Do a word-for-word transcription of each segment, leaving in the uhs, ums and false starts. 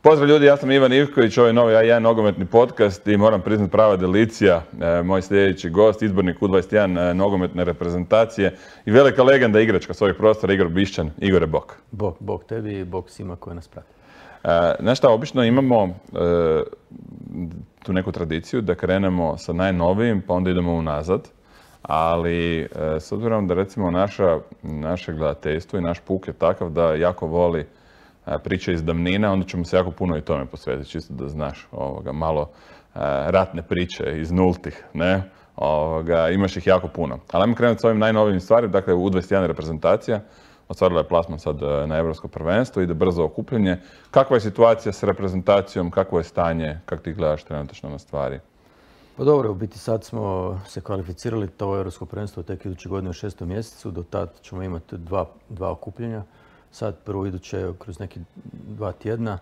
Pozdrav ljudi, ja sam Ivan Ivković, ovo je novi A jedan nogometni podcast i moram priznati prava delicija, e, moj sljedeći gost, izbornik U dvadeset jedan e, nogometne reprezentacije i velika legenda igračka svojih prostora, Igor Bišćan. Igore, bok. Bok, bok tebi i bok svima koji nas prati. E, znaš šta, obično imamo e, tu neku tradiciju da krenemo sa najnovijim pa onda idemo unazad, ali e, s obzirom da recimo naša, naše gledateljstvo i naš puk je takav da jako voli priče iz davnina, onda ćemo se jako puno i tome posvetiti, čisto da znaš, ovoga, malo uh, ratne priče iz nultih, ne? Ovoga, imaš ih jako puno. Ali ajmo krenuti s ovim najnovijim stvarima, dakle U dvadeset jedan reprezentacija, ostvarila je plasman sad na Europsko prvenstvo, ide brzo okupljanje. Kakva je situacija s reprezentacijom, kakvo je stanje, kako ti gledaš trenutačno na stvari? Pa dobro, u biti sad smo se kvalificirali, to Europsko prvenstvo tek iduće godine u šestom mjesecu, do tad ćemo imati dva, dva okupljenja. Sad prvo iduće kroz neki dva tjedna.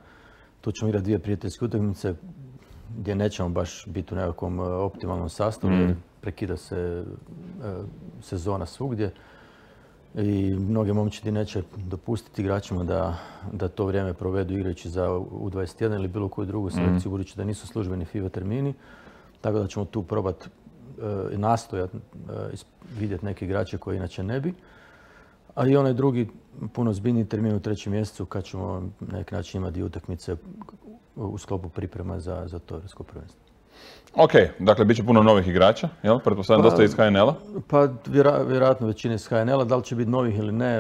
Tu ćemo igrati dvije prijateljske utakmice gdje nećemo baš biti u nekakvom optimalnom sastavu, jer prekida se sezona svugdje. I mnoge momčadi neće dopustiti igračima da, da to vrijeme provedu igrajući za U dvadeset jedan ili bilo koju drugu selekciju, budući da nisu službeni FIFA termini. Tako da ćemo tu probati i nastojati vidjeti neke igrače koje inače ne bi. A i onaj drugi, puno zbiljniji termin u trećem mjesecu kad ćemo na neki način imati utakmice u sklopu priprema za, za to europsko prvenstvo. Ok, dakle bit će puno novih igrača, jel? Pretpostavljam pa, dosta iz H N L-a? Pa vjera, vjerojatno većina iz H N L-a. Da li će biti novih ili ne,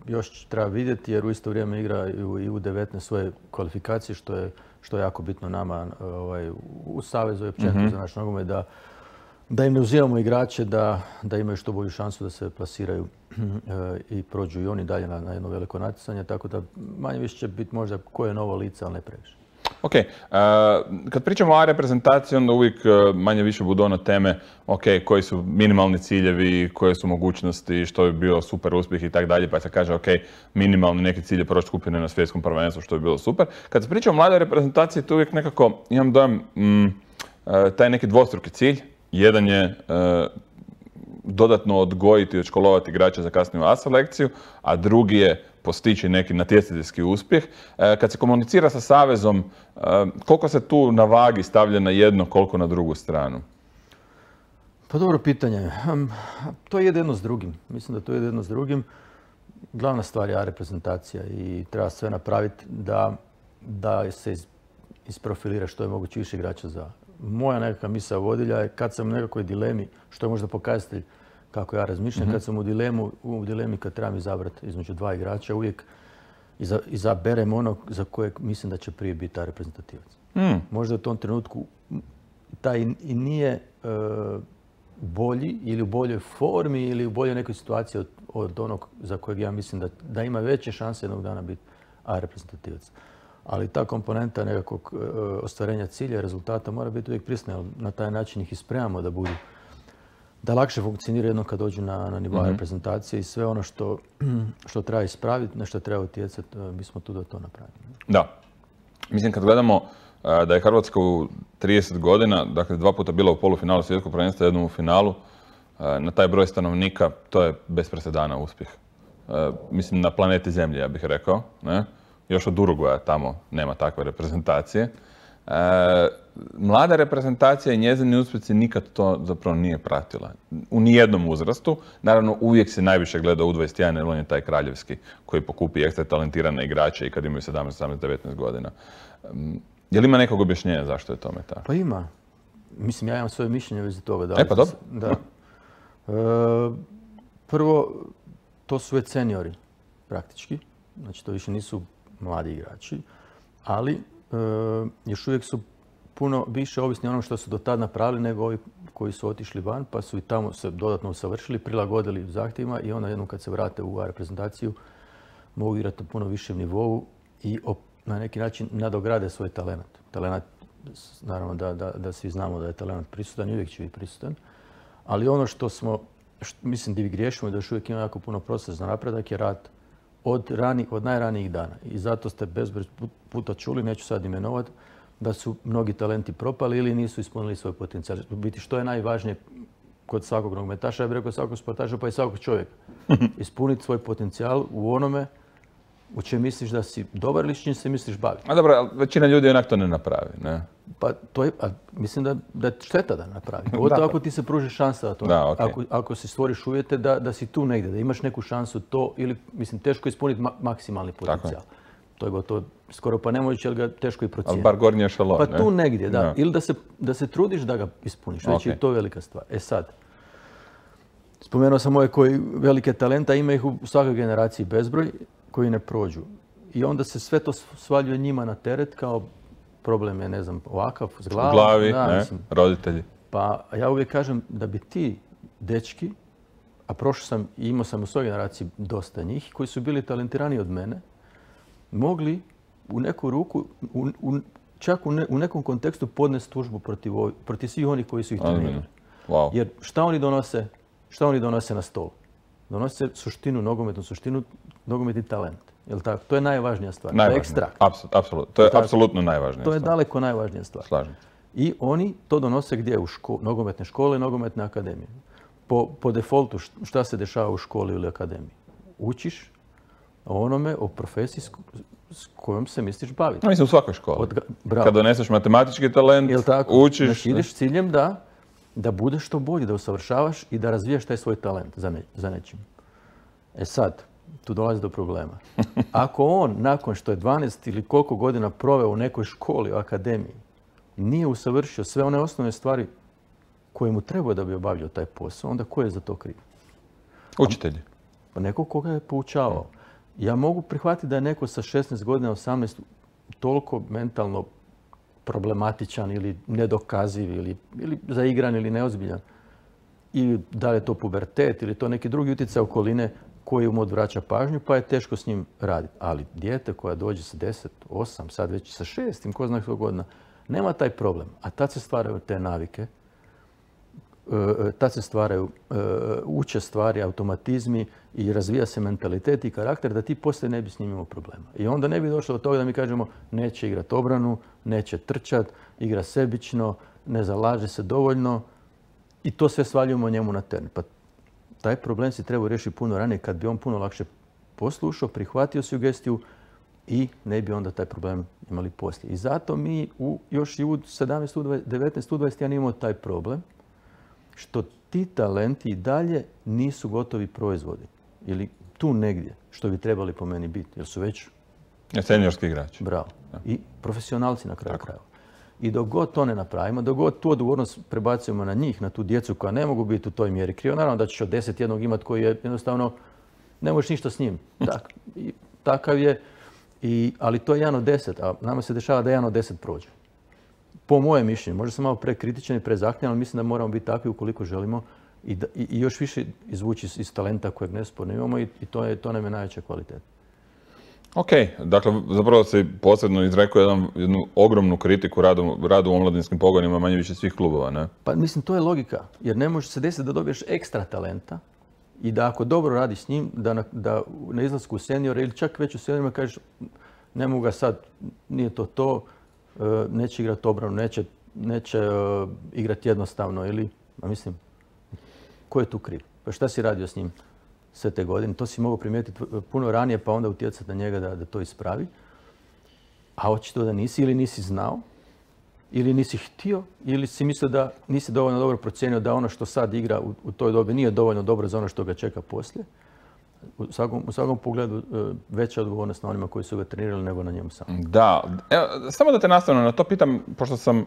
još treba vidjeti jer u isto vrijeme igra i U devetnaest svoje kvalifikacije, što je, što je jako bitno nama ovaj, u Savezu i općenito mm-hmm. za naš nogomet da da im ne uzimamo igrače, da, da imaju što bolju šansu da se plasiraju i prođu i oni dalje na, na jedno veliko natjecanje, tako da manje više će biti možda koje je novo lice, ali ne previše. Ok, uh, kad pričamo o A reprezentaciji, onda uvijek uh, manje više budu ono teme, ok, koji su minimalni ciljevi, koje su mogućnosti, što bi bio super uspjeh i tako dalje, pa se kaže, ok, minimalni neki cilj je proći skupine na svjetskom prvenstvu, što bi bilo super. Kad se priča o mladoj reprezentaciji, tu uvijek nekako imam dojam mm, uh, taj neki dvostruki cilj. Jedan je e, dodatno odgojiti i odškolovati igrače za kasniju A selekciju, a drugi je postići neki natjecateljski uspjeh. E, kad se komunicira sa Savezom, e, koliko se tu na vagi stavlja na jedno, koliko na drugu stranu? Pa dobro pitanje. To je jedno s drugim. Mislim da to je jedno s drugim. Glavna stvar je A reprezentacija i treba sve napraviti da, da se isprofilira što je moguće više igrača za moja nekakva misao vodilja je kad sam u nekakvoj dilemi, što je možda pokazatelj kako ja razmišljam, mm-hmm. kad sam u, dilemu, u dilemi kad trebam izabrati između dva igrača, uvijek iza, izaberem onog za kojeg mislim da će prije biti ta reprezentativac. Mm. Možda u tom trenutku taj i nije e, bolji ili u boljoj formi ili u boljoj nekoj situaciji od, od onog za kojeg ja mislim da, da ima veće šanse jednog dana biti A reprezentativac. Ali ta komponenta nekakvog ostvarenja cilja i rezultata mora biti uvijek prisutna, jer na taj način ih ispremamo da budu, da lakše funkcioniraju jednom kad dođu na, na nivo mm-hmm. reprezentacije i sve ono što, što treba ispraviti, na što treba utjecati, mi smo tu da to napravimo. Da. Mislim, kad gledamo da je Hrvatska u trideset godina, dakle dva puta bila u polufinalu svjetskog prvenstva, jednom u finalu, na taj broj stanovnika, to je bez presedana uspjeh. Mislim, na planeti Zemlje, ja bih rekao, ne? Još od Uruguaja tamo nema takve reprezentacije. E, mlada reprezentacija i njezini uspjeci nikad to zapravo nije pratila. U nijednom uzrastu. Naravno, uvijek se najviše gleda U dvadeset jedan jer on je taj kraljevski koji pokupi ekstra talentirane igrače i kad imaju sedamnaest, osamnaest, devetnaest godina. Je li ima nekog objašnjenja zašto je tome tako? Pa ima. Mislim, ja imam svoje mišljenje u vezi toga. Da, e pa dobro. Da. E, prvo, to su već seniori, praktički. Znači, to više nisu mladi igrači, ali e, još uvijek su puno više ovisni onom što su do tada napravili nego ovi koji su otišli van, pa su i tamo se dodatno usavršili, prilagodili zahtjevima i onda jednom kad se vrate u A reprezentaciju mogu igrati na puno višem nivou i op, na neki način nadograde svoj talent. Talent, naravno da, da, da svi znamo da je talent prisutan i uvijek će biti prisutan, ali ono što smo, što, mislim da vi griješimo i da još uvijek ima jako puno prostora za napredak je rad Od, rani, od najranijih dana. I zato ste bezbroj puta čuli, neću sad imenovati, da su mnogi talenti propali ili nisu ispunili svoj potencijal. U biti što je najvažnije kod svakog nogometaša, ja bih rekao svakog sportaša pa i svakog čovjeka. Ispuniti svoj potencijal u onome U čem misliš da si dobar ili s čim se misliš baviti? A dobro, ali većina ljudi onak to ne napravi, ne? Pa to je, a mislim da, da je šteta da napravi. Pogotovo ako ti se pruži šansa da to. Da, okay. ako, ako si stvoriš uvjete da, da si tu negdje, da imaš neku šansu to ili, mislim, teško ispuniti ma- maksimalni potencijal. To je gotovo skoro pa nemoguće, ali ga teško i procijeniti. Ali bar gornji ešalon, Pa ne? tu negdje, da. Da. Ili da se, da se trudiš da ga ispuniš. Već Okay. je to velika stvar. E sad, spomenuo sam ove koji velike talenta, ima ih u svakoj generaciji bezbroj koji ne prođu. I onda se sve to svaljuje njima na teret kao problem je, ne znam, ovakav, s glavom. U glavi, da, ne? Mislim, Roditelji. pa ja uvijek kažem da bi ti dečki, a prošao sam i imao sam u svojoj generaciji dosta njih, koji su bili talentirani od mene, mogli u neku ruku, u, u, čak u, ne, u nekom kontekstu podnesti tužbu protiv, protiv svih onih koji su ih trenirali. Wow. Jer šta oni donose, šta oni donose na stol? Donose suštinu, nogometnu suštinu, nogometni talent. Jel tako? To je najvažnija stvar. To je ekstrakt. Apsolutno. To je apsolutno najvažnija To je stvar. daleko najvažnija stvar. Slažem. I oni to donose gdje? U ško- nogometne škole i nogometne akademije. Po, po defaultu šta se dešava u školi ili akademiji? Učiš o onome, o profesiji s, s kojom se misliš baviti. No, mislim, u svakoj školi. Od, bravo. Kad doneseš matematički talent, Jel tako? učiš... Znači, ideš s ciljem da, da budeš što bolji, da usavršavaš i da razvijaš taj svoj talent za, ne, za nečim. E sad, tu dolazi do problema. Ako on, nakon što je dvanaest ili koliko godina proveo u nekoj školi, u akademiji, nije usavršio sve one osnovne stvari koje mu treba da bi obavljao taj posao, onda ko je za to kriv? Učitelji. Pa neko koga je poučavao. Ja mogu prihvatiti da je neko sa šesnaest godina, osamnaest toliko mentalno problematičan ili nedokaziv ili, ili zaigran ili neozbiljan. I da li je to pubertet ili to neki drugi utjecaj okoline koji mu odvraća pažnju, pa je teško s njim raditi. Ali dijete koja dođe sa deset, osam, sad već sa šestim, ko zna što godina, nema taj problem. A tad se stvaraju te navike, tad se stvaraju, uče stvari, automatizmi i razvija se mentalitet i karakter da ti poslije ne bi s njim imao problema. I onda ne bi došlo do toga da mi kažemo neće igrati obranu, neće trčat, igra sebično, ne zalaže se dovoljno i to sve svaljujemo njemu na teren. Pa taj problem si treba riješiti puno ranije kad bi on puno lakše poslušao, prihvatio sugestiju i ne bi onda taj problem imali poslije. I zato mi u, još i u sedamnaest, devetnaest, dvadeset jedan imamo taj problem što ti talenti i dalje nisu gotovi proizvodi. Ili tu negdje, što bi trebali po meni biti, jer su već... Seniorski igrači. Bravo. I profesionalci na kraju krajeva. I dok god to ne napravimo, dok god tu odgovornost prebacujemo na njih, na tu djecu koja ne mogu biti u toj mjeri krivo, naravno da ćeš od deset jednog imati koji je jednostavno, ne možeš ništa s njim. Tak, i, takav je, i, ali to je jedan od deset, a nama se dešava da jedan od deset prođe. Po mojem mišljenju, možda sam malo prekritičan i prezahtjevan, ali mislim da moramo biti takvi ukoliko želimo i, da, i, i još više izvući iz, iz talenta kojeg nesporno imamo i, i to, je, to nam je najveća kvaliteta. Ok, dakle, zapravo si posebno izrekao jedan, jednu ogromnu kritiku radu, radu u omladinskim pogonima manje više svih klubova, ne? Pa mislim, to je logika, jer ne može se desiti da dobiješ ekstra talenta i da ako dobro radiš s njim, da na, da na izlasku u seniore ili čak već u seniorima kažeš ne mogu ga sad, nije to to, neće igrati obranu, neće, neće uh, igrati jednostavno ili, a mislim, ko je tu kriv? Pa šta si radio s njim sve te godine? To si mogao primijetiti puno ranije pa onda utjecati na njega da, da to ispravi. A očito da nisi ili nisi znao, ili nisi htio, ili si mislio da nisi dovoljno dobro procijenio da ono što sad igra u, u toj dobi nije dovoljno dobro za ono što ga čeka poslije. U svakom, u svakom pogledu veća odgovornost na onima koji su ga trenirali nego na njemu samom. Da, evo, samo da te nastavno na to pitam, pošto sam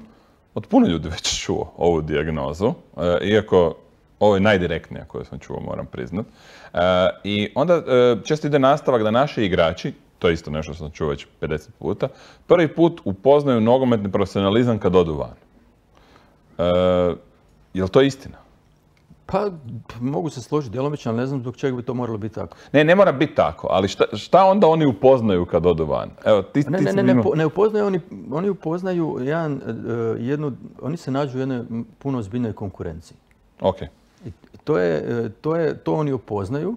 od puno ljudi već čuo ovu dijagnozu, e, iako ovo je najdirektnija koju sam čuo, moram priznat. E, I onda e, često ide nastavak da naši igrači, to je isto nešto što sam čuo već pedeset puta, prvi put upoznaju nogometni profesionalizam kad odu van. E, je li to istina? Pa, mogu se složiti djelomično, ali ne znam zbog čega bi to moralo biti tako. Ne, ne mora biti tako, ali šta, šta onda oni upoznaju kad odu van? Evo, ti, ne, ti ne, ne, imao... ne, ne upoznaju, oni, oni upoznaju jedan, jednu, oni se nađu u jednoj puno ozbiljnoj konkurenciji. Ok. I to, je, to, je, to oni upoznaju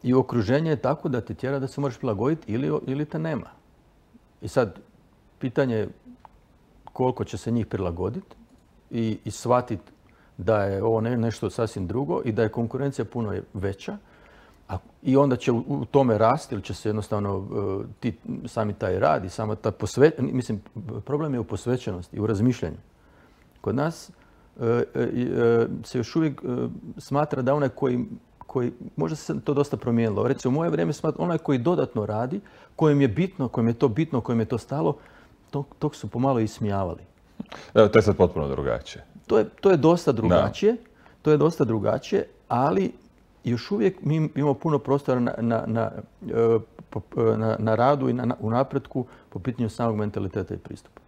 i okruženje je tako da te tjera da se moraš prilagoditi ili, ili te nema. I sad, pitanje je koliko će se njih prilagoditi i, i shvatiti da je ovo ne, nešto sasvim drugo i da je konkurencija puno veća, I onda će u, u tome rasti ili će se jednostavno uh, ti, sami taj rad i sama ta posve, mislim, problem je u posvećenosti i u razmišljanju. Kod nas uh, uh, se još uvijek uh, smatra da onaj koji, koji, možda se to dosta promijenilo, recimo u moje vrijeme smatra onaj koji dodatno radi, kojem je bitno, kojem je to bitno, kojem je to stalo, tog, tog su pomalo ismijavali. Evo, to je sad potpuno drugačije. To je, to je dosta drugačije, da. to je dosta drugačije, ali još uvijek mi imamo puno prostora na, na, na, na, na radu i na, u napretku po pitanju samog mentaliteta i pristupa.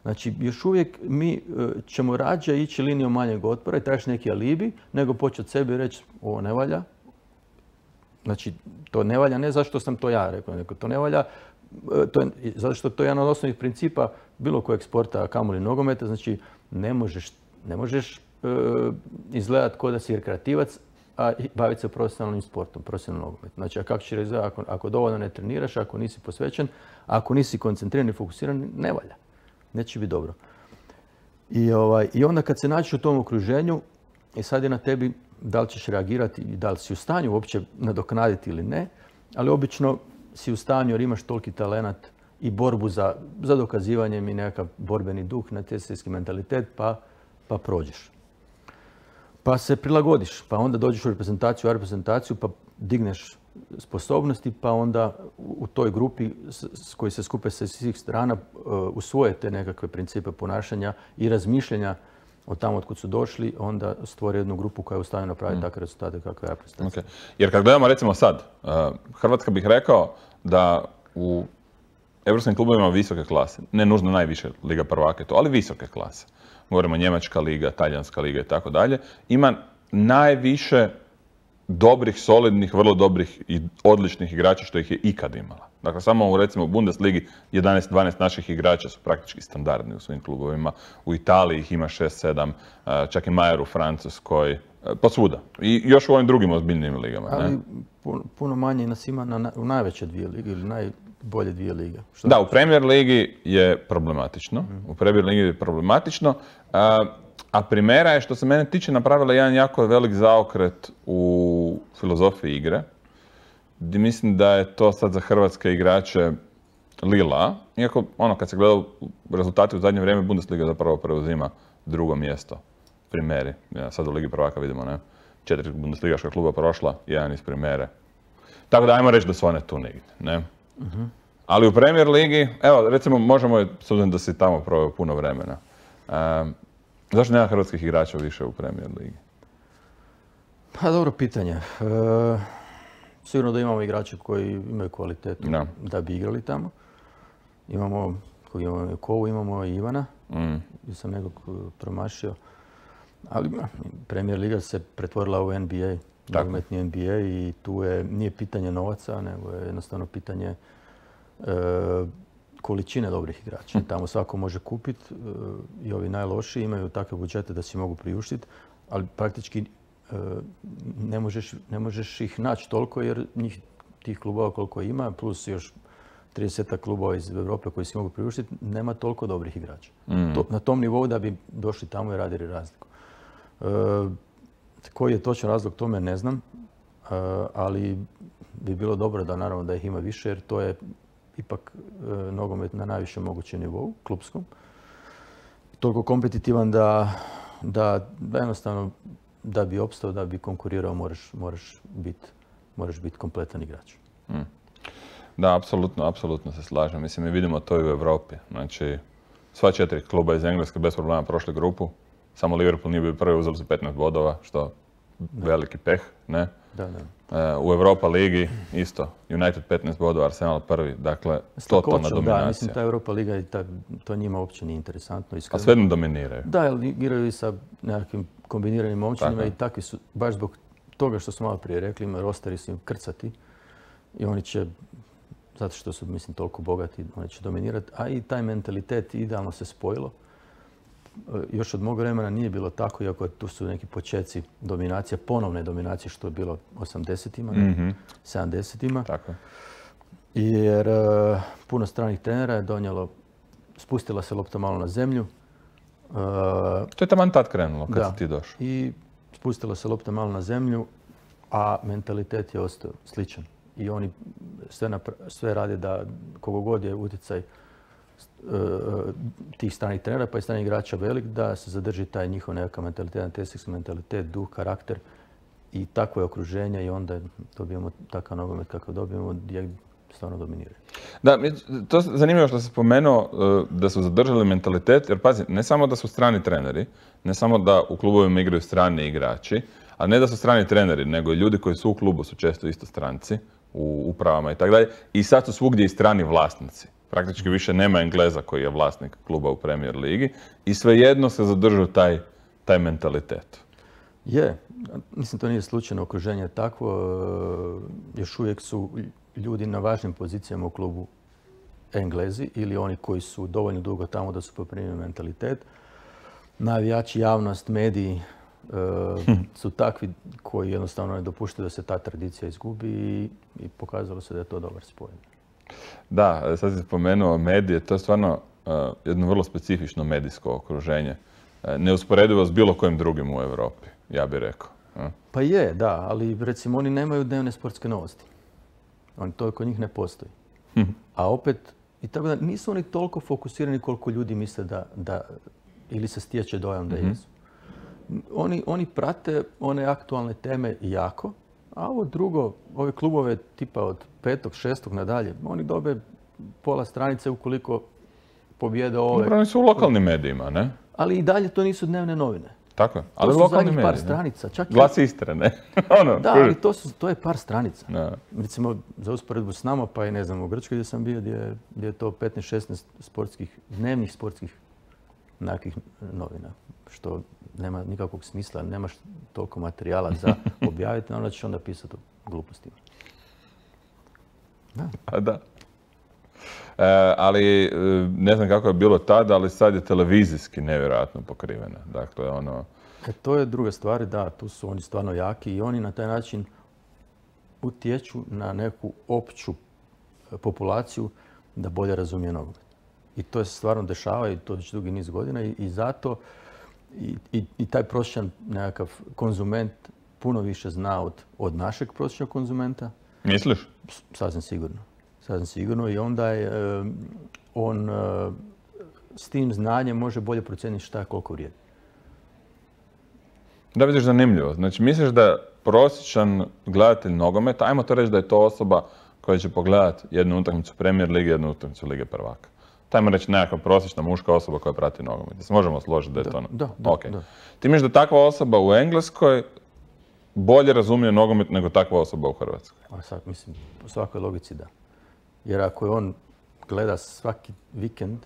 Znači, još uvijek mi ćemo rađe ići linijom manjeg otpora i tražiti neki alibi, nego početi od sebe i reći ovo ne valja. Znači, to ne valja ne zašto sam to ja rekao, nego to ne valja to je, zato što to je jedan od osnovnih principa bilo kojeg sporta, kamoli nogometa. Znači, ne možeš, ne možeš uh, izgledati kao da si rekreativac, a baviti se profesionalnim sportom, profesionalnim nogometom. Znači, a kako ćeš izgledati ako, ako dovoljno ne treniraš, ako nisi posvećen, ako nisi koncentriran i fokusiran, ne valja. Neće biti dobro. I, ovaj, I onda kad se nađeš u tom okruženju, i sad je na tebi da li ćeš reagirati i da li si u stanju uopće nadoknaditi ili ne, ali obično si u stanju jer imaš toliki talenat i borbu za, za dokazivanjem i nekakav borbeni duh, natjecateljski mentalitet, pa, pa prođeš. Pa se prilagodiš, pa onda dođeš u reprezentaciju, u reprezentaciju, pa digneš sposobnosti, pa onda u toj grupi s, s koji se skupe sa svih strana uh, usvoje te nekakve principe ponašanja i razmišljanja od tamo od kud su došli, onda stvore jednu grupu koja je u stanju napraviti mm. takve rezultate kakve je reprezentacija. Okay. Jer kad gledamo recimo sad, uh, Hrvatska bih rekao da u evropskim klubovima visoke klase, ne nužno najviše Liga prvaka to, ali visoke klase. Govorimo Njemačka liga, Talijanska liga i tako dalje, ima najviše dobrih, solidnih, vrlo dobrih i odličnih igrača što ih je ikad imala. Dakle, samo u recimo u Bundesligi jedanaest dvanaest naših igrača su praktički standardni u svim klubovima. U Italiji ih ima šest sedam, čak i Majer u Francuskoj, posvuda. I još u ovim drugim ozbiljnim ligama. Ali ne? puno manje nas ima na, u najveće dvije lige ili najbolje dvije lige. Što da, u Premier ligi je problematično. Mm. U Premier ligi je problematično. A, a Primera je, što se mene tiče, napravila jedan jako velik zaokret u filozofiji igre. Gdje mislim da je to sad za hrvatske igrače lila. Iako, ono, kad se gleda rezultati u zadnje vrijeme, Bundesliga zapravo preuzima drugo mjesto Primeri. Ja, sad u Ligi prvaka vidimo, ne? Četiri Bundesligaška kluba prošla, jedan iz Primere. Tako da ajmo reći da su one tu negdje, ne? Uh-huh. Ali u Premier ligi, evo, recimo, možemo, s obzirom da si tamo proveo puno vremena, um, zašto nema hrvatskih igrača više u Premier ligi? Pa dobro pitanje. E... Sigurno da imamo igrače koji imaju kvalitetu no. da bi igrali tamo. Imamo, koji imamo Kovu, imamo i Ivana, mm. gdje sam nekog promašio. Ali Premier liga se pretvorila u N B A, nogometni N B A i tu je, nije pitanje novaca, nego je jednostavno pitanje e, količine dobrih igrača. Tamo svako može kupiti e, i ovi najlošiji imaju takve budžete da si mogu priuštiti, ali praktički Ne možeš, ne možeš ih naći toliko jer njih tih klubova koliko ima, plus još trideset klubova iz Europe koji si mogu priuštiti, nema toliko dobrih igrača. Mm. To, na tom nivou da bi došli tamo i radili razliku. E, koji je točan razlog tome ne znam, e, ali bi bilo dobro da naravno da ih ima više jer to je ipak e, nogomet na najvišem mogućem nivou, klupskom. Toliko kompetitivan da, da, da jednostavno da bi opstao, da bi konkurirao, moraš, moraš biti moraš bit kompletan igrač. Mm. Da, apsolutno, apsolutno se slažem. Mislim, mi vidimo to i u Europi. Znači, sva četiri kluba iz Engleske bez problema prošli grupu. Samo Liverpool nije bio prvi, uzeli su petnaest bodova, što da. Veliki peh, ne? Da, da. E, u Europa ligi isto. United petnaest bodova, Arsenal prvi. Dakle, totalna dominacija. Da, mislim, ta Europa liga i ta, to njima uopće nije interesantno. Iskreno. A svejedno dominiraju. Da, jer igraju i sa nekakvim kombiniranim momčinima i takvi su, baš zbog toga što smo malo prije rekli, ima rosteri su im krcati i oni će, zato što su, mislim, toliko bogati, oni će dominirati, a i taj mentalitet idealno se spojilo. Još od mog vremena nije bilo tako, iako tu su neki početci dominacije, ponovne dominacije što je bilo osamdesetima, mm-hmm. sedamdesetima. Tako. Jer uh, puno stranih trenera je donijelo, spustila se lopta malo na zemlju. Uh, to je taman tad krenulo, kad da, si ti došao. I spustila se lopta malo na zemlju a mentalitet je ostao sličan. I oni sve, napra- sve rade da kogo god je utjecaj uh, tih stranih trenera pa i stranih igrača velik, da se zadrži taj njihov nekakav mentalitet, natjecateljski mentalitet, duh, karakter i takvo je okruženje i onda dobijemo takav nogomet kakav dobijemo gdje stvarno dominiraju. Da, to je zanimljivo što se spomenuo da su zadržali mentalitet, jer pazi, ne samo da su strani treneri, ne samo da u klubovima igraju strani igrači, a ne da su strani treneri, nego i ljudi koji su u klubu su često isto stranci, u upravama i tako dalje, i sad su svugdje i strani vlasnici. Praktički više nema Engleza koji je vlasnik kluba u Premier ligi i svejedno se zadržao taj, taj mentalitet. Je, mislim to nije slučajno, okruženje je takvo, još uvijek su ljudi na važnim pozicijama u klubu Englezi ili oni koji su dovoljno dugo tamo da su poprimili mentalitet. Navijači, javnost, mediji e, su takvi koji jednostavno ne dopuštaju da se ta tradicija izgubi i, i pokazalo se da je to dobar spoj. Da, sad si spomenuo medije, to je stvarno uh, jedno vrlo specifično medijsko okruženje. Uh, neusporedivo s bilo kojim drugim u Europi, ja bih rekao. Uh. Pa je, da, ali recimo oni nemaju dnevne sportske novosti. Oni, to kod njih ne postoji. Hm. A opet, i tako da nisu oni toliko fokusirani koliko ljudi misle da, da ili se stječe dojam da mm-hmm. jesu. Oni, oni prate one aktualne teme jako, a ovo drugo, ove klubove tipa od petog, šestog nadalje, oni dobe pola stranice ukoliko pobjede ove. Dobro, oni su u lokalnim medijima, ne? Ali i dalje to nisu dnevne novine. Tako je, ali to su lokalni zadnjih mediji, par ne? stranica. Čak Glas Istre, ne? ono, da, ali to, su, to je par stranica. Da. Recimo, za usporedbu s nama, pa i ne znam, u Grčkoj gdje sam bio, gdje, gdje je to petnaest šesnaest sportskih, dnevnih sportskih nekakvih novina, što nema nikakvog smisla, nemaš toliko materijala za objaviti, onda ćeš onda pisati o glupostima. Da. A da. E, ali ne znam kako je bilo tada, ali sad je televizijski nevjerojatno pokrivena. Dakle, ono... E, to je druga stvar, da, tu su oni stvarno jaki i oni na taj način utječu na neku opću populaciju da bolje razumije nogomet. I to se stvarno dešava i to već dugi niz godina i, i zato i, i, i taj prosječan nekakav konzument puno više zna od, od našeg prosječnog konzumenta. Misliš? Sasvim sigurno. Sasvim sigurno i onda je on s tim znanjem može bolje procijeniti šta koliko vrijedi. Da, vidiš, zanimljivo. Znači, misliš da prosječan gledatelj nogometa, ajmo to reći da je to osoba koja će pogledati jednu utakmicu Premier lige, jednu utakmicu Lige prvaka. Tajmo reći nekakva prosječna muška osoba koja prati nogomet. Se možemo složiti da je da, to... Da, da, okay. da. Ti misliš da takva osoba u Engleskoj bolje razumije nogomet nego takva osoba u Hrvatskoj? A sad, mislim, po svakoj logici da. Jer ako je on gleda svaki vikend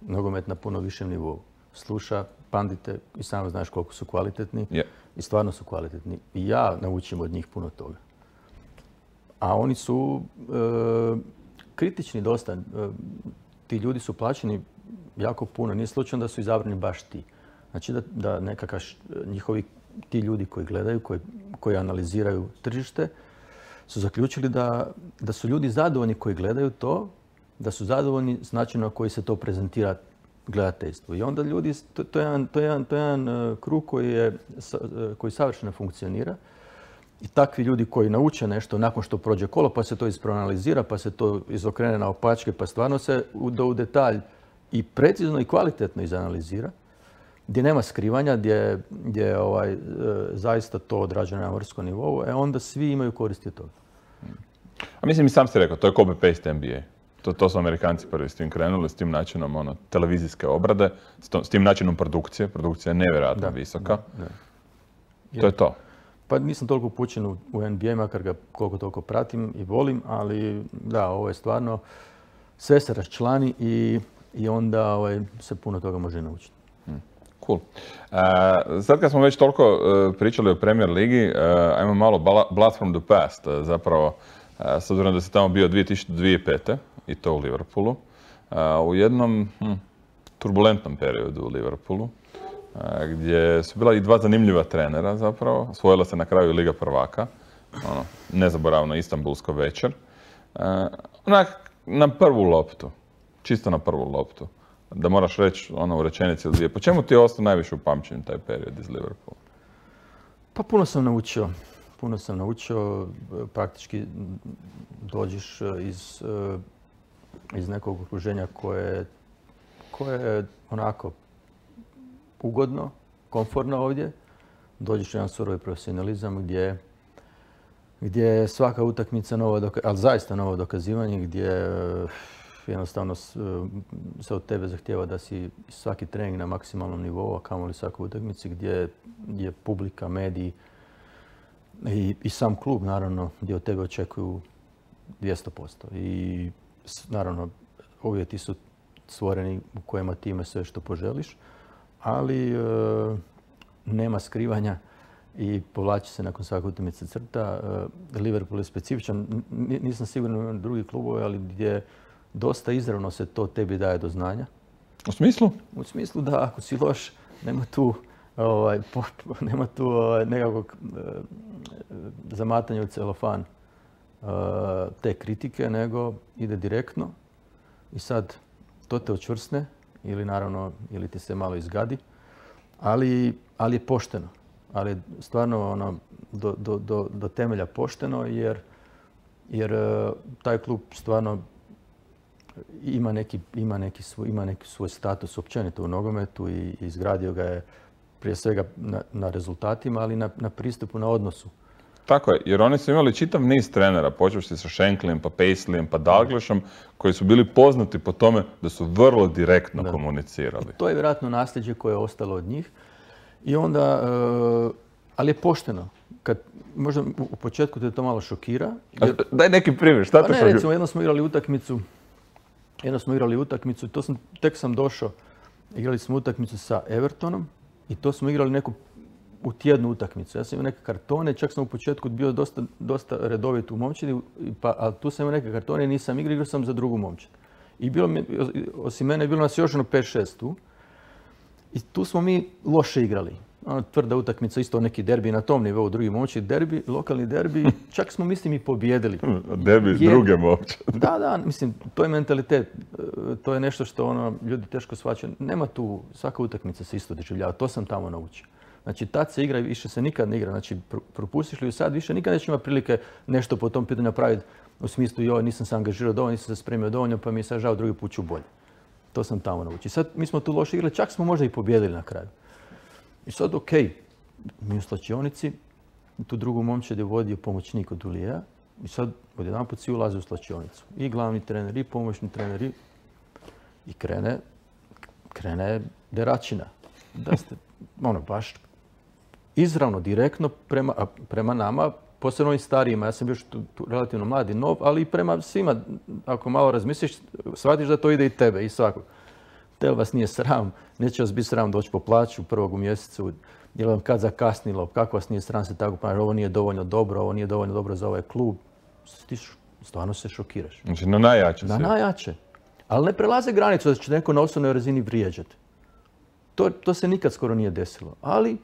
nogomet na puno višem nivou, sluša pandite i sam znaš koliko su kvalitetni yeah. i stvarno su kvalitetni. I ja naučim od njih puno toga. A oni su e, kritični dosta. E, ti ljudi su plaćeni jako puno. Nije slučajno da su izabrani baš ti. Znači da, da nekakav njihovi ti ljudi koji gledaju, koji, koji analiziraju tržište, su zaključili da, da su ljudi zadovoljni koji gledaju to, da su zadovoljni s načinom na koji se to prezentira gledateljstvu. I onda ljudi, to, to je jedan, to je jedan, to je jedan uh, krug koji, je, uh, koji savršeno funkcionira. I takvi ljudi koji nauče nešto nakon što prođe kolo, pa se to isproanalizira, pa se to izokrene na opačke, pa stvarno se u, do u detalj i precizno i kvalitetno izanalizira, gdje nema skrivanja, gdje, gdje je ovaj, e, zaista to odrađeno na vrskom nivou, e onda svi imaju koristi od toga. A mislim i sam si rekao, to je copy-paste N B A. To, to su Amerikanci prvi s tim krenuli, s tim načinom ono, televizijske obrade, s, to, s tim načinom produkcije. Produkcija je nevjerojatno da, visoka. Da, da. To je to. Pa nisam toliko upućen u, u N B A, makar ga koliko toliko pratim i volim, ali da, ovo je stvarno, sve se raščlani i, i onda ovaj, se puno toga može naučiti. Cool. Uh, sad kad smo već toliko uh, pričali o Premier ligi, uh, ajmo malo blast from the past. Uh, zapravo, uh, s obzirom da si tamo bio dvije tisuće pete. i to u Liverpoolu, uh, u jednom hm, turbulentnom periodu u Liverpoolu, uh, gdje su bila i dva zanimljiva trenera zapravo. Osvojila se na kraju Liga prvaka, ono, nezaboravno Istanbulsko večer. Uh, onak, na prvu loptu, čisto na prvu loptu. Da moraš reći ono u rečenici ili dvije. Po čemu ti je ostao najviše upamćen taj period iz Liverpoola? Pa puno sam naučio. puno sam naučio. Praktički dođeš iz, iz nekog okruženja koje, koje je onako ugodno, komfortno ovdje. Dođeš u jedan surovi profesionalizam gdje, gdje je svaka utakmica novo, ali zaista novo dokazivanje, gdje jednostavno se od tebe zahtijeva da si svaki trening na maksimalnom nivou, a kamoli svakoj utakmici, gdje je publika, mediji i, i sam klub, naravno, gdje od tebe očekuju dvjesto posto. I naravno, uvjeti su stvoreni u kojima ti imaš sve što poželiš, ali e, nema skrivanja i povlači se nakon svake utakmice crta. E, Liverpool je specifičan, nisam siguran u drugi klubove, ali gdje dosta izravno se to tebi daje do znanja. U smislu? U smislu da ako si loš, nema tu, ovaj, po, nema tu ovaj, nekakvog e, zamatanja u celofan e, te kritike, nego ide direktno i sad to te očvrsne ili naravno ili ti se malo izgadi, ali, ali je pošteno. Ali je stvarno ono, do, do, do, do temelja pošteno jer, jer e, taj klub stvarno ima neki, ima neki, svoj, ima neki svoj status općenito u nogometu i izgradio ga je prije svega na, na rezultatima, ali na, na pristupu, na odnosu. Tako je, jer oni su imali čitav niz trenera, počevši sa Shanklyem, pa Paisleyem, pa Dalglishom, koji su bili poznati po tome da su vrlo direktno da. komunicirali. I to je vjerojatno nasljeđe koje je ostalo od njih. I onda, uh, ali je pošteno. Kad, možda u početku te to malo šokira. Jer, daj neki primjer, šta te ne, šokira? Recimo, jednom smo igrali utakmicu, jednom smo igrali utakmicu, to sam, tek sam došao, igrali smo utakmicu sa Evertonom i to smo igrali neku u tjednu utakmicu. Ja sam imao neke kartone, čak sam u početku bio dosta, dosta redovit u momčadi, pa, ali tu sam imao neke kartone i nisam igrao, igrao sam za drugu momčad. I bilo mi, osim mene, bilo nas još ono pet šest tu. I tu smo mi loše igrali. Ono, tvrda utakmica, isto neki derbi na tom nivou, drugi momčad, derbi, lokalni derbi, čak smo mislim i pobijedili. Derbi iz druge momčad. Da, da, mislim, to je mentalitet. To je nešto što ono, ljudi teško shvaćaju. Nema tu, svaka utakmica se isto doživljava, to sam tamo naučio. Znači, tad se igra i više se nikad ne igra. Znači, propustiš li ju sad, više nikad neće imati prilike nešto po tom pitanju napraviti u smislu joj, nisam se angažirao dovoljno, nisam se spremio dovoljno, pa mi je sad žao, drugi put ću bolje. To sam tamo naučio. Sad mi smo tu loše igrali, čak smo možda i pobijedili na kraju. I sad, ok, mi u slačionici, tu drugu momčad je vodio pomoćnik od Ulijeja i sad odjedanput svi ulaze u slačionicu. I glavni trener, i pomoćni trener, i, i krene, krene deračina. Da ste, ono, baš izravno, direktno prema, prema nama, posebno ovim starijima. Ja sam bio tu, tu relativno mladi, nov, ali i prema svima. Ako malo razmisliš, shvatiš da to ide i tebe i svakog. Tel vas nije sram, neće vas biti sram doći po plaću prvog u mjesecu, je li vam kad zakasnilo, kako vas nije sram se tako ponašati, ovo nije dovoljno dobro, ovo nije dovoljno dobro za ovaj klub. Ti stvarno se šokiraš. Znači na najjače Na najjače. Ali ne prelaze granicu da će neko na osobnoj razini vrijeđati. To, to se nikad skoro nije desilo. Ali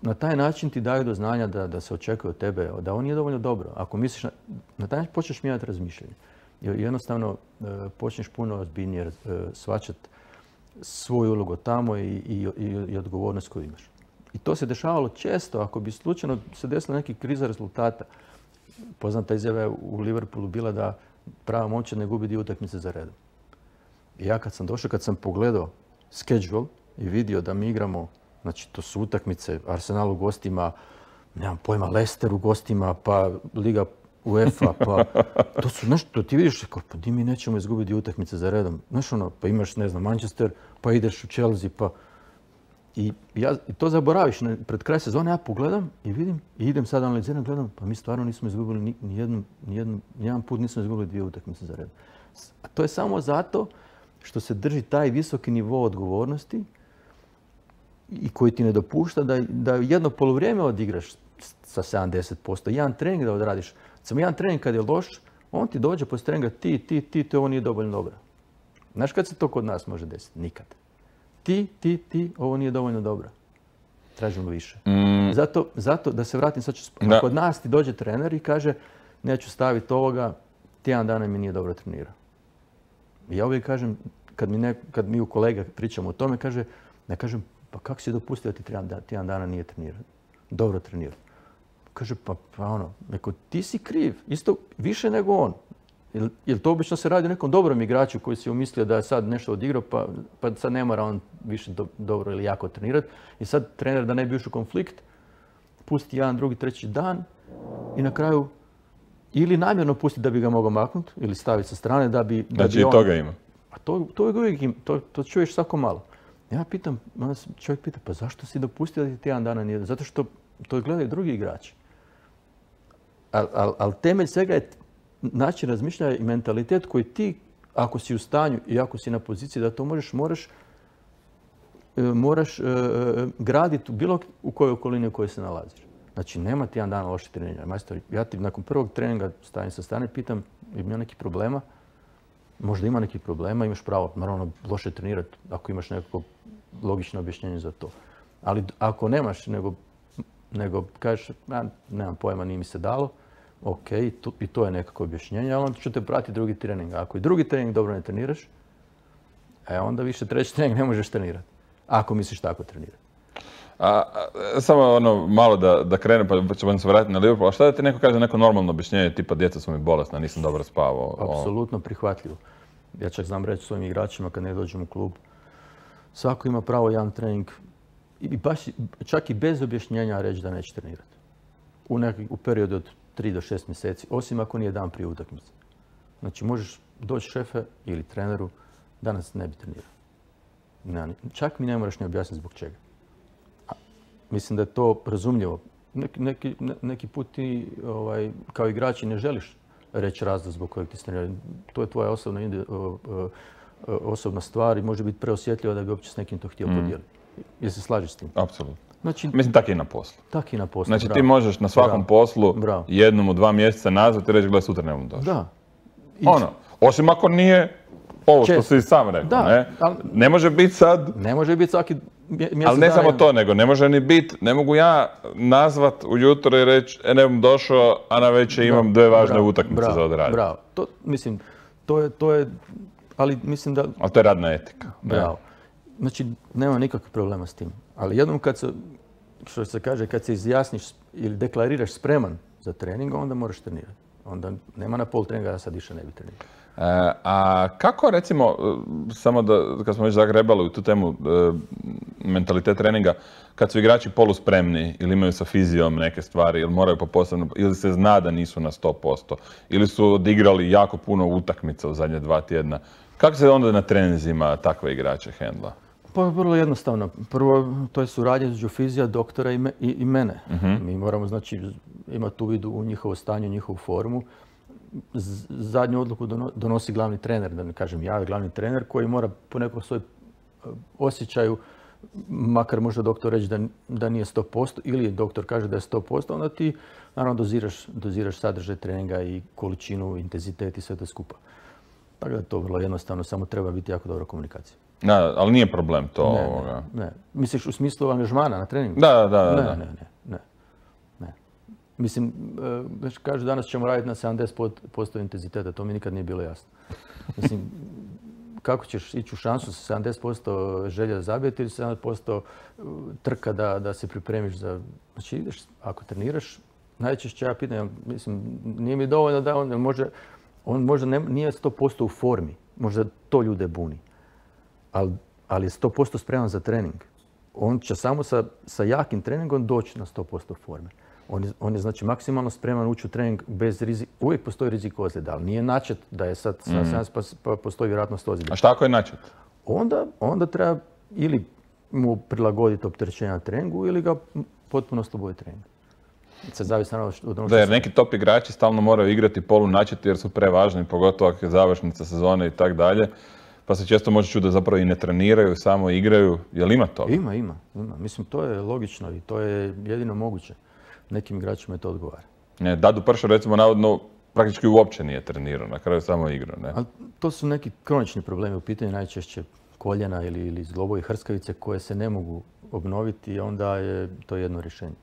na taj način ti daju do znanja da, da se očekuje od tebe, da ovo nije dovoljno dobro. Ako misliš, na, na taj način počneš mijenjati razmišljanje. Jednostavno e, počneš puno ozbiljnije e, shvaćati svoju ulogu tamo i, i, i, i odgovornost koju imaš. I to se dešavalo često. Ako bi slučajno se desila neki kriza rezultata, poznata izjava je u Liverpoolu bila da prava momčad ne gubi dio utakmice za redom. I ja kad sam došao, kad sam pogledao schedule i vidio da mi igramo, znači to su utakmice, Arsenal u gostima, nemam pojma, Leicester u gostima, pa Liga UEFA, pa to su nešto, ti vidiš, kao, pa di mi nećemo izgubiti utakmice za redom. Znaš ono, pa imaš, ne znam, Manchester, pa ideš u Chelsea, pa... I, ja, i to zaboraviš, pred kraj sezone ja pogledam i vidim, i idem sad analiziram, gledam, pa mi stvarno nismo izgubili ni, ni, jednu, ni, jednu, ni jedan put nismo izgubili dvije utakmice za redom. A to je samo zato što se drži taj visoki nivo odgovornosti i koji ti ne dopušta da, da jedno polovrijeme odigraš sa sedamdeset posto. Jedan trening da odradiš. Samo jedan trening kad je loš, on ti dođe poslije treninga ti, ti, ti, ti, ovo nije dovoljno dobro. Znaš kad se to kod nas može desiti? Nikad. Ti, ti, ti, ovo nije dovoljno dobro. Tražimo više. Mm. Zato, zato, da se vratim, sad ću, da. Kod nas ti dođe trener i kaže neću staviti ovoga, tjedan dana mi nije dobro trenirao. I ja uvijek kažem, kad mi, ne, kad mi u kolega pričamo o tome, kaže, ne kažem, pa kako si dopustio da ti tjedan dana nije trenirao? Dobro trenirao. Kaže, pa, pa ono, neko, ti si kriv, isto više nego on. Jer, jer to obično se radi o nekom dobrom igraču koji si umislio da je sad nešto odigrao, pa, pa sad ne mora on više do, dobro ili jako trenirati. I sad trener da ne bi ušao u konflikt, pusti jedan, drugi, treći dan i na kraju ili namjerno pusti da bi ga mogao maknuti ili staviti sa strane da bi... Da znači bi i on, toga ima. A to, to uvijek ima, to, to čuješ svako malo. Ja pitam, onda čovjek pita, pa zašto si dopustio da ti tjedan dana nije? Zato što to gledaju drugi igrači. Ali al, al temelj svega je način razmišljanja i mentalitet koji ti, ako si u stanju i ako si na poziciji da to možeš, moraš, moraš uh, graditi u bilo u kojoj okolini u kojoj se nalaziš. Znači, nema ti jedan dan loše treninga. Majstor, ja ti nakon prvog treninga stavim sa strane, pitam, ima nekih problema? Možda ima nekih problema, imaš pravo, naravno, loše trenirati ako imaš neko logično objašnjenje za to. Ali ako nemaš, nego, nego kažeš, ja nemam pojma, nije mi se dalo, ok, to, i to je nekako objašnjenje, ali onda ću te pratiti drugi trening. Ako i drugi trening dobro ne treniraš, e, onda više treći trening ne možeš trenirati. Ako misliš tako trenirati. A, a, samo ono malo da, da krene, pa ćemo se vratiti na Liverpool. A šta da ti neko kaže, neko normalno objašnjenje, tipa djeca su mi bolesna, nisam dobro spavao? Apsolutno prihvatljivo. Ja čak znam reći svojim igračima kad ne dođem u klub, svako ima pravo jedan trening i baš čak i bez objašnjenja reći da neće trenirati. U, neki, u periodu od tri do šest mjeseci, osim ako nije dan prije utakmice. Znači možeš doći šefe ili treneru, danas ne bi trenirao. Ne, čak mi ne moraš ni objasniti zbog čega. A, mislim da je to razumljivo. Neki, neki, neki put ti ovaj, kao igrači ne želiš reći razlog zbog kojeg ti se trenira. To je tvoja osobna, osobna stvar i može biti preosjetljiva da bi uopće s nekim to htio mm. podijeliti. Jel se slažeš s tim? Apsolutno. Znači, mislim, tako i na poslu. Tako i na poslu, Znači bravo. Ti možeš na svakom bravo. poslu bravo. jednom u dva mjeseca nazvati i reći, gledaj, sutra ne budem došao. Da. I... Ono, osim ako nije ovo što si sam rekao, da, ne? Ali, ne može biti sad... Ne može biti svaki mjesec Ali ne dana samo to, nego ne može ni biti, ne mogu ja nazvat ujutro i reći, e, ne bom došao, a na večer imam dve važne bravo, utakmice bravo, za odraditi. Bravo, to, mislim, to je, to je, ali mislim da... Ali to je radna etika. Bravo. Znači, nema nikakvih problema s tim. Ali jednom kad se, što se kaže, kad se izjasniš ili deklariraš spreman za trening, onda moraš trenirati. Onda nema na pol treninga, ja sad više ne bi trenirao. E, a kako, recimo, samo da, kad smo već zagrebali u tu temu e, mentalitet treninga, kad su igrači poluspremni ili imaju sa fizijom neke stvari ili moraju po posebno, ili se zna da nisu na sto posto, ili su odigrali jako puno utakmica u zadnje dva tjedna, kako se onda na treninzima takve igrače hendla? Pa vrlo jednostavno. Prvo, to je suradnja između fizija, doktora i, me, i, i mene. Uh-huh. Mi moramo, znači, imati uvid u njihovo stanje, u njihovu formu. Z- zadnju odluku donosi glavni trener, da ne kažem ja, glavni trener koji mora po nekom svoj osjećaju, makar možda doktor reći da, da nije sto posto ili doktor kaže da je sto posto, onda ti naravno doziraš, doziraš sadržaj treninga i količinu, intenzitet i sve to skupa. Tako da je to vrlo jednostavno, samo treba biti jako dobra komunikacija. Da, ali nije problem to ne, ovoga. Ne, ne. Misliš u smislu angažmana na treningu? Da, da, da. Ne, da. ne, ne, ne, ne. Mislim, već kažu danas ćemo raditi na sedamdeset posto intenziteta, to mi nikad nije bilo jasno. Mislim, kako ćeš ići u šansu sa sedamdeset posto želja da zabijeti ili sedamdeset posto trka da, da se pripremiš za... Znači ideš, ako treniraš, najčešće ja pitam, mislim, nije mi dovoljno da on može, on možda ne, nije sto posto u formi, možda to ljude buni, ali, ali je sto posto spreman za trening. On će samo sa, sa jakim treningom doći na sto posto forme. On je, on je znači maksimalno spreman ući u trening bez rizika. Uvijek postoji rizik ozljede, ali nije načet da je sad mm. sedamdeset pa postoji vjerojatnost ozljede. A šta ako je načet? Onda, onda treba ili mu prilagoditi opterećenja na treningu ili ga potpuno osloboditi treninga. Se zavisi naravno od onog Da, jer neki top igrači stalno moraju igrati polu načeti jer su prevažni, pogotovo ako je završnica sezone i tak dalje. Pa se često može čuti da zapravo i ne treniraju, samo igraju. Jel ima to? Ima, ima, ima. Mislim, to je logično i to je jedino moguće. Nekim igračima je to odgovara. Ne, Dadu Pršo, recimo, navodno praktički uopće nije trenirao, na kraju samo igrao, ne? Ali to su neki kronični problemi u pitanju, najčešće koljena ili, ili zglobovi hrskavice koje se ne mogu obnoviti i onda je to jedno rješenje.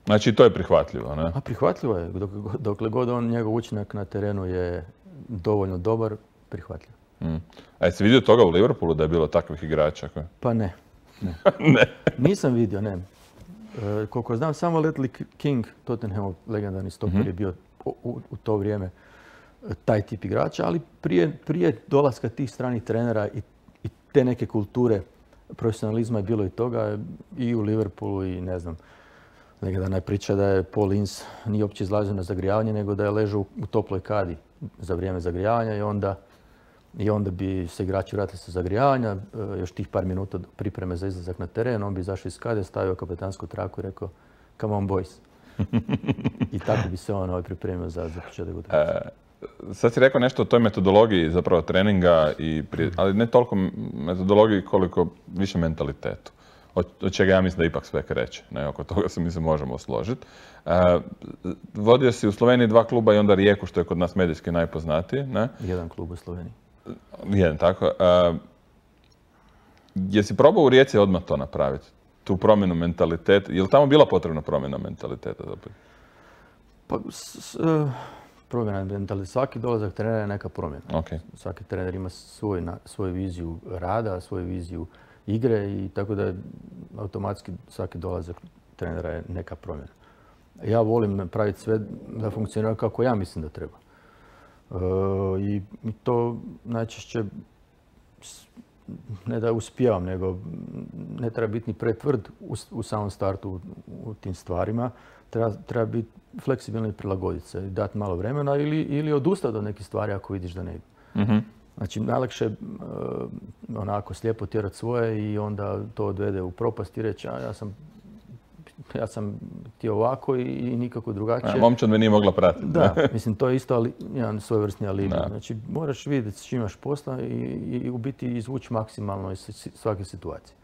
Znači to je prihvatljivo, ne? A prihvatljivo je. Dok, dokle god on, njegov učinak na terenu je dovoljno dobar, prihvatljivo. Mm. A jesi vidio toga u Liverpoolu da je bilo takvih igrača? Koje? Pa ne. Ne. ne. Nisam vidio, ne. E, koliko znam, samo Ledley King, Tottenhamov legendarni stoper, mm-hmm. je bio u, u, u to vrijeme taj tip igrača, ali prije, prije dolaska tih stranih trenera i, i te neke kulture profesionalizma je bilo i toga i u Liverpoolu i ne znam. Legendarna je priča da je Paul Ince nije uopće izlazio na zagrijavanje, nego da je ležao u toploj kadi za vrijeme zagrijavanja i onda, i onda bi se igrači vratili sa zagrijavanja, još tih par minuta pripreme za izlazak na teren, on bi izašao iz kade, stavio kapetansku traku i rekao come on boys. I tako bi se on ovaj pripremio za, za početak utakmice. Sad si rekao nešto o toj metodologiji zapravo treninga, i prije, ali ne toliko metodologiji koliko više mentalitetu. Od čega ja mislim da ipak sve kreće. Ne, oko toga se mi se možemo složiti. Uh, vodio si u Sloveniji dva kluba i onda Rijeku, što je kod nas medijski najpoznatiji. Ne? Jedan klub u Sloveniji. Jedan, tako. Uh, jesi probao u Rijeci odmah to napraviti? Tu promjenu mentaliteta? Je li tamo bila potrebna promjena mentaliteta? Pa, s, uh, promjena mentaliteta. Svaki dolazak trenera je neka promjena. Okay. Svaki trener ima svoj, na, svoju viziju rada, svoju viziju igre i tako da automatski svaki dolazak trenera je neka promjena. Ja volim napraviti sve da funkcionira kako ja mislim da treba. E, i, I to najčešće ne da uspijevam, nego ne treba biti ni pretvrd u, u samom startu u, u tim stvarima. Treba, treba biti fleksibilno i prilagoditi se, dati malo vremena ili, ili odustati od nekih stvari ako vidiš da ne ide. Mm-hmm. Znači, najlakše je uh, onako slijepo tjerati svoje i onda to odvede u propast i reći, a ja sam, ja sam ti ovako i, i nikako drugačije. Momčad me nije mogla pratiti. Da, mislim, to je isto ali, jedan svojevrsni alibi. Znači, moraš vidjeti s čim imaš posla i, i u biti izvući maksimalno iz svake situacije.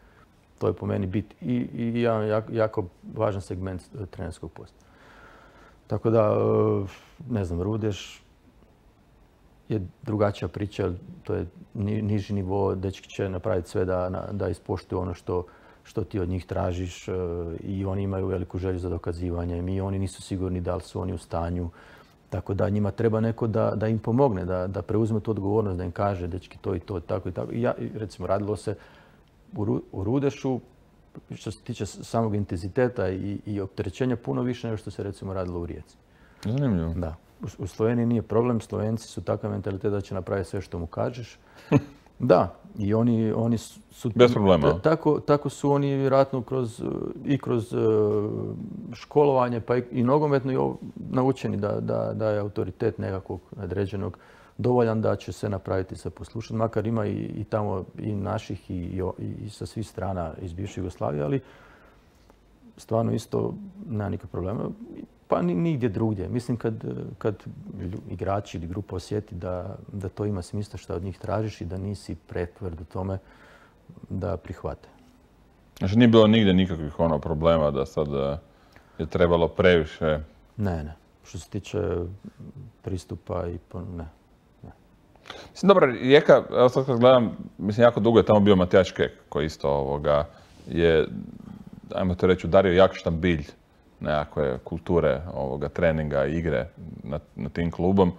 To je po meni bit i, i jedan jako, jako važan segment trenerskog posla. Tako da, uh, ne znam, Rudeš je drugačija priča, to je niži nivo, dečki će napraviti sve da, da ispoštuju ono što, što ti od njih tražiš i oni imaju veliku želju za dokazivanje i oni nisu sigurni da li su oni u stanju. Tako da njima treba neko da, da im pomogne, da, da preuzme tu odgovornost, da im kaže dečki to i to, tako i tako. I ja, recimo, radilo se u, u Rudešu, što se tiče samog intenziteta i, i opterećenja, puno više nego što se recimo radilo u Rijeci. Zanimljivo. Da. U Sloveniji nije problem, Slovenci su takav mentalitet da će napraviti sve što mu kažeš. Da, i oni, oni su... Bez problema. Tako, tako su oni vjerojatno kroz, i kroz školovanje pa i, i nogometno i naučeni da, da, da je autoritet nekakvog nadređenog dovoljan da će se napraviti sa poslušan. Makar ima i, i tamo i naših i, i, i sa svih strana iz bivše Jugoslavije, ali stvarno isto nema nikakvog problema. Pa nigdje drugdje. Mislim kad, kad igrači ili grupa osjeti da, da to ima smisla što od njih tražiš i da nisi pretvrd u tome da prihvate. Znači nije bilo nigdje nikakvih ono problema da sad je trebalo previše? Ne, ne. Što se tiče pristupa i ne. ne. Mislim, dobro, Rijeka, evo sad kad gledam, mislim jako dugo je tamo bio Matijaš Kek koji isto ovoga je, ajmo to reći, udario jak štambilj nekakve kulture ovoga treninga, igre na, na tim klubom.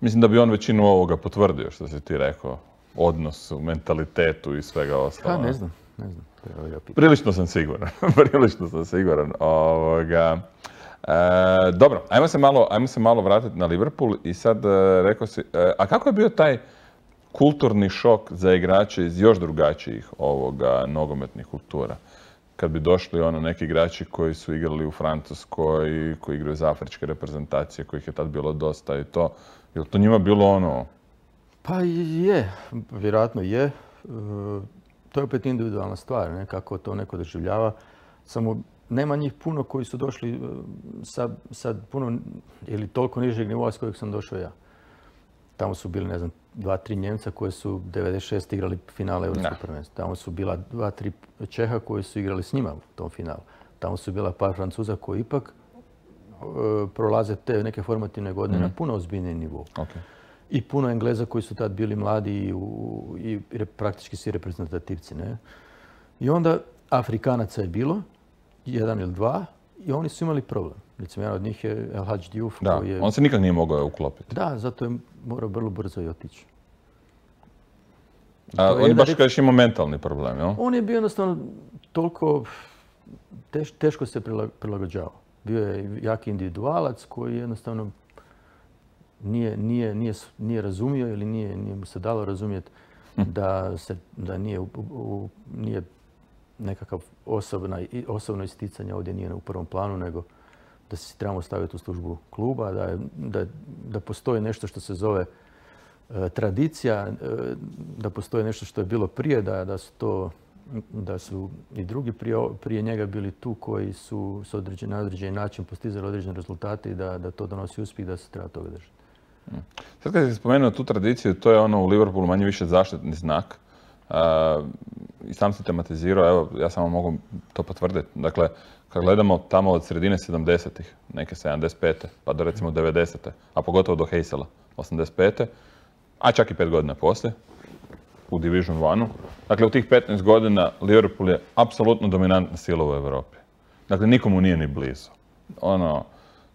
Mislim da bi on većinu ovoga potvrdio, što si ti rekao, odnosu, mentalitetu i svega ostalo. Ha, ne znam, ne znam. Prilično sam siguran, prilično sam siguran. Ovoga. E, dobro, ajmo se, malo, ajmo se malo vratiti na Liverpool i sad e, rekao si, e, a kako je bio taj kulturni šok za igrače iz još drugačijih ovoga nogometnih kultura? Kad bi došli ono neki igrači koji su igrali u Francuskoj, koji igraju za afričke reprezentacije, kojih je tad bilo dosta i to, je li to njima bilo ono? Pa je, vjerojatno je. E, to je opet individualna stvar, ne? Kako to neko doživljava. Samo nema njih puno koji su došli sa, sad puno ili toliko nižeg nivoa s kojeg sam došao ja. Tamo su bili, ne znam, dva, tri Njemca koji su devedeset šeste igrali finale Europskog prvenstva. Tamo su bila dva, tri Čeha koji su igrali s njima u tom finalu. Tamo su bila par Francuza koji ipak e, prolaze te neke formativne godine mm-hmm. na puno ozbiljniji nivou. Okay. I puno Engleza koji su tad bili mladi i, u, i praktički svi reprezentativci. Ne? I onda Afrikanaca je bilo, jedan ili dva, i oni su imali problem. Recimo, jedan od njih je El Hadji Diouf. Da, koji je... on se nikad nije mogao uklopiti. Da, zato je morao vrlo brzo i otići. A, on je baš kažeš imao mentalni problem, jel? On je bio jednostavno toliko teš, teško se prilagođavao. Bio je jaki individualac koji jednostavno nije, nije, nije, nije razumio ili nije, nije mu se dalo razumjeti da, se, da nije, u, u, nije nekakav osobna, osobno isticanje ovdje nije u prvom planu, nego da se trebamo staviti u službu kluba, da, je, da, da postoji nešto što se zove e, tradicija, e, da postoji nešto što je bilo prije, da, da su to da su i drugi prije, prije njega bili tu koji su s određen, na određeni način postizali određene rezultate i da, da to donosi uspjeh, da se treba toga držati. Sad kad si spomenuo tu tradiciju, to je ono u Liverpoolu manje više zaštitni znak. Uh, I sam si tematizirao, evo, ja samo mogu to potvrditi. Dakle, kad gledamo tamo od sredine sedamdesetih, neke sedamdeset pete pa do recimo devedesete a pogotovo do Heysela, osamdeset pete a čak i pet godina poslije, u Division One-u. Dakle, u tih petnaest godina Liverpool je apsolutno dominantna sila u Europi. Dakle, nikomu nije ni blizu. Ono,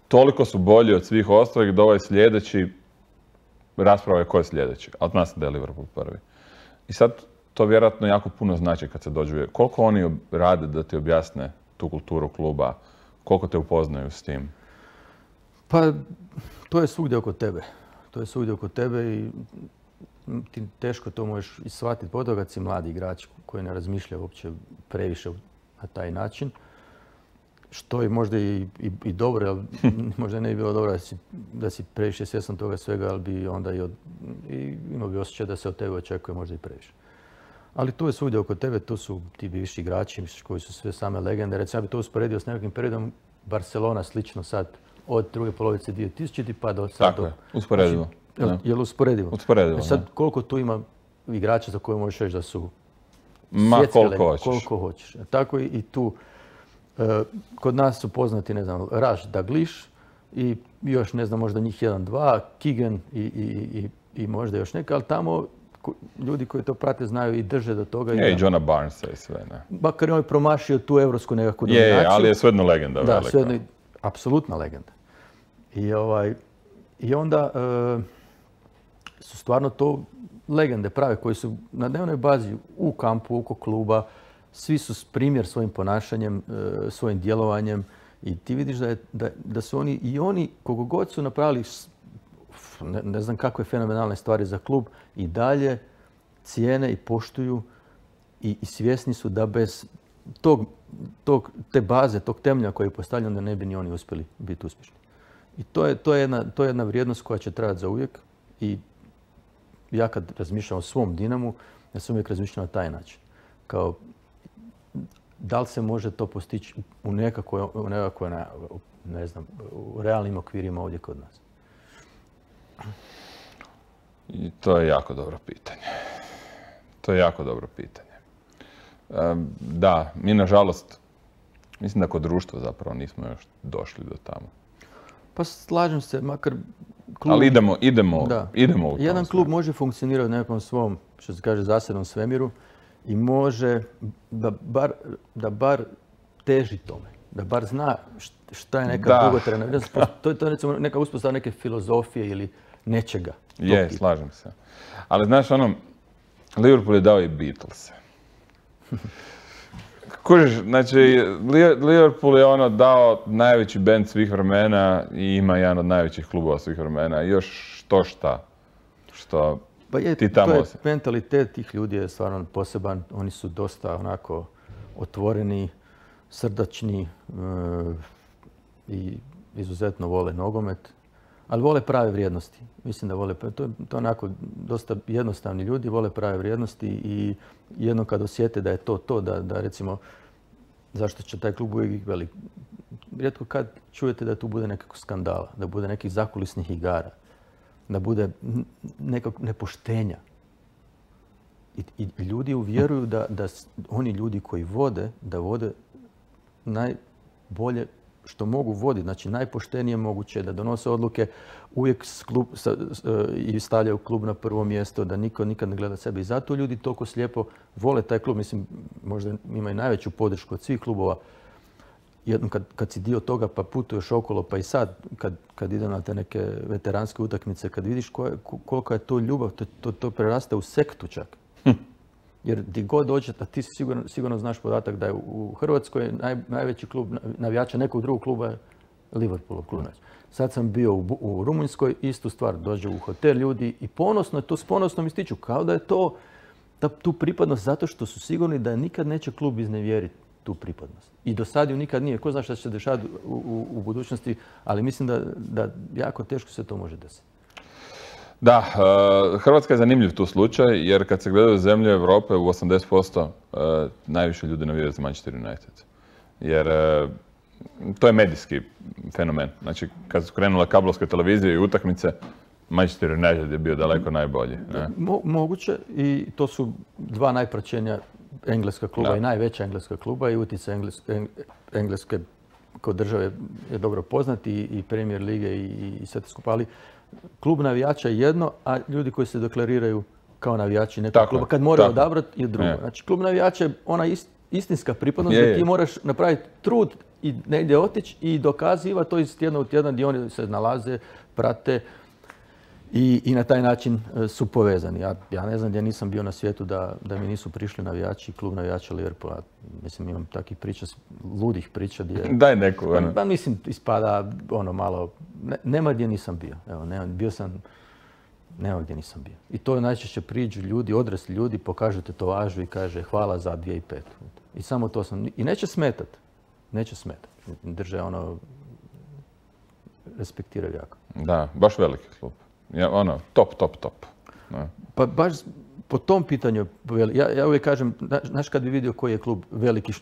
toliko su bolji od svih ostalih da ovaj sljedeći, rasprava je ko je sljedeći, ali zna se da je Liverpool prvi. I sad to vjerojatno jako puno znači kad se dođe. Koliko oni rade da ti objasne tu kulturu kluba, koliko te upoznaju s tim? Pa, to je svugdje oko tebe. To je svugdje oko tebe i ti teško to možeš i shvatiti, pogotovo kad si mladi igrač koji ne razmišlja uopće previše na taj način. Što je možda i, i, i dobro, ali možda ne bi bilo dobro da si, da si previše svjestan toga svega, ali bi onda i, od, i imao bi osjećaj da se od tebe očekuje možda i previše. Ali to je svugdje oko tebe, to su ti bivši igrači koji su sve same legende. Recimo, ja bi to usporedio s nekakvim periodom Barcelona slično sad od druge polovice dvije tisućite pa do sad. Tako je, usporedivo. Znači, je li usporedivo? Usporedivo, e sad, koliko tu ima igrača za koje možeš reći da su Ma koliko legende, hoćeš. Koliko hoćeš. Tako i, i tu. E, kod nas su poznati, ne znam, Raj Dalglish i još, ne znam, možda njih jedan, dva, Keegan i, i, i, i možda još neka, ali tamo ljudi koji to prate znaju i drže do toga. Je, i Johna Barnesa i sve, ne. Makar je on promašio tu evropsku nekakvu dominaciju. Je, ali je svejedno legenda da, velika. Svejedno, apsolutna legenda. I, ovaj, i onda e, su stvarno to legende prave koji su na dnevnoj bazi u kampu, oko kluba. Svi su primjer svojim ponašanjem, e, svojim djelovanjem i ti vidiš da, je, da, da su oni i oni, koliko god su napravili ne, ne znam kakve fenomenalne stvari za klub, i dalje cijene i poštuju i, i svjesni su da bez tog, tog, te baze, tog temelja koji je postavljen, da ne bi ni oni uspjeli biti uspješni. I to je, to je, jedna, to je jedna vrijednost koja će trajati za uvijek i ja kad razmišljam o svom Dinamu, ja sam uvijek razmišljam na taj način. Kao, da li se može to postići u nekakvoj, u nekakvoj ne znam, u realnim okvirima ovdje kod nas? I to je jako dobro pitanje. To je jako dobro pitanje. Um, da, mi nažalost, mislim da kod društva zapravo nismo još došli do tamo. Pa slažem se, makar klub... Ali idemo, idemo, da. idemo u tom. Jedan klub može funkcionirati u nekom svom, što se kaže, zasebnom svemiru i može da bar, da bar teži tome. Da bar zna šta je neka dugotrajna. To je to recimo neka uspostava neke filozofije ili nečega. Je, slažem se. Ali znaš ono, Liverpool je dao i Beatlese. Kužiš, znači, Liverpool je ono dao najveći bend svih vremena i ima jedan od najvećih klubova svih vremena. I još što šta, što pa je, ti tamo... To je mentalitet tih ljudi je stvarno poseban. Oni su dosta onako otvoreni, srdačni e, i izuzetno vole nogomet. Ali vole prave vrijednosti. Mislim da vole, to je to onako dosta jednostavni ljudi, vole prave vrijednosti i jedno kad osjete da je to to, da, da recimo, zašto će taj klub uvijek velik. Rijetko kad čujete da tu bude nekakvog skandala, da bude nekih zakulisnih igara, da bude nekog nepoštenja. I, i ljudi uvjeruju da, da oni ljudi koji vode, da vode najbolje što mogu voditi, znači najpoštenije moguće, da donose odluke uvijek s klub, sa, s, i stavljaju klub na prvo mjesto, da niko nikad ne gleda sebe. I zato ljudi toliko slijepo vole taj klub. Mislim, možda imaju najveću podršku od svih klubova. Jednom kad, kad si dio toga pa putuješ okolo, pa i sad kad, kad idem na te neke veteranske utakmice, kad vidiš koje, koliko je to ljubav, to, to, to preraste u sektu čak. Hm. Jer di god dođete, a ti si sigurno, sigurno znaš podatak da je u Hrvatskoj naj, najveći klub navijača nekog drugog kluba je Liverpoolov klub. Sad sam bio u, u Rumunjskoj, istu stvar, dođe u hotel ljudi i ponosno, to s ponosnom ističu, kao da je to ta, tu pripadnost zato što su sigurni da nikad neće klub iznevjeriti tu pripadnost. I do sad ju nikad nije. Ko zna šta će se dešavati u, u, u budućnosti, ali mislim da, da jako teško se to može desiti. Da, Hrvatska je zanimljiv tu slučaj, jer kad se gledaju zemlje Europe u osamdeset posto najviše ljudi navijaju za Manchester United. Jer to je medijski fenomen. Znači, kad su krenule kablovske televizije i utakmice, Manchester United je bio daleko najbolji. Mo, moguće, i to su dva najpraćenija engleska kluba da. I najveća engleska kluba i utjecaj Engles, Engleske kod države je dobro poznat i, i Premier lige i, i sve to skupa, ali klub navijača je jedno, a ljudi koji se deklariraju kao navijači nekog tako, kluba, kad moraju odabrati je drugo. Je. Znači, klub navijača je ona ist, istinska pripadnost je, gdje ti moraš napraviti trud i negdje otići i dokazivati to iz tjedna u tjedan gdje oni se nalaze, prate i, i na taj način su povezani. Ja, ja ne znam gdje nisam bio na svijetu da, da mi nisu prišli navijači, klub navijača Liverpoola. Mislim, imam takvih priča, ludih priča gdje... Daj neku. Ono. Pa mislim, ispada ono malo... Ne, nema gdje nisam bio. Evo, nema, bio sam... Nema gdje nisam bio. I to najčešće priđu ljudi, odrasli ljudi, pokažu tetovažu i kaže hvala za dvije tisuće pete. I samo to sam... I neće smetat. Neće smetat. Drže ono... Respektiraju jako. Da, baš veliki klub. Ja, ono, top, top, top. No. Pa baš po tom pitanju, ja, ja uvijek kažem, znaš kad bi vidio koji je klub veliki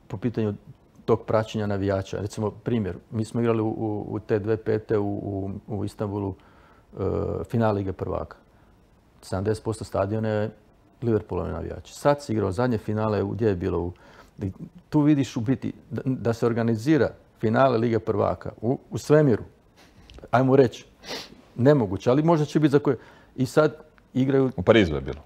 po pitanju tog praćenja navijača. Recimo, primjer, mi smo igrali u, u, u te dvije tisuće pete u, u, u Istanbulu uh, final Lige prvaka. sedamdeset posto stadiona je Liverpoolove navijači. Sad si igrao zadnje finale, gdje je bilo? U, tu vidiš u biti da, da se organizira finale Lige prvaka u, u svemiru. Ajmo reći. Nemoguće, ali možda će biti za koje. I sad igraju... U Parizu je bilo.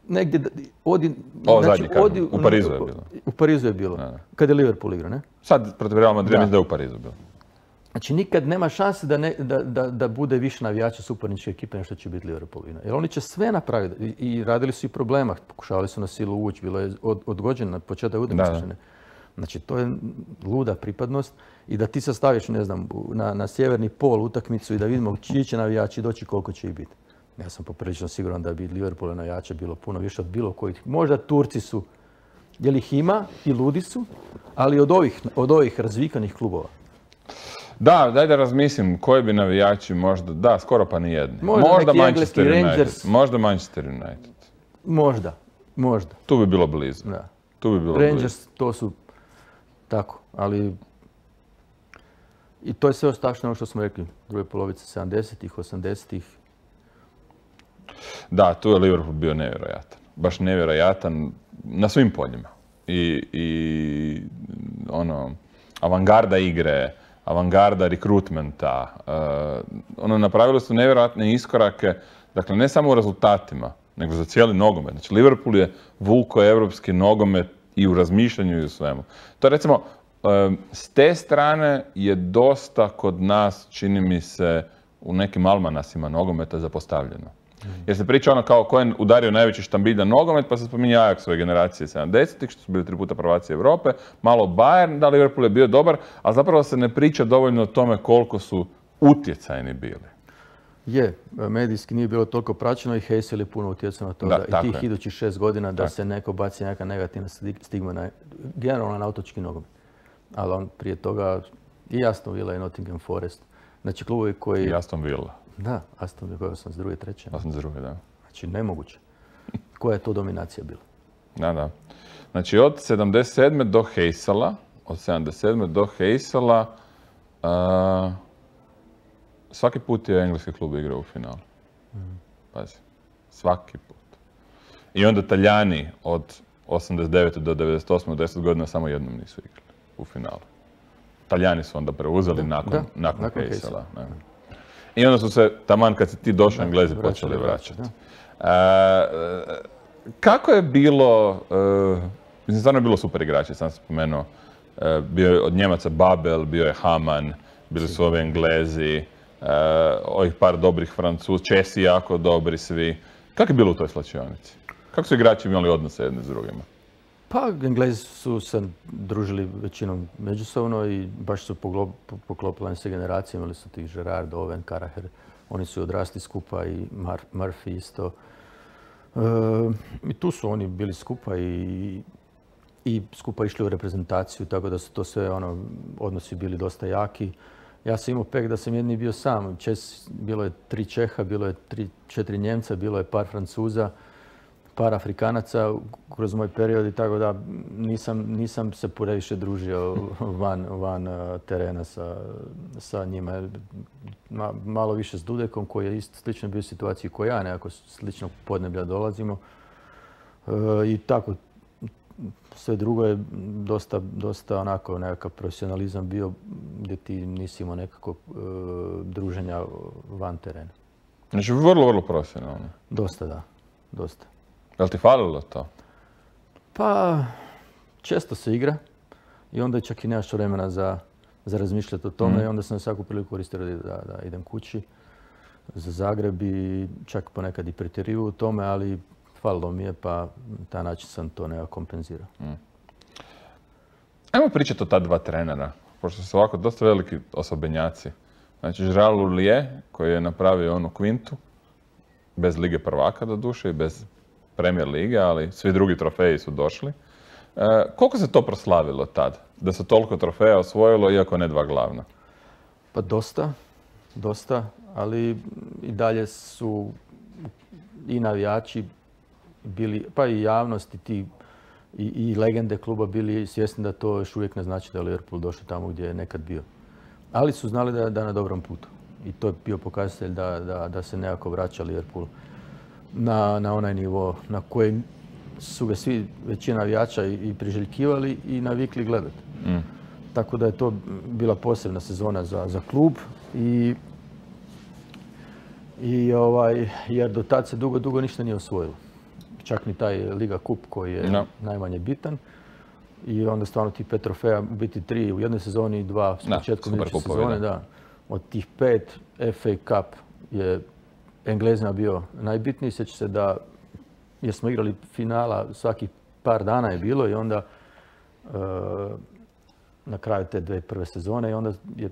Negdje... Odi, o, znači, zadnji odi, u Parizu je bilo. U Parizu je bilo. Da. Kad je Liverpool igrao, ne? Sad protiv Real Madrid mislim da je u Parizu bilo. Znači nikad nema šanse da, ne, da, da, da bude više navijača suparničke ekipe nešto će biti Liverpool. Jer oni će sve napraviti. I, i radili su i problema. Pokušavali su na silu ući. Bilo je od, odgođeno na početak utakmice. Znači, to je luda pripadnost i da ti se staviš, ne znam, na, na sjeverni pol utakmicu i da vidimo čiji će navijači doći, koliko će ih biti. Ja sam poprilično siguran da bi Liverpool navijača bilo puno više od bilo kojih. Možda Turci su, jer ih ima i ludi su, ali od ovih, od ovih razvikanih klubova. Da, daj da razmislim koji bi navijači možda, da, skoro pa nijedni. Možda, možda Manchester United. Rangers. Možda Manchester United. Možda, možda. Tu bi bilo blizu. Da. Tu bi bilo Rangers, blizu. To su tako, ali i to je sve ostašno ono što smo rekli, druge polovice sedamdesetih, osamdesetih. Da, tu je Liverpool bio nevjerojatan. Baš nevjerojatan na svim poljima. I, i ono, avangarda igre, avangarda rekrutmenta. Uh, ono, napravili su nevjerojatne iskorake, dakle ne samo u rezultatima, nego za cijeli nogomet. Znači, Liverpool je vulko evropski nogomet i u razmišljanju i u svemu. To recimo, s te strane je dosta kod nas, čini mi se, u nekim almanasima nogometa zapostavljeno. Jer se priča ono kao ko je udario najveći štambilj na nogomet, pa se spominje Ajaxove generacije sedamdesetih, što su bili tri puta prvaci Europe, malo Bayern, da Liverpool je bio dobar, a zapravo se ne priča dovoljno o tome koliko su utjecajni bili. Je, medijski nije bilo toliko praćeno i Heysel je puno utjecao na to da, da i tih idućih šest godina da tako. Se neko baci neka negativna stigma na, generalno na otočki nogomet. Ali on prije toga i Aston Villa i Nottingham Forest. Znači klubovi koji... I Aston Villa. Da, Aston Villa, osamdeset druge, treće. osamdeset druge, da. Znači nemoguće. Koja je to dominacija bila? Da, da. Znači od sedamdeset sedme do Heysela, od sedamdeset sedme do Heysela, uh, svaki put je engleski klub igrao u finalu. Mm. Pazi, svaki put. I onda Talijani od osamdeset devete do devedeset osme, deset godina samo jednom nisu igrali u finalu. Talijani su onda preuzeli da, nakon, da, nakon, nakon Heysela. I onda su se, taman kad si ti došao, da, Englezi počeli vraćati. Uh, kako je bilo, uh, mislim, stvarno je bilo super igrači, sam spomenuo. Uh, bio je od Njemaca Babel, bio je Haman, bili su ovi Englezi, uh, ovih par dobrih Francuz, Česi jako dobri svi. Kako je bilo u toj slačionici? Kako su igrači imali odnose jedni s drugima? Pa, Englezi su se družili većinom međusobno i baš su poklopile se generacije. Imali su tih Gerrard, Owen, Carragher. Oni su odrasli skupa i Murphy isto. E, I tu su oni bili skupa i, i skupa išli u reprezentaciju, tako da su to sve ono, odnosi bili dosta jaki. Ja sam imao pek da sam jedni bio sam. Čes, bilo je tri Čeha, bilo je tri, četiri Njemca, bilo je par Francuza, par Afrikanaca kroz moj period i tako da nisam, nisam se previše družio van, van terena sa, sa njima. Ma, malo više s Dudekom koji je isto slično bio u situaciji kao ja, nekako sličnog podneblja dolazimo. E, I tako, sve drugo je dosta, dosta onako nekakav profesionalizam bio gdje ti nisi imao nekako e, druženja van terena. Znači vrlo, vrlo profesionalno. Dosta, da. Dosta. Je li ti falilo to? Pa, često se igra i onda čak i nemaš vremena za, za razmišljati o tome mm. i onda sam svaku priliku koristio da, da idem kući za Zagreb i čak ponekad i pretjerivao u tome, ali falilo mi je pa taj način sam to nekako kompenzirao. Mm. Ajmo pričati o ta dva trenera, pošto su ovako dosta veliki osobenjaci. Znači, Gérard Houllier koji je napravio onu kvintu, bez Lige prvaka do duše i bez Premier lige, ali svi drugi trofeji su došli. E, koliko se to proslavilo tad? Da se toliko trofeja osvojilo, iako ne dva glavna? Pa dosta, dosta, ali i dalje su i navijači bili, pa i javnost i, ti, i, i legende kluba bili svjesni da to još uvijek ne znači da je Liverpool došao tamo gdje je nekad bio. Ali su znali da je da na dobrom putu. I to je bio pokazatelj da, da, da se nekako vraća Liverpool Na, na onaj nivo na koji su ga svi, većina navijača i, i priželjkivali i navikli gledati. Mm. Tako da je to bila posebna sezona za, za klub i, i ovaj, jer do tad se dugo, dugo ništa nije osvojilo. Čak ni taj Liga Kup koji je no. najmanje bitan. I onda stvarno tih pet trofeja, biti tri u jednoj sezoni i dva s početkom iduće sezone. Da. Od tih pet F A Cup je Englezima bio najbitniji. Sjeća se da, jer smo igrali finala svakih par dana je bilo i onda e, na kraju te dve prve sezone i onda je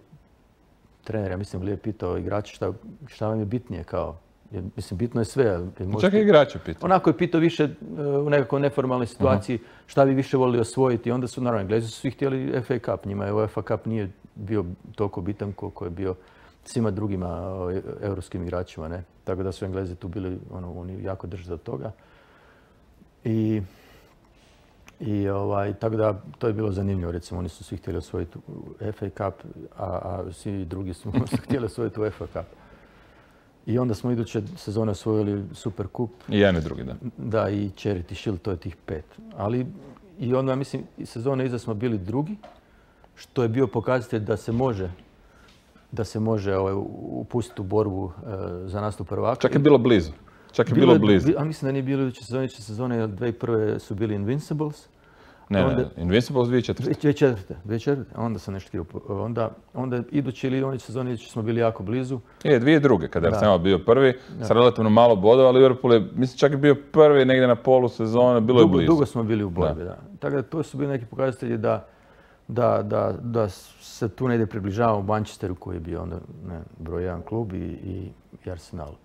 trener, ja mislim, Lijep pitao igrače šta, šta vam je bitnije kao. Jer, mislim, bitno je sve. Možete... Čak i igrače pitao. Onako je pitao više u nekakvoj neformalnoj situaciji uh-huh. šta bi više volili osvojiti. Onda su, naravno, Englezi su svi htjeli F A Cup. Njima je UEFA Cup nije bio toliko bitan koliko je bio svima drugima europskim igračima, ne? Tako da su Englezi tu bili, ono, oni jako drže do toga. I, i ovaj, tako da to je bilo zanimljivo, recimo, oni su svi htjeli osvojiti F A Cup, a, a svi drugi su htjeli osvojiti UEFA Cup. I onda smo iduće sezone osvojili Super Kup. I jedan i drugi, da. Da, i Charity Shield, to je tih pet. Ali i onda, mislim, sezone iza smo bili drugi, što je bio pokazatelj da se može da se može ovaj, upustiti u borbu e, za nastup prvaka. Čak je bilo blizu. Čak je bilo, bilo blizu. A mislim da nije bilo iduće sezone, iduće sezone, jer dvije prve su bili Invincibles. Ne, onda, ne, Invincibles dvije četvrte. Dvije četvrte, dvije četvrte. Onda sam nešto htio. Onda, onda iduće ili oni sezone iduće smo bili jako blizu. Je, dvije druge, kada je Arsenal bio prvi, da. Sa relativno malo bodova, Liverpool je, mislim, čak je bio prvi negdje na polu sezone, bilo dugo, je blizu. Dugo smo bili u borbi, da. da. Tako da to su bili neki pokazatelji da Da, da, da se tu negdje približavamo u Manchesteru koji je bio onda ne, broj jedan klub i, i, i Arsenal.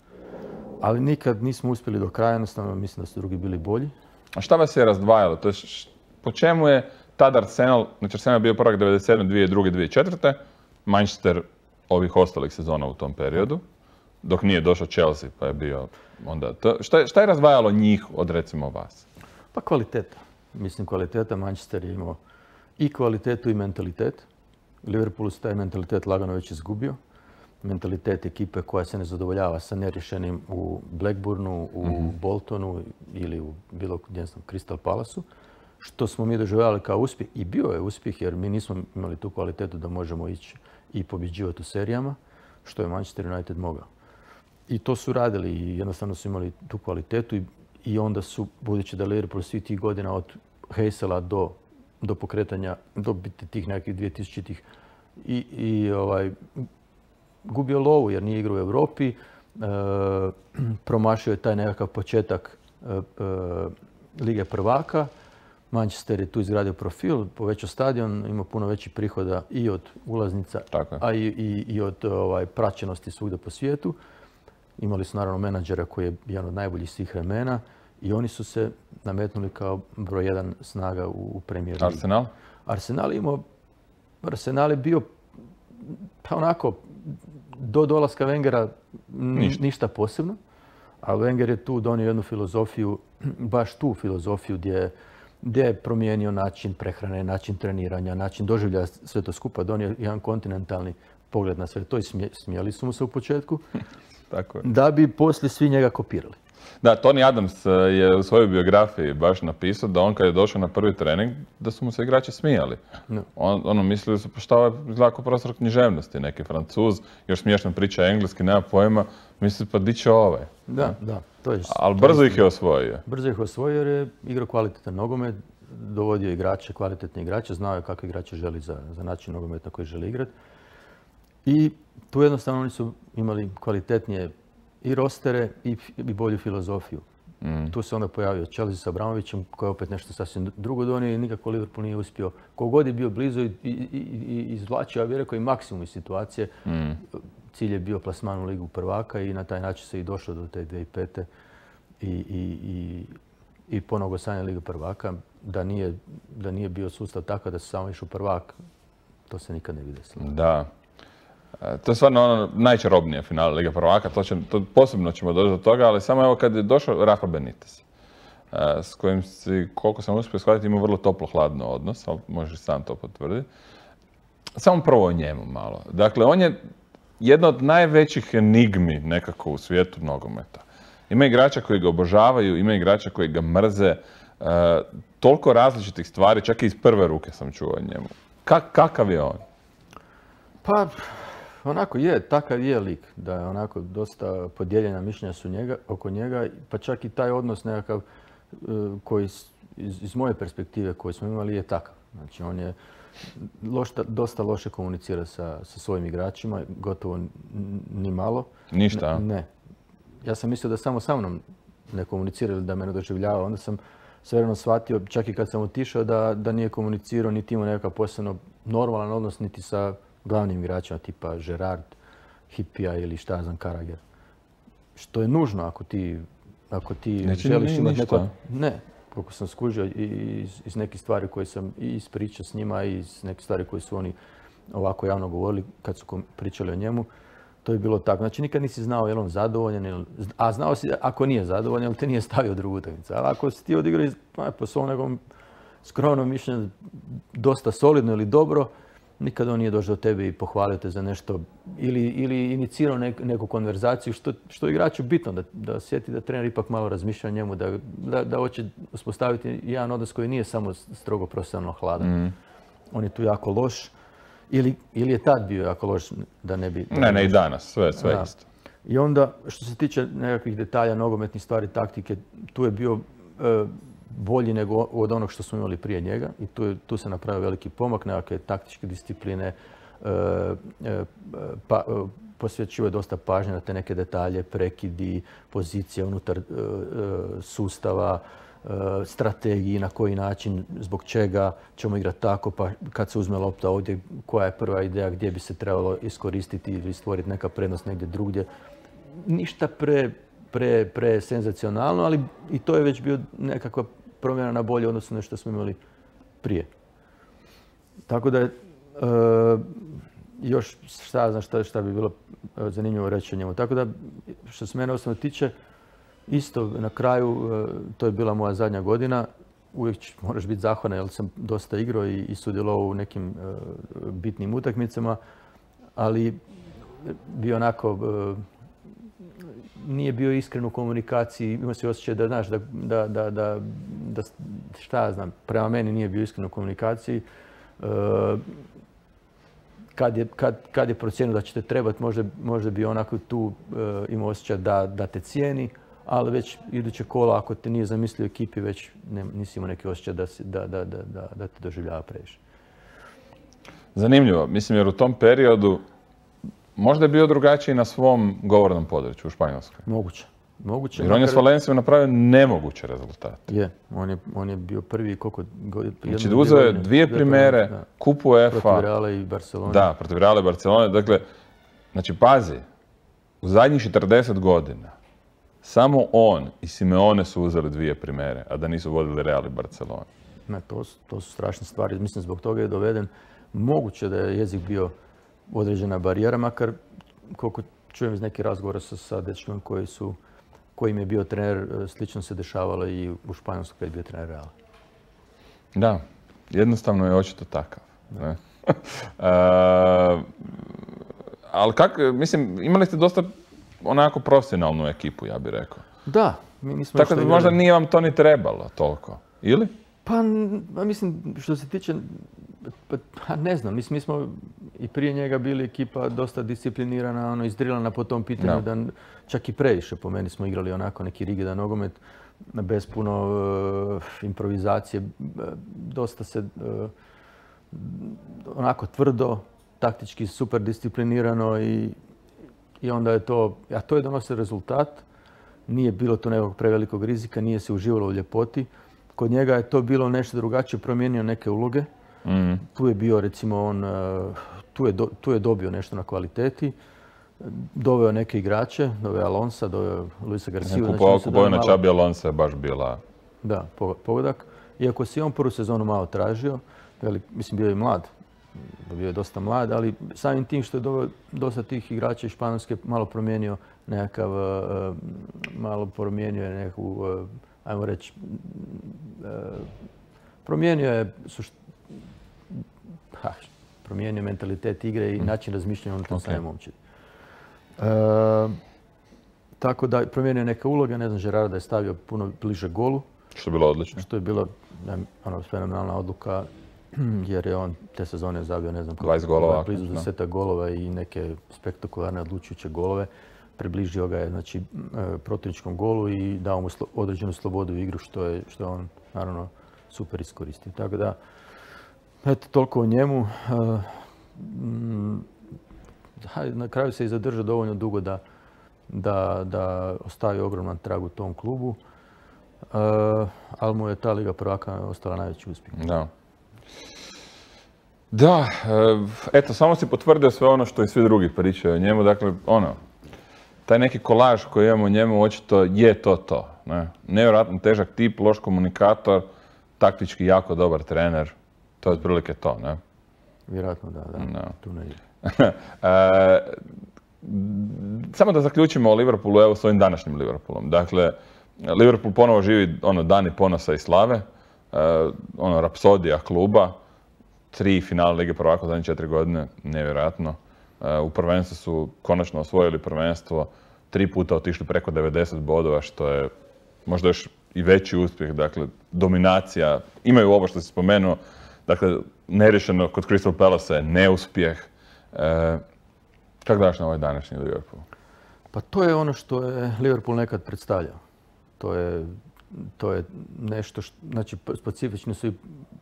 Ali nikad nismo uspjeli do kraja, jednostavno mislim da su drugi bili bolji. A šta vas je razdvajalo? To je š, po čemu je tad Arsenal, znači Arsenal je bio prvak devedeset sedme, dvije druge, dvije četvrte, Manchester ovih ostalih sezona u tom periodu, dok nije došao Chelsea pa je bio onda... To, šta, je, šta je razdvajalo njih od recimo vas? Pa kvaliteta. Mislim kvaliteta, Manchester je imao i kvalitetu i mentalitet. Liverpool se taj mentalitet lagano već izgubio. Mentalitet ekipe koja se ne zadovoljava sa nerješenim u Blackburnu, u mm-hmm. Boltonu ili u bilo gdje sam, Crystal Palaceu, što smo mi doživljavali kao uspjeh. I bio je uspjeh jer mi nismo imali tu kvalitetu da možemo ići i pobjeđivati u serijama, što je Manchester United mogao. I to su radili i jednostavno su imali tu kvalitetu i, i onda su, budući da Liverpool svih tih godina od Heysela do do pokretanja, do biti tih nekih dvije-tisućitih i, i ovaj, gubio lovu jer nije igrao u Europi. E, promašio je taj nekakav početak Lige prvaka. Manchester je tu izgradio profil, povećao stadion, ima puno većih prihoda i od ulaznica, a i, i, i od ovaj, praćenosti svugdje po svijetu. Imali su naravno menadžera koji je jedan od najboljih svih vremena i oni su se nametnuli kao broj jedan snaga u, u Premier Ligi. Arsenal? Arsenal imao, Arsenal je bio pa onako do dolaska Wengera ništa. ništa posebno, a Wenger je tu donio jednu filozofiju, baš tu filozofiju gdje gdje je promijenio način prehrane, način treniranja, način doživljaja sve to skupa, donio jedan kontinentalni pogled na sve to i smije, smijeli su mu se u početku, Tako je. Da bi poslije svi njega kopirali. Da, Tony Adams je u svojoj biografiji baš napisao da on kad je došao na prvi trening, da su mu se igrači smijali. No. On, ono, mislili su, pa šta je izgleda kao profesor književnosti, neki Francuz, još smiješno priča engleski, nema pojma, misli pa di će ovaj. Da, da. To je, ali brzo ih je osvojio. Brzo ih osvojio jer je igrao kvalitetan nogomet, dovodio igrače, kvalitetne igrače, znao je kakve igrače želi za, za način nogometa koji želi igrati. I tu jednostavno oni su imali kvalitetnije i rostere i, i bolju filozofiju. Mm. Tu se onda pojavio Chelsea sa Abramovićem koji je opet nešto sasvim drugo donio i nikako Liverpool nije uspio. Kogod je bio blizu i, i, i, i izvlačio, ja bih rekao, i maksimum iz situacije. Mm. Cilj je bio plasman u Ligu prvaka i na taj način se i došlo do te dvije tisuće pete. I, i, i, i ponovo osvajanje Lige prvaka. Da nije, da nije bio sustav takav da se samo išao prvak, to se nikad ne bi desilo. Da. To je stvarno ono najčarobnije finale Lige prvaka, to, će, to posebno ćemo doći do toga, ali samo evo kad je došao Rafa Benitez, s kojim si, koliko sam uspio shvatiti, ima vrlo toplo-hladno odnos, ali možeš sam to potvrditi. Samo prvo o njemu malo. Dakle, on je jedna od najvećih enigmi nekako u svijetu nogometa. Ima igrača koji ga obožavaju, ima igrača koji ga mrze, uh, toliko različitih stvari, čak i iz prve ruke sam čuo o njemu. Ka, kakav je on? Pa, onako je, takav je lik, da je onako dosta podijeljena mišljenja su njega, oko njega, pa čak i taj odnos nekakav koji iz, iz moje perspektive koji smo imali je takav. Znači on je lošta, dosta loše komunicira sa, sa svojim igračima, gotovo ni malo. Ništa? Ne, ne. Ja sam mislio da samo sa mnom ne komunicira ili da me ne doživljava. Onda sam svevremeno shvatio, čak i kad sam otišao, da, da nije komunicirao niti imao nekakav posebno normalan odnos niti sa glavnim igračima tipa Gerrard, Hippija ili šta ja znam, Karager. Što je nužno ako ti, ako ti Neći želiš imati neko... Ne, koliko sam skužio iz, iz nekih stvari koje sam i iz priča s njima i iz nekih stvari koje su oni ovako javno govorili kad su pričali o njemu. To je bilo tako. Znači nikad nisi znao je li on zadovoljan, ili, a znao si ako nije zadovoljan, ali te nije stavio drugu utakmicu. Ali ako si ti odigrao pa, po svom nekom skromnom mišljenju dosta solidno ili dobro, nikad on nije došao do tebe i pohvalio te za nešto ili, ili inicirao nek, neku konverzaciju, što, što je igraču bitno, da, da sjeti da trener ipak malo razmišlja o njemu, da, da, da hoće uspostaviti jedan odnos koji nije samo strogo profesionalno hladan. Mm. On je tu jako loš. Ili, ili je tad bio jako loš da ne bi... Da ne, ne, i danas, sve, sve da. Isto. I onda, što se tiče nekakvih detalja, nogometnih stvari, taktike, tu je bio e, bolji nego od onog što smo imali prije njega i tu, je, tu se napravio veliki pomak, nekakve taktičke discipline, e, e, pa, e, posvećuje je dosta pažnje na te neke detalje, prekidi, pozicije unutar e, e, sustava, strategiji, na koji način, zbog čega ćemo igrati tako, pa kad se uzme lopta ovdje, koja je prva ideja gdje bi se trebalo iskoristiti ili stvoriti neka prednost negdje drugdje. Ništa pre, pre, pre senzacionalno, ali i to je već bio nekakva promjena na bolje odnosno na što smo imali prije. Tako da je, e, još šta znam šta, šta bi bilo zanimljivo reći o njemu. Tako da, što se mene osobno tiče, isto na kraju, to je bila moja zadnja godina, uvijek moraš biti zahvalan jer sam dosta igrao i, i sudjelovao u nekim uh, bitnim utakmicama, ali bio onako, uh, nije bio iskren u komunikaciji, imao se osjećaj da, znaš, da, da, da, da, da šta ja znam, prema meni nije bio iskren u komunikaciji. Uh, kad, je, kad, kad je procijenio da će te trebati, možda, možda bi onako tu uh, imao osjećaj da, da te cijeni, ali već iduće kola, ako te nije zamislio ekipi, već ne, nisi imao neki osjećaj da, da, da, da, da te doživljava previše. Zanimljivo. Mislim, jer u tom periodu možda je bio drugačiji na svom govornom području u Španjolskoj. Moguće. Moguće. Jer on je s Valencijom napravio nemoguće rezultate. Je, on je, on je bio prvi koliko... Znači, uzeo je dvije primere, kupu UEFA. Protiv Reala i Barcelone. Da, protiv Reala i Barcelone. Dakle, znači, pazi, u zadnjih četrdeset godina samo on i Simeone su uzeli dvije primere, a da nisu vodili Real i Barcelone. Ne, to, to su strašne stvari. Mislim, zbog toga je doveden. Moguće da je jezik bio određena barijera, makar koliko čujem iz nekih razgovora sa, sa dečkima koji su, kojim je bio trener, slično se dešavalo i u Španjolskoj kad je bio trener Reala. Da, jednostavno je očito takav. Ne? uh, ali kak, mislim, imali ste dosta onako profesionalnu ekipu, ja bih rekao. Da, mi nismo... Tako da možda nije vam to ni trebalo toliko, ili? Pa, mislim, što se tiče, pa ne znam, mislim, mi smo i prije njega bili ekipa dosta disciplinirana, ono, izdrilana po tom pitanju, no. da čak i previše po meni smo igrali onako neki rigidan nogomet, bez puno uh, improvizacije, dosta se uh, onako tvrdo, taktički super disciplinirano i, i onda je to, a to je donosio rezultat, nije bilo to nekog prevelikog rizika, nije se uživalo u ljepoti. Kod njega je to bilo nešto drugačije, promijenio neke uloge. Mm. Tu je bio, recimo, on, tu je, do, tu je dobio nešto na kvaliteti. Doveo neke igrače, doveo Alonsa, doveo Luisa Garciju. Kupovao znači, na Čabi Alonsa je baš bila... Da, pogodak. Iako se on prvu sezonu malo tražio, velik, mislim, bio je mlad, bio je dosta mlad, ali samim tim što je doveo dosta tih igrača iz Španjolske, malo promijenio nekakav, malo promijenio je neku, ajmo reći, promijenio je, sušt... ha, promijenio mentalitet igre i način razmišljanja unutar okay. same momčadi. E, tako da promijenio neke uloge, ne znam, Gerarda je stavio puno bliže golu. Što je bilo odlično. Što je bila ono, fenomenalna odluka, jer je on te sezone zabio, ne znam, dvadeset golova, blizu desetak golova i neke spektakularne odlučujuće golove. Približio ga je, znači, protivničkom golu i dao mu određenu slobodu u igru, što je, što je on, naravno, super iskoristio. Tako da, eto, toliko o njemu. Na kraju se i zadržao dovoljno dugo da, da, da ostavi ogroman trag u tom klubu, ali mu je ta Liga prvaka ostala najveći uspjeh. Da. Da, eto, samo si potvrdio sve ono što i svi drugi pričaju o njemu. Dakle, ono, taj neki kolaž koji imamo o njemu očito je to to. Ne? Nevjerojatno težak tip, loš komunikator, taktički jako dobar trener. To je otprilike to, ne? Vjerojatno da, da. No. Tu ne ide. e, samo da zaključimo o Liverpoolu, evo s ovim današnjim Liverpoolom. Dakle, Liverpool ponovo živi ono, dani ponosa i slave, e, ono, rapsodija kluba, tri finale Lige prvaka u zadnje četiri godine, nevjerojatno. E, u prvenstvu su konačno osvojili prvenstvo, tri puta otišli preko devedeset bodova, što je možda još i veći uspjeh, dakle, dominacija. Imaju ovo što si spomenuo, dakle, nerješeno kod Crystal Palace je neuspjeh. E, kako daš na ovaj današnji Liverpool? Pa to je ono što je Liverpool nekad predstavljao. To je, to je nešto, što, znači, specifični su i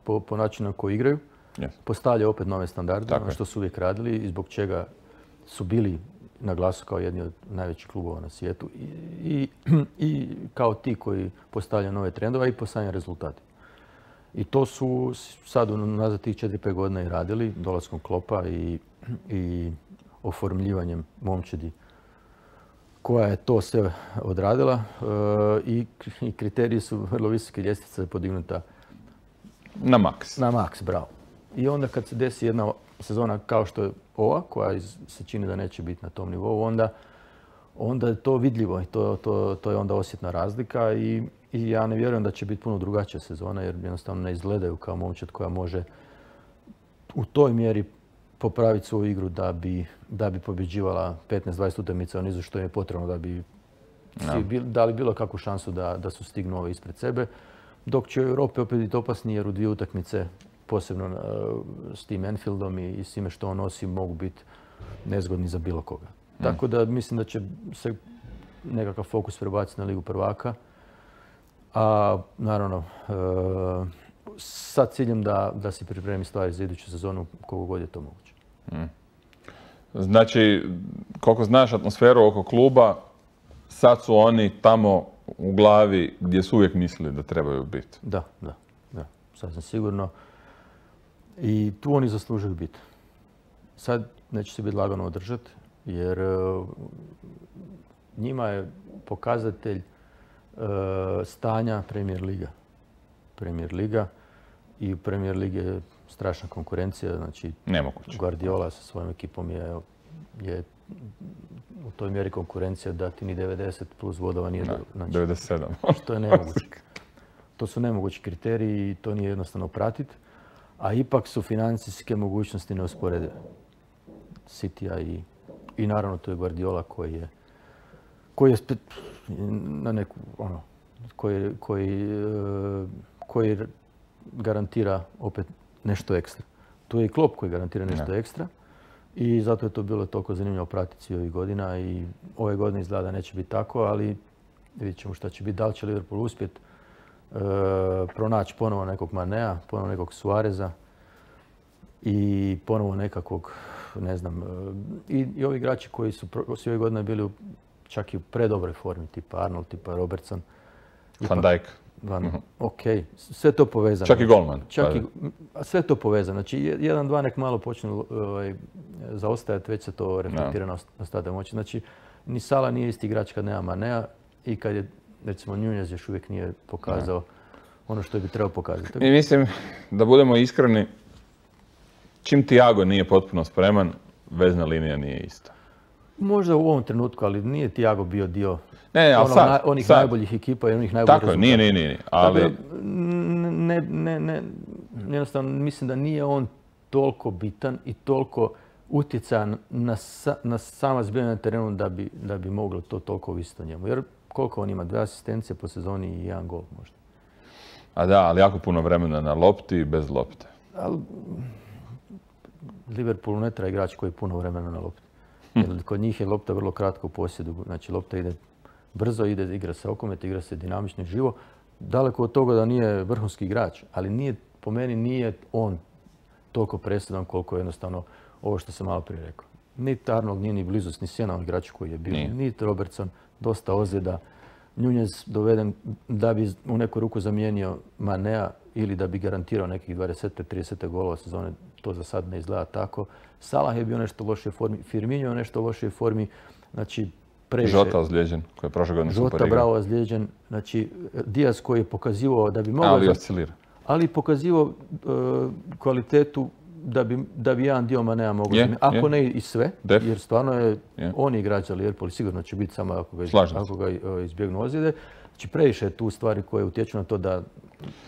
po, po načinu na koji igraju. Yes. Postavljaju opet nove standarde, ono što su uvijek radili i zbog čega su bili na glasu kao jedni od najvećih klubova na svijetu i, i, i kao ti koji postavljaju nove trendove i postavljaju rezultate. I to su sad nazad tih četiri pet godina i radili, dolaskom Kloppa i, i oformljivanjem momčadi koja je to sve odradila e, i, i kriteriji su vrlo visoke, ljestvica je podignuta na maks. Na maks, bravo. I onda kad se desi jedna sezona kao što je ova, koja se čini da neće biti na tom nivou, onda, onda je to vidljivo i to, to, to je onda osjetna razlika i, i ja ne vjerujem da će biti puno drugačija sezona jer jednostavno ne izgledaju kao momčad koja može u toj mjeri popraviti svoju igru da bi, da bi pobjeđivala petnaest dvadeset utakmica u nizu što je potrebno da bi no. dali bilo kakvu šansu da, da su stignu ove ispred sebe. Dok će u Europi opet biti opasni jer u dvije utakmice, posebno uh, s tim Anfieldom i, i s time što on nosi, mogu biti nezgodni za bilo koga. Mm. Tako da mislim da će se nekakav fokus prebaciti na Ligu prvaka. A naravno, uh, sa ciljem da, da si pripremi stvari za iduću sezonu koliko god je to moguće. Mm. Znači, koliko znaš atmosferu oko kluba, sad su oni tamo u glavi gdje su uvijek mislili da trebaju biti. Da, da, da, sasvim sigurno. I tu oni zaslužuju biti. Sad neće se biti lagano održati, jer uh, njima je pokazatelj uh, stanja Premier Liga. Premier Liga i u Premier Ligi je strašna konkurencija. Znači, nemoguće. Guardiola sa svojom ekipom je, je u toj mjeri konkurencija da ti ni devedeset plus bodova nije... Da, znači, devedeset sedam. To je nemoguće. To su nemogući kriteriji i to nije jednostavno pratiti. A ipak su financijske mogućnosti neusporedive. Citya i, i naravno to je Guardiola koji je, koji je spet na neku, ono, koji, koji, koji garantira opet nešto ekstra. Tu je i Klopp koji garantira nešto ne. ekstra i zato je to bilo toliko zanimljivo pratiti ovih godina i ove godine izgleda da neće biti tako, ali vidjet ćemo šta će biti. Da li će Liverpool uspjeti e, pronaći ponovo nekog Manea, ponovo nekog Suareza i ponovo nekakvog, ne znam, i, i ovi igrači koji su svi ove godine bili u, čak i u predobroj formi, tipa Arnold, tipa Robertson. Van Dijk. Van, uh-huh. Ok, sve to povezano. Čak i golman. Čak i, sve to povezano. Znači, jedan, dva nek malo počnu ovaj, zaostajati, već se to reflektira no. na ostatak moći. Znači, ni Salah nije isti igrač kad nema Manea i kad je, recimo, Nunez još uvijek nije pokazao no. ono što bi trebao pokazati. I mislim, da budemo iskreni, čim Thiago nije potpuno spreman, vezna linija nije ista. Možda u ovom trenutku, ali nije Thiago bio dio ne, ne, onog, sad, na, onih sad. najboljih ekipa i onih najboljih rezultata. Tako, nije, nije, nije. Ali... Dakle, ne, ne, ne, jednostavno mislim da nije on toliko bitan i toliko utjecajan na, sa, na sama zbivanja na terenu da bi, da bi moglo to toliko ovisiti o njemu. Jer koliko on ima? Dve asistencije po sezoni i jedan gol možda. A da, ali jako puno vremena na lopti i bez lopte. Ali Liverpoolu ne treba igrač koji je puno vremena na lopti. Jer kod njih je lopta vrlo kratko u posjedu. Znači lopta ide brzo, ide, igra se okomet, igra se dinamično i živo. Daleko od toga da nije vrhunski igrač, ali nije, po meni nije on toliko presudan koliko je jednostavno ovo što sam malo prije rekao. Niti Arnold nije ni blizu ni sjena igrača koji je bio, niti Robertson, dosta ozljeda. Nunez doveden da bi u neku ruku zamijenio Manea ili da bi garantirao nekih dvadeset do trideset golova sezone, to za sad ne izgleda tako. Salah je bio nešto u lošoj formi, Firmino je nešto u lošoj formi, znači previše. Žota ozlijeđen, koji je prošle godine super igrao. Žota bravo ozlijeđen, znači Diaz koji je pokazivao da bi mogao... Ali oscilira. Ali pokazivao uh, kvalitetu da bi, da bi jedan dio Manea mogao yeah, zamijeniti. Ako yeah. ne i sve, Def. jer stvarno je yeah. on igrač za Liverpool, sigurno će biti samo ako ga, ako ga izbjegnu ozljede. Znači previše je tu stvari koje utječu na to da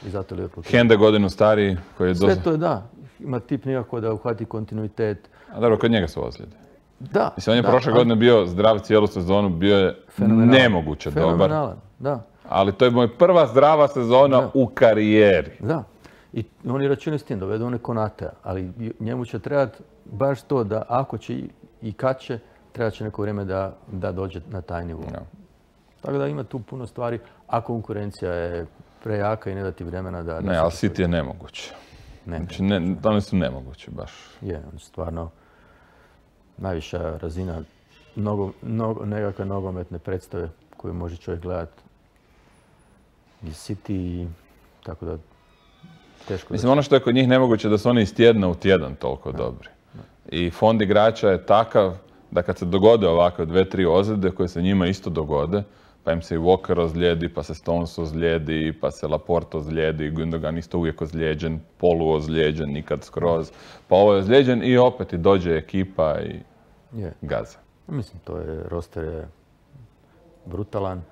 i zato Liverpool... Hende godinu stariji koji je... Sve dosta... to je da. Ima tip nikako da uhvati kontinuitet. A dobro, kod njega su ozljede. Da. Mislim, on je da, prošle ali... godine bio zdrav cijelu sezonu, bio je nemoguće dobar. Fenomenalan, da. Ali to je moj prva zdrava sezona da. u karijeri. Da. I oni računaju s tim, dovedu one Konatea, ali njemu će trebati baš to da ako će i kad će, treba će neko vrijeme da, da dođe na taj nivo. Ja. Tako da ima tu puno stvari, a konkurencija je prejaka i ne da ti vremena da... Ne, ali City je nemoguće. Ne, znači, ne, oni su nemogući baš. Je, oni stvarno najviša razina nogo, nogo, nekakve nogometne predstave koju može čovjek gledati iz City, tako da teško... Mislim, ono što je kod njih nemoguće da su oni iz tjedna u tjedan toliko da. dobri. Da. I fond igrača je takav da kad se dogode ovakve dve, tri ozljede koje se njima isto dogode, pa im se i Walker ozlijedi, pa se Stones ozlijedi, pa se Laporte ozlijedi, Gundogan isto uvijek ozlijeđen, polu ozlijeđen, nikad skroz. Pa ovo je ozlijeđen i opet i dođe ekipa i je. gaza. Mislim, to je, roster je brutalan,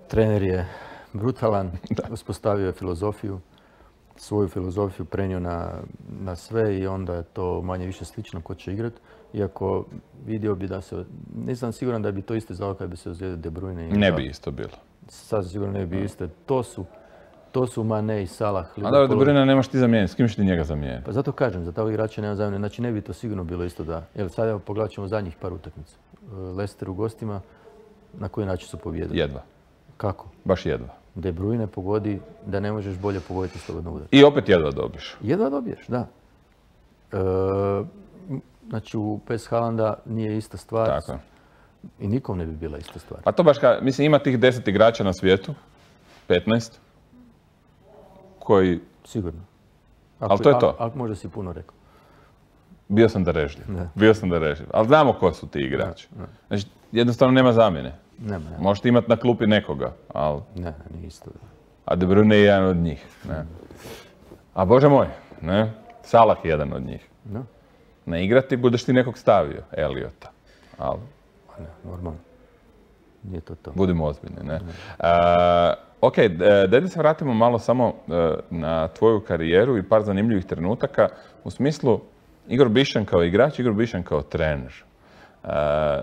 trener je brutalan, uspostavio je filozofiju, svoju filozofiju prenio na, na sve i onda je to manje više slično ko će igrati. Iako vidio bi da se, nisam siguran da bi to isto znao kad bi se ozlijedio De Bruyne. Ne bi isto bilo. Sad sigurno ne bi isto. To su, to su Mane i Salah. A dobro, De Bruyne nemaš ti zamijeniti. S kim ćeš ti njega zamijeniti? Pa zato kažem, za takvog igrača nema zamjene. Znači ne bi to sigurno bilo isto da... Evo sad evo pogledat ćemo zadnjih par utakmica. Leicester u gostima, na koji način su pobijedili? Jedva. Kako? Baš jedva. De Bruyne pogodi da ne možeš bolje pogoditi slobodno udar. I opet jedva dobiješ. Jedva dobiješ, da. E, znači u P S Haalanda nije ista stvar. Tako. I nikom ne bi bila ista stvar. Pa to baš ka, mislim, ima tih deset igrača na svijetu, petnaest, koji... Sigurno. Ako, ali to je to. Ali možda si puno rekao. Bio sam darežljiv. Bio sam darežljiv. Ali znamo ko su ti igrači. Ne, ne. Znači, jednostavno nema zamjene. Nema, nema. Možete imati na klupi nekoga, ali... Ne, nije isto. A De Bruyne je jedan od njih. Ne. A Bože moj, ne? Salah je jedan od njih. No. Ne igrati, budeš ti nekog stavio, Eliota. Ali... Ne, normalno. Nije to to. Budimo ozbiljni, ne? A, ok, daj da se vratimo malo samo na tvoju karijeru i par zanimljivih trenutaka. U smislu, Igor Bišćan kao igrač, Igor Bišćan kao trener. A,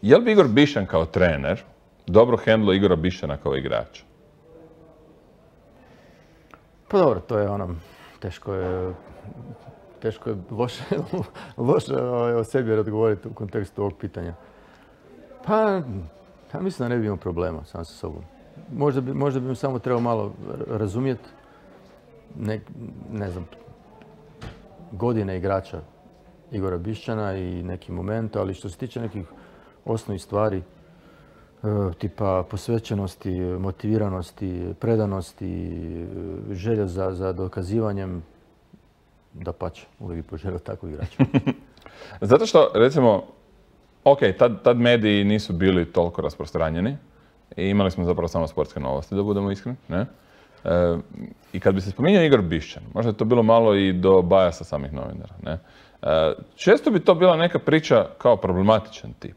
je li bi Igor Bišćan kao trener dobro hendlo Igora Bišćana kao igrača? Pa dobro, to je ono, teško je, teško je loše, loše o sebi odgovoriti u kontekstu ovog pitanja. Pa, ja mislim da ne bi imao problema sam sa sobom. Možda bi, možda bi mi samo trebao malo razumjeti, ne, ne znam, godine igrača Igora Bišćana i neki moment, ali što se tiče nekih osnovnih stvari, tipa posvećenosti, motiviranosti, predanosti, želja za, za dokazivanjem, dapače, uvijek bi poželio takvog igrača. Zato što, recimo, ok, tad, tad mediji nisu bili toliko rasprostranjeni i imali smo zapravo samo sportske novosti, da budemo iskreni, ne? E, I kad bi se spominjao Igor Bišćan, možda je to bilo malo i do bajasa samih novinara, ne? E, često bi to bila neka priča kao problematičan tip.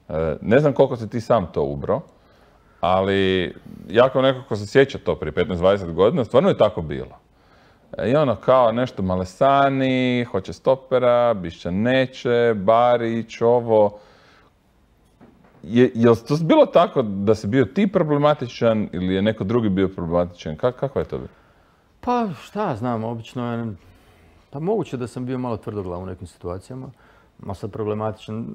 E, ne znam koliko si ti sam to ubro, ali ja kao neko ko se sjeća to prije petnaest dvadeset godina, stvarno je tako bilo. E, I ono kao nešto Malesani, hoće stopera, Bišćan neće, Barić, ovo. Je, je li to bilo tako da si bio ti problematičan ili je neko drugi bio problematičan? Ka, kako je to bilo? Pa šta znam, obično je, pa moguće da sam bio malo tvrdoglav u nekim situacijama, malo sad problematičan,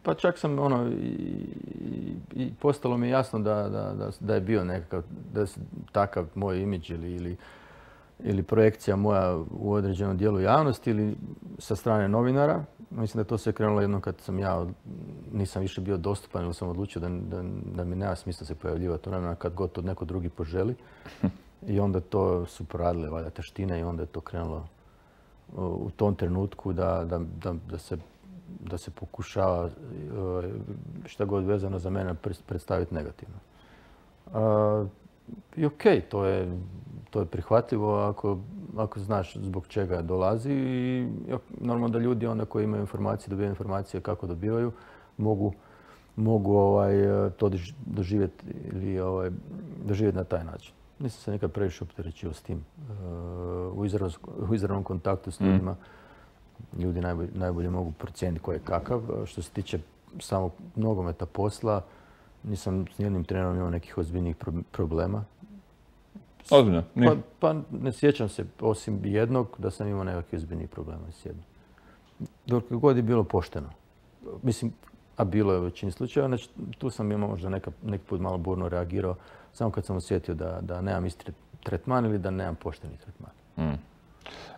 pa čak sam ono i, i, i postalo mi je jasno da, da, da, da je bio nekakav, da je takav moj imidž ili, ili, ili projekcija moja u određenom dijelu javnosti ili sa strane novinara. Mislim da je to sve krenulo jednom kad sam ja, nisam više bio dostupan ili sam odlučio da, da, da mi nema smisla se pojavljivati u vremena kad god to neko drugi poželi. I onda to su poradile valjda taštine i onda je to krenulo u tom trenutku da, da, da, da, se, da se pokušava šta god vezano za mene predstaviti negativno. A, I okej, okay, to je, to je prihvatljivo ako, ako znaš zbog čega dolazi i normalno da ljudi onda koji imaju informacije, dobijaju informacije kako dobivaju, mogu, mogu ovaj, to doživjeti ili ovaj, doživjeti na taj način. Nisam se nekad previše opterećio s tim. U, izrav, u izravnom kontaktu s ljudima mm. ljudi najbolje, najbolje mogu procijeniti ko je kakav. Što se tiče samog nogometa posla, nisam s nijednim trenerom imao nekih ozbiljnih problema. Ozbiljno? Pa, pa ne sjećam se, osim jednog, da sam imao nekakvih ozbiljnih problema s jednim. Dok god je bilo pošteno. Mislim, a bilo je u većini slučajeva, znači tu sam imao možda neka, neki put malo burno reagirao, samo kad sam osjetio da, da nemam isti tretman ili da nemam pošteni tretman. Mm.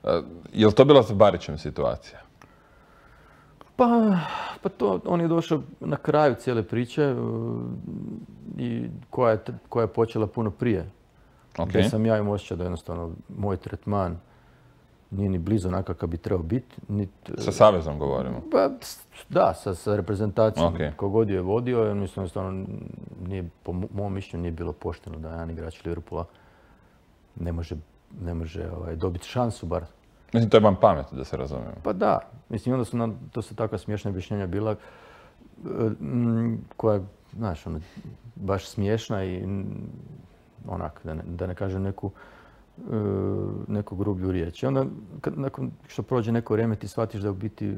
Uh, je li to bila sa Barićem situacija? Pa, pa to, on je došao na kraju cijele priče uh, i koja je, koja je počela puno prije. Okay. Gdje sam ja imao osjećaj da jednostavno moj tretman nije ni blizu onakav kakav bi trebao biti. Nit, sa savezom govorimo? Pa, da, sa, sa reprezentacijom. Okay. Kogod je vodio, mislim jednostavno nije, po mom mišljenju nije bilo pošteno da jedan igrač Liverpoola ne može, ne može ovaj, dobiti šansu bar. Mislim, to je vam pamet, da se razumijemo. Pa da. Mislim, onda su nam, to su takva smiješna objašnjenja bila m, koja je, znaš, ono, baš smiješna i onak, da ne, da ne kažem neku, neku grublju riječ. I onda, kad, nakon što prođe neko vrijeme, ti shvatiš da je u biti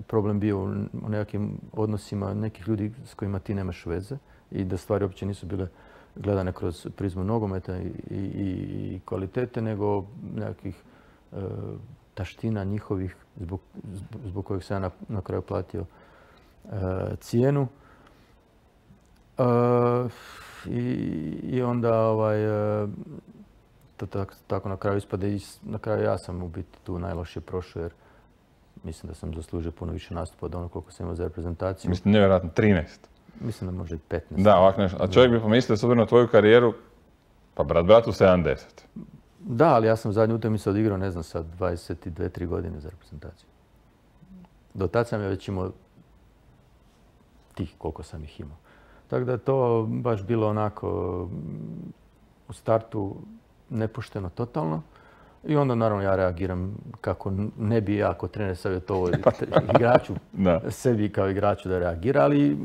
problem bio u nekakvim odnosima nekih ljudi s kojima ti nemaš veze i da stvari uopće nisu bile gledane kroz prizmu nogometa i, i, i kvalitete, nego nekakvih e, taština njihovih zbog, zbog kojih sam ja na, na kraju platio e, cijenu. E, i, I onda ovaj, e, to tako, tako na kraju ispade i na kraju ja sam u biti tu najlošije prošao jer Mislim da sam zaslužio puno više nastupa od ono koliko sam imao za reprezentaciju. Mislim, nevjerojatno, trinaest. Mislim da može i petnaest. Da, ovak nešto. A čovjek bi pomislio, s obzirom na tvoju karijeru, pa brat bratu sedamdeset. Da, ali ja sam zadnju utakmicu odigrao, ne znam, sa dvadeset dvije tri godine za reprezentaciju. Do tad sam ja već imao tih koliko sam ih imao. Tako da je to baš bilo onako u startu nepošteno totalno. I onda naravno ja reagiram kako ne bi ja kao trener savjetovao igraču, sebi kao igraču da reagira, ali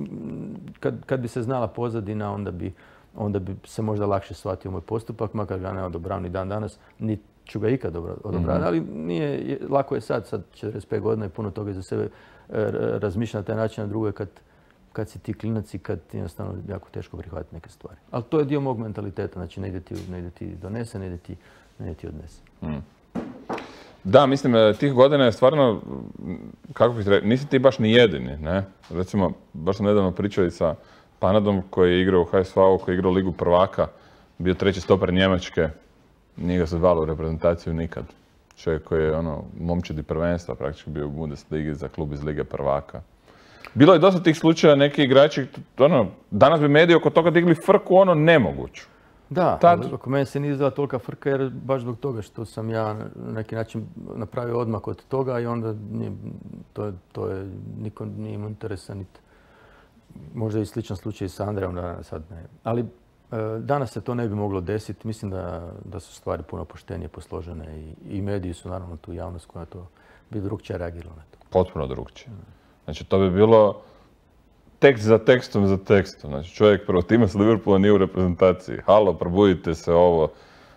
kad, kad bi se znala pozadina, onda bi, onda bi se možda lakše shvatio moj postupak, makar ga ne odobravam ni dan danas, ni ću ga ikad odobravati, mm-hmm. ali nije, lako je sad, sad četrdeset pet godina i puno toga za sebe razmišljati na taj način, a drugo je kad, kad si ti klinac i kad ti jednostavno jako teško prihvatiti neke stvari. Ali to je dio mog mentaliteta, znači ne ide ti, ne ide ti donese, ne ide ti, ne ide ti odnese. Mm. Da, mislim, tih godina je stvarno, kako bih rekao, nisi ti baš ni jedini, ne? Recimo, baš sam nedavno pričao i sa Panadom koji je igrao u H S V-u, koji je igrao Ligu prvaka, bio treći stoper Njemačke, nije ga se zvalo u reprezentaciju nikad. Čovjek koji je ono, momčadi prvenstva, praktički bio u Bundesligi za klub iz Lige prvaka. Bilo je dosta tih slučaja, neki igrači, ono, danas bi mediji oko toga digli frku, ono, nemoguću. Da, Tad... ali oko mene se nije izdala tolika frka jer baš zbog toga što sam ja na neki način napravio odmak od toga i onda nije, to, to je, niko nije imao interesa niti. Možda i sličan slučaj sa Andrejom, da sad ne. Ali e, danas se to ne bi moglo desiti. Mislim da, da su stvari puno poštenije posložene i, i mediji su naravno tu javnost koja to bi drugčije reagirala na to. Potpuno drugčije. Znači to bi bilo tekst za tekstom za tekstom. Znači čovjek prvo tima sa Liverpoola nije u reprezentaciji. Halo, probudite se ovo.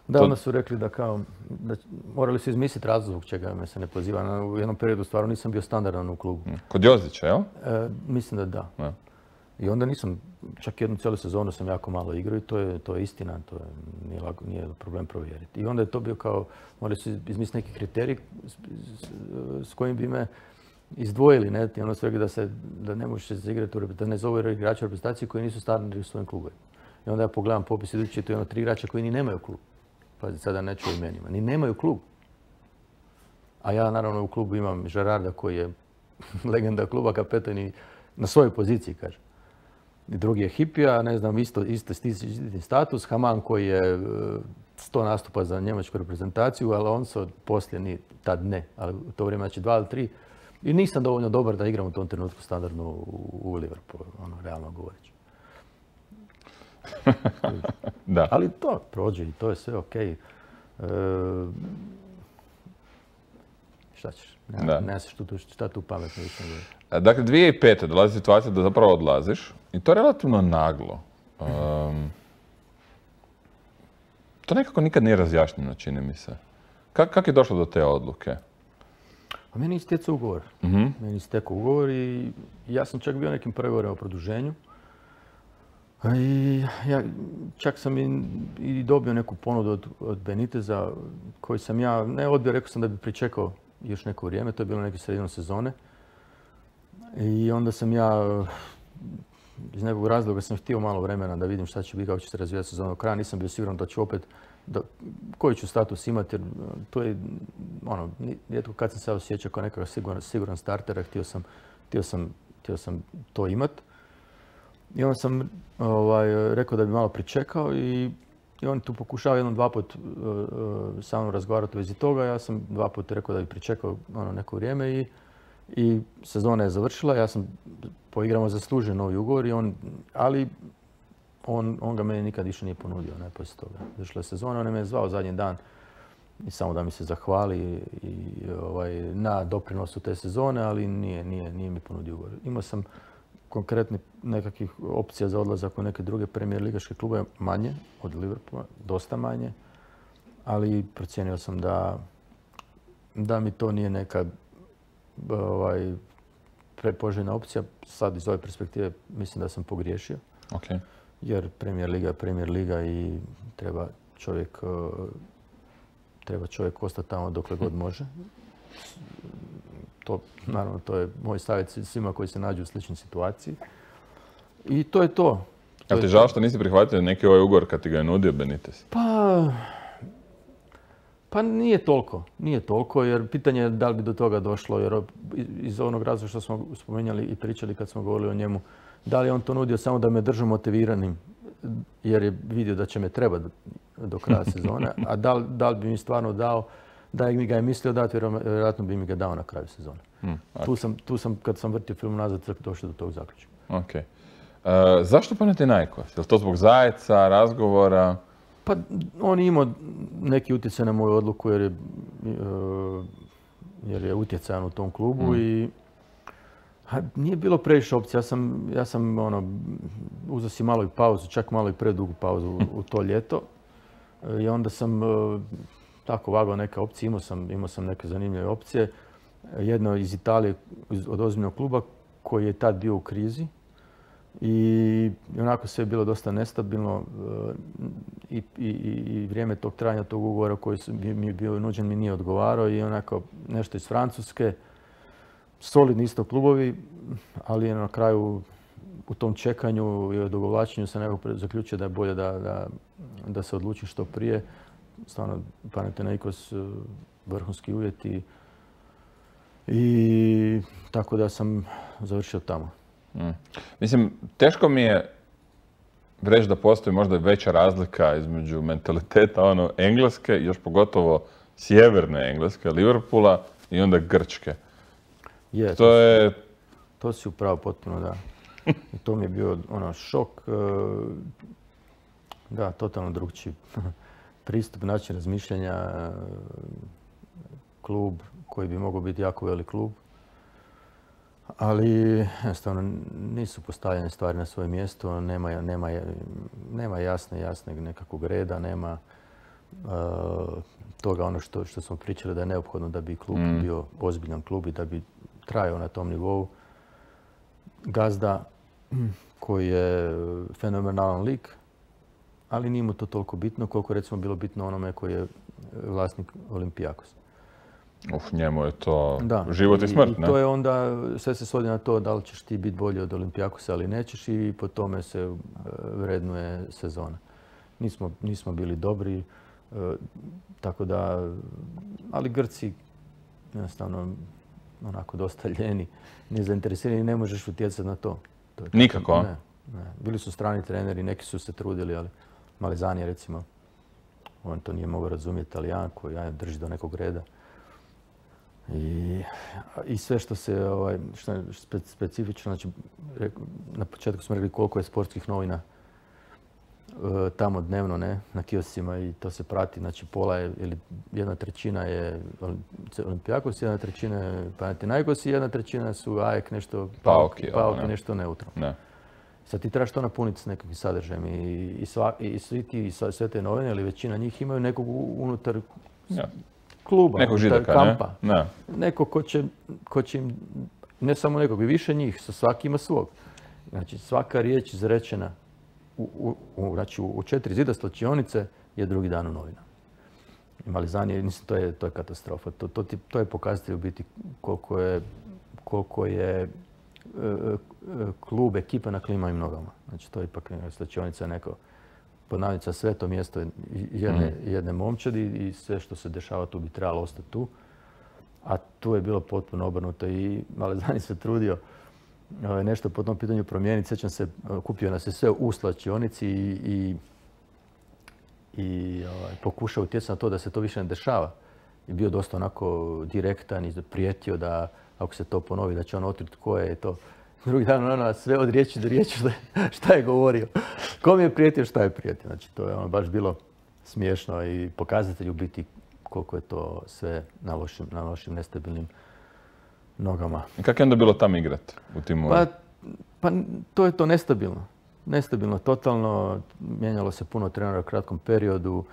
Da, to... onda su rekli da kao, da morali su izmisliti razlog zbog čega me se ne poziva. U jednom periodu stvarno nisam bio standardan u klubu. Kod Jozića, jel? E, mislim da da. Ja. I onda nisam, čak jednu cijelu sezonu sam jako malo igrao i to je, to je istina, to je, nije, lako, nije problem provjeriti. I onda je to bio kao, morali su izmisliti neki kriterij s, s, s kojim bi me izdvojili, ne? I onda su rekli da, se, da ne možeš se igrati, da ne zove igrača u reprezentaciji koji nisu startni u svojim klubovima. I onda ja pogledam popis idući, to je ono tri igrača koji ni nemaju klub. Pazi, sada neću o imenima. Ni nemaju klub. A ja naravno u klubu imam Gerarda koji je legenda kluba, kapetan i na svojoj poziciji, kaže. I drugi je Hipija, ne znam, isto, isto isti status. Haman koji je sto nastupa za njemačku reprezentaciju, ali on se poslije, ni, tad ne, ali u to vrijeme, znači dva ili tri. I nisam dovoljno dobar da igram u tom trenutku standardno u, u Liverpoolu, ono, realno govoreći. Da. Ali to prođe i to je sve okej. E, šta ćeš? Ne, ne znaš šta, šta tu pametno više govorim. Dakle, dvije tisuće pete dolazi situacija da zapravo odlaziš i to relativno naglo. Um, to nekako nikad nije razjašnjeno, čini mi se. Kako kak je došlo do te odluke? A meni je istekao ugovor. Mm-hmm. Meni je istekao ugovor i ja sam čak bio nekim pregovorima o produženju. I ja čak sam i, i dobio neku ponudu od, od Beniteza koju sam ja ne odbio, rekao sam da bi pričekao još neko vrijeme, to je bilo neke sredinom sezone. I onda sam ja iz nekog razloga sam htio malo vremena da vidim šta će biti, kako će se razvijati sezona do kraja. Nisam bio siguran da ću opet, da, koji ću status imati, jer to je, ono, rijetko kad sam se osjećao kao nekakav siguran, siguran startera, htio sam, htio sam, htio sam to imati. I onda sam ovaj, rekao da bi malo pričekao i, i on tu pokušao jednom, dva put uh, sa mnom razgovarati u vezi toga. Ja sam dva put rekao da bi pričekao ono, neko vrijeme i, i sezona je završila. Ja sam poigramo zaslužio novi ugovor, i on, ali on, on ga meni nikad više nije ponudio, ne, poslije toga. Završila je sezona, on je me zvao zadnji dan i samo da mi se zahvali i, i, ovaj, na doprinosu te sezone, ali nije, nije, nije mi ponudio ugovor. Imao sam konkretnih nekakvih opcija za odlazak u neke druge premijer ligaške klube, manje od Liverpoola, dosta manje, ali procijenio sam da, da mi to nije neka ovaj, prepoželjna opcija. Sad iz ove perspektive mislim da sam pogriješio. Okay. Jer Premier liga je Premier liga i treba čovjek, treba čovjek ostati tamo dokle god može. To, naravno, to je moj savjet svima koji se nađu u sličnoj situaciji. I to je to. Jel ti žao što nisi prihvatio neki ovaj ugovor kad ti ga je nudio Benitez? Pa, Pa nije toliko, nije toliko jer pitanje je da li bi do toga došlo jer iz onog razloga što smo spomenjali i pričali kad smo govorili o njemu, da li je on to nudio samo da me držu motiviranim jer je vidio da će me trebati do kraja sezone, a da li, da li bi mi stvarno dao, da mi ga je mislio dati, vjerojatno bi mi ga dao na kraju sezone. Mm, okay. tu, sam, tu sam, kad sam vrtio film nazad, došao do tog zaključka. Okay. Uh, zašto Panathinaikos? Je li to zbog Zajeca, razgovora? Pa on je imao neki utjecaj na moju odluku jer je, uh, jer je utjecajan u tom klubu mm. i a, nije bilo previše opcija. Ja sam, ja sam ono, uzeo si malo i pauzu, čak malo i predugu pauzu u, u to ljeto. I onda sam uh, tako vagao neke opcije, imao sam, imao sam neke zanimljive opcije. Jedno iz Italije, od ozbiljnog kluba koji je tad bio u krizi. I onako sve je bilo dosta nestabilno i, i, i vrijeme tog trajanja tog ugovora koji mi je bio nuđen mi nije odgovarao i onako nešto iz Francuske. Solidni isto klubovi, ali je na kraju u tom čekanju i odugovlačenju se nekako zaključio da je bolje da, da, da se odluči što prije. Stvarno, Panathinaikos, vrhunski uvjeti i tako da sam završio tamo. Mm. Mislim, teško mi je reći da postoji možda veća razlika između mentaliteta ono Engleske, još pogotovo sjeverne Engleske, Liverpoola i onda Grčke. Je, to je... To si upravo potpuno, da. I to mi je bio ono šok. Da, totalno drugčiji pristup, način razmišljanja. Klub koji bi mogao biti jako velik klub. Ali jednostavno nisu postavljene stvari na svoje mjesto, nema, nema, nema jasne, jasne nekakvog reda, nema uh, toga ono što, što smo pričali da je neophodno da bi klub mm. bio ozbiljan klub i da bi trajao na tom nivou. Gazda koji je fenomenalan lik, ali nije mu to toliko bitno koliko recimo bilo bitno onome koji je vlasnik Olympiakosa. Uf, njemu je to da. život i smrt, I, ne? I to je onda, sve se svodi na to da li ćeš ti biti bolji od Olympiakosa ali nećeš i po tome se vrednuje sezona. Nismo, nismo bili dobri, tako da, ali Grci jednostavno onako dosta ljeni, nezainteresirani, ne možeš utjecati na to. to je Nikako? Ne, ne. Bili su strani treneri, neki su se trudili, ali Malezani recimo, on to nije mogao razumjeti, Talijan koji ja, drži do nekog reda. I, i sve što se, ovaj, što je spe, specifično, znači, na početku smo rekli koliko je sportskih novina e, tamo dnevno, ne, na kioscima i to se prati, znači pola je, ili jedna trećina je Olympiakos, jedna trećina je Panathinaikos i jedna trećina su A E K, nešto Pauki, Pauki, nešto neutralno. Ne. Sad ti trebaš to napuniti s nekakvim sadržajem i, i, sva, i svi ti, sve te novine, ili većina njih imaju nekog unutar ja. kluba, nekog židaka, kampa. Ne? Ne. Neko ko će, ko će im, ne samo nekog, i više njih, svaki ima svog. Znači svaka riječ izrečena u, u, u, znači, u četiri zida slačionice je drugi dan u novinama. Malezani, mislim, to je, to je katastrofa. To, to, to je pokazatelj u biti koliko je, koliko je e, klub, ekipa na klimavim nogama. Znači to je ipak slačionica neko podnavica sveto mjesto jedne, mm. jedne momčadi i sve što se dešava tu bi trebalo ostati tu. A tu je bilo potpuno obrnuto i Malezani se trudio nešto po tom pitanju promijeniti. Sjećam se, kupio nas je sve u slačionici i, i, i ovaj, pokušao utjecati na to da se to više ne dešava. I bio dosta onako direktan i prijetio da ako se to ponovi da će on otkriti tko je i to. Drugi dan ono sve od riječi do riječi šta je govorio. Kom je prijetio, šta je prijetio. Znači to je ono baš bilo smiješno i pokazatelj u biti koliko je to sve na lošim, na lošim nestabilnim nogama. I kako je onda bilo tam igrat u timu? Pa, pa to je to nestabilno. Nestabilno, totalno. Mijenjalo se puno trenera u kratkom periodu.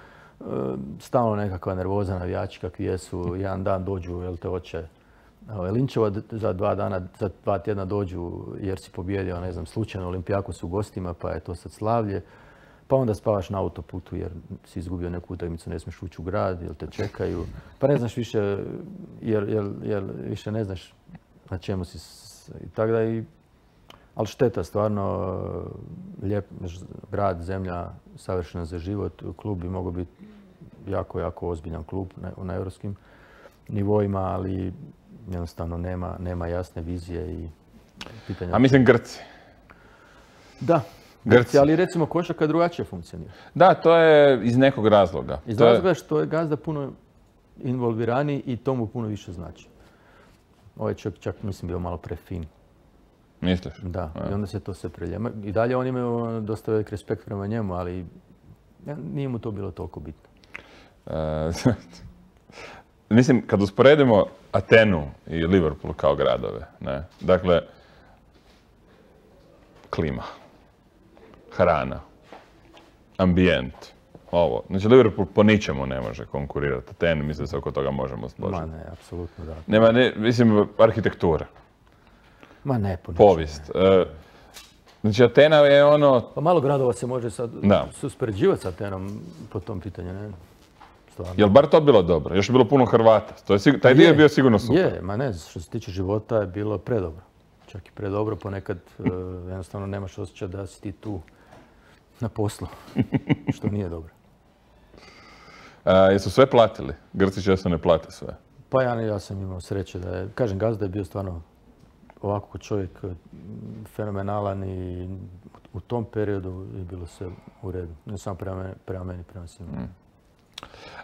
Stalno nekakva nervoza, navijači kakvi jesu. Jedan dan dođu, jel te oče, linčeva, za dva dana, za dva tjedna dođu jer si pobjedio, ne znam, slučajno Olympiakos u gostima, pa je to sad slavlje. Pa onda spavaš na autoputu jer si izgubio neku utakmicu, ne smiješ ući u grad, jer te čekaju. Pa ne znaš više, jer, jer, jer više ne znaš na čemu si. I tako da i, ali šteta, stvarno, lijep grad, zemlja, savršena za život. Klub bi mogao biti jako, jako ozbiljan klub na, na europskim nivoima, ali jednostavno nema, nema jasne vizije i pitanja. A mislim Grci. Da, Grci, ali recimo košarka drugačije funkcionira. Da, to je iz nekog razloga. Iz to razloga je... što je gazda puno involvirani i to mu puno više znači. Ovaj čak, čak mislim bio malo prefin. Misliš? Da, ja. I onda se to sve preljema. I dalje oni imaju dosta velik respekt prema njemu, ali nije mu to bilo toliko bitno. E, mislim, kad usporedimo Atenu i Liverpool kao gradove, ne? Dakle, klima, hrana, ambijent, ovo. Znači, Liverpool po ničemu ne može konkurirati Atenu, mislim da se oko toga možemo složiti. Ma ne, apsolutno da. Nema, ne, mislim, arhitektura. Ma ne, po ničemu. Povijest. E, znači, Atena je ono... Pa malo gradova se može sad uspoređivati s Atenom po tom pitanju, ne? Stvarno. Jel bar to bilo dobro? Još je bilo puno Hrvata. To je, taj dio je bio sigurno super. Je, ma ne, što se tiče života je bilo predobro. Čak i predobro, ponekad uh, jednostavno nemaš osjećaj da si ti tu na poslu, što nije dobro. A, jesu sve platili? Grci često ne plate sve. Pa ja, ja sam imao sreće da je, kažem, gazda je bio stvarno ovako ko čovjek fenomenalan i u tom periodu je bilo sve u redu. Ne samo prema meni, prema, meni, prema svima. Mm.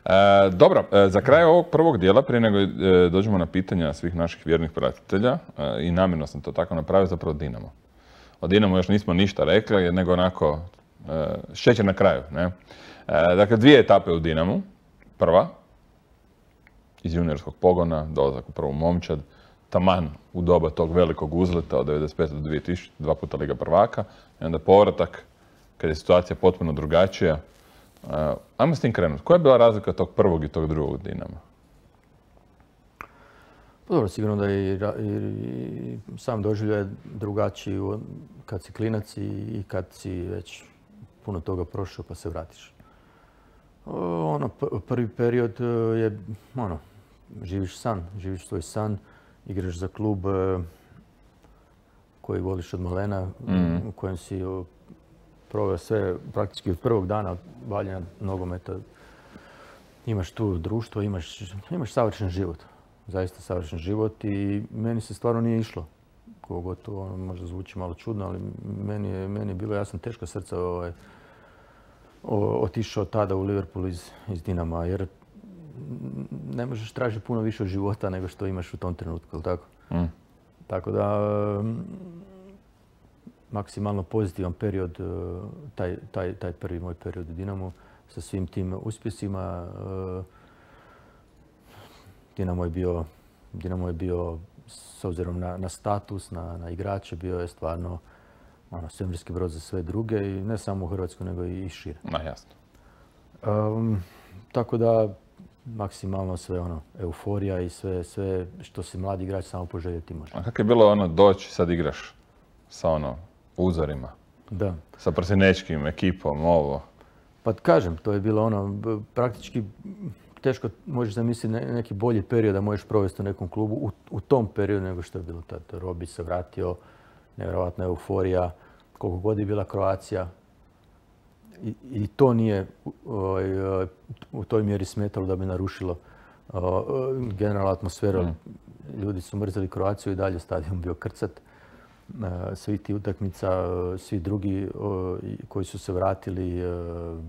E, dobro, e, za kraj ovog prvog dijela, prije nego e, dođemo na pitanja svih naših vjernih pratitelja, e, i namjerno sam to tako napravio, zapravo Dinamo. O Dinamo još nismo ništa rekli, nego onako e, šećer na kraju. Ne? E, dakle, dvije etape u Dinamu. Prva, iz juniorskog pogona, dolazak u prvu momčad, taman u doba tog velikog uzleta od devedeset pete do dvije tisućite, dva puta Liga prvaka, i onda povratak, kad je situacija potpuno drugačija. Uh, ajmo s tim krenuti. Koja je bila razlika tog prvog i tog drugog Dinama? Pa dobro, sigurno da i, i, i sam doživljaj drugačiji kad si klinac i kad si već puno toga prošao pa se vratiš. Ono, prvi period je, ono, živiš san, živiš svoj san, igraš za klub koji voliš od malena, mm. u kojem si proveo sve praktički od prvog dana bavljenja nogometa. Imaš tu društvo, imaš, imaš savršen život. Zaista savršen život i meni se stvarno nije išlo. Kogo to ono, možda zvuči malo čudno, ali meni je, meni je bilo, ja sam teško srca ovaj, otišao tada u Liverpool iz, iz Dinama, jer ne možeš tražiti puno više od života nego što imaš u tom trenutku, tako? Mm. Tako da, maksimalno pozitivan period, taj, taj, taj prvi moj period u Dinamu, sa svim tim uspjesima. Dinamo je bio, Dinamo je bio s obzirom na, na status, na, na igrače, bio je stvarno ono, svemirski brod za sve druge i ne samo u Hrvatskoj, nego i šire. Ma, jasno. Um, tako da, maksimalno sve ono, euforija i sve, sve što se mladi igrač samo poželjeti može. A kako je bilo ono doći, sad igraš sa ono uzorima? Da. Sa prsinečkim ekipom, ovo? Pa kažem, to je bilo ono, praktički teško možeš zamisliti neki bolji period da možeš provesti u nekom klubu u, u tom periodu nego što je bilo tad. Robi se vratio, nevjerojatna euforija, koliko god je bila Kroacija. I, i to nije o, u toj mjeri smetalo da bi narušilo o, generalnu atmosferu. Mm. Ljudi su mrzeli Kroaciju i dalje stadion bio krcat. Svi ti utakmica, svi drugi o, koji su se vratili, o,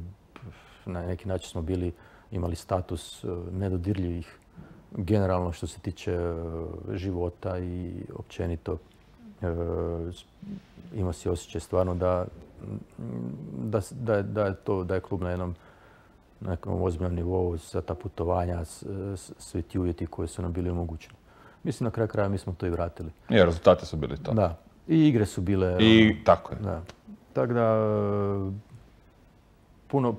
na neki način smo bili, imali status nedodirljivih generalno što se tiče života i općenito. Ima si osjećaj stvarno da, da, da, da, je to, da je klub na jednom nekom ozbiljnom nivou za ta putovanja, svi ti uvjeti koji su nam bili omogućeni. Mislim, na kraju kraja mi smo to i vratili. I rezultati su bili to. Da. I igre su bile... I ono, tako je. Da. Tako da, puno,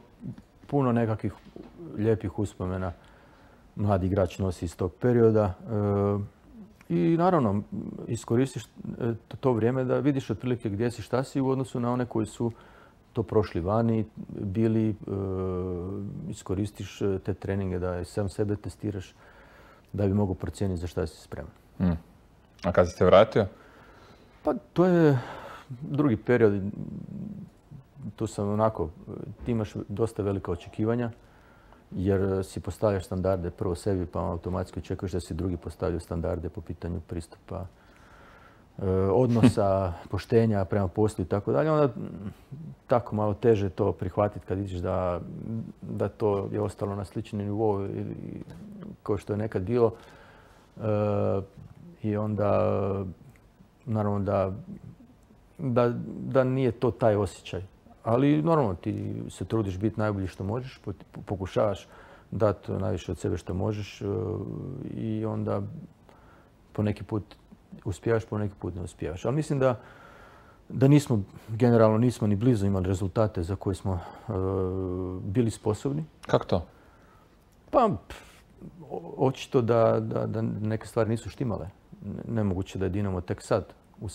puno nekakvih lijepih uspomena mladi igrač nosi iz tog perioda. I naravno, iskoristiš to vrijeme da vidiš otprilike gdje si, šta si u odnosu na one koji su to prošli vani, bili, iskoristiš te treninge da sam sebe testiraš, da bi mogao procijeniti za šta si spreman. Mm. A kad si se vratio? Pa to je drugi period. Tu sam onako, ti imaš dosta velika očekivanja jer si postavljaš standarde prvo sebi, pa automatski očekuješ da si drugi postavljaju standarde po pitanju pristupa, odnosa, poštenja prema poslu i tako dalje. Onda tako malo teže to prihvatiti kad vidiš da, da to je ostalo na slični nivou kao što je nekad bilo. E, I onda, naravno da, da, da nije to taj osjećaj. Ali normalno ti se trudiš biti najbolji što možeš, pokušavaš dati najviše od sebe što možeš i onda po neki put uspijevaš, po neki put ne uspijevaš. Ali mislim da, da nismo, generalno nismo ni blizu imali rezultate za koje smo uh, bili sposobni. Kako to? Pa, očito da, da, da neke stvari nisu štimale. Nemoguće da je Dinamo tek sad u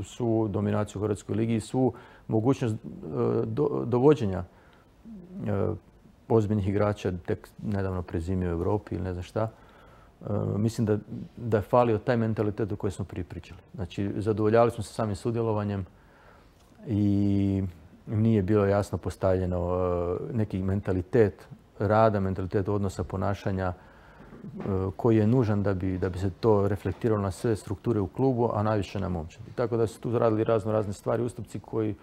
svu dominaciju u Hrvatskoj ligi i svu mogućnost do, dovođenja ozbiljnih igrača tek nedavno prezimio u Europi ili ne znam šta. Mislim da, da je falio taj mentalitet o kojem smo prije pričali. Znači, zadovoljavali smo se samim sudjelovanjem i nije bilo jasno postavljeno neki mentalitet rada, mentalitet odnosa, ponašanja koji je nužan da bi, da bi se to reflektiralo na sve strukture u klubu, a najviše na momčadi. Tako da su tu radili razno razne stvari, ustupci koji,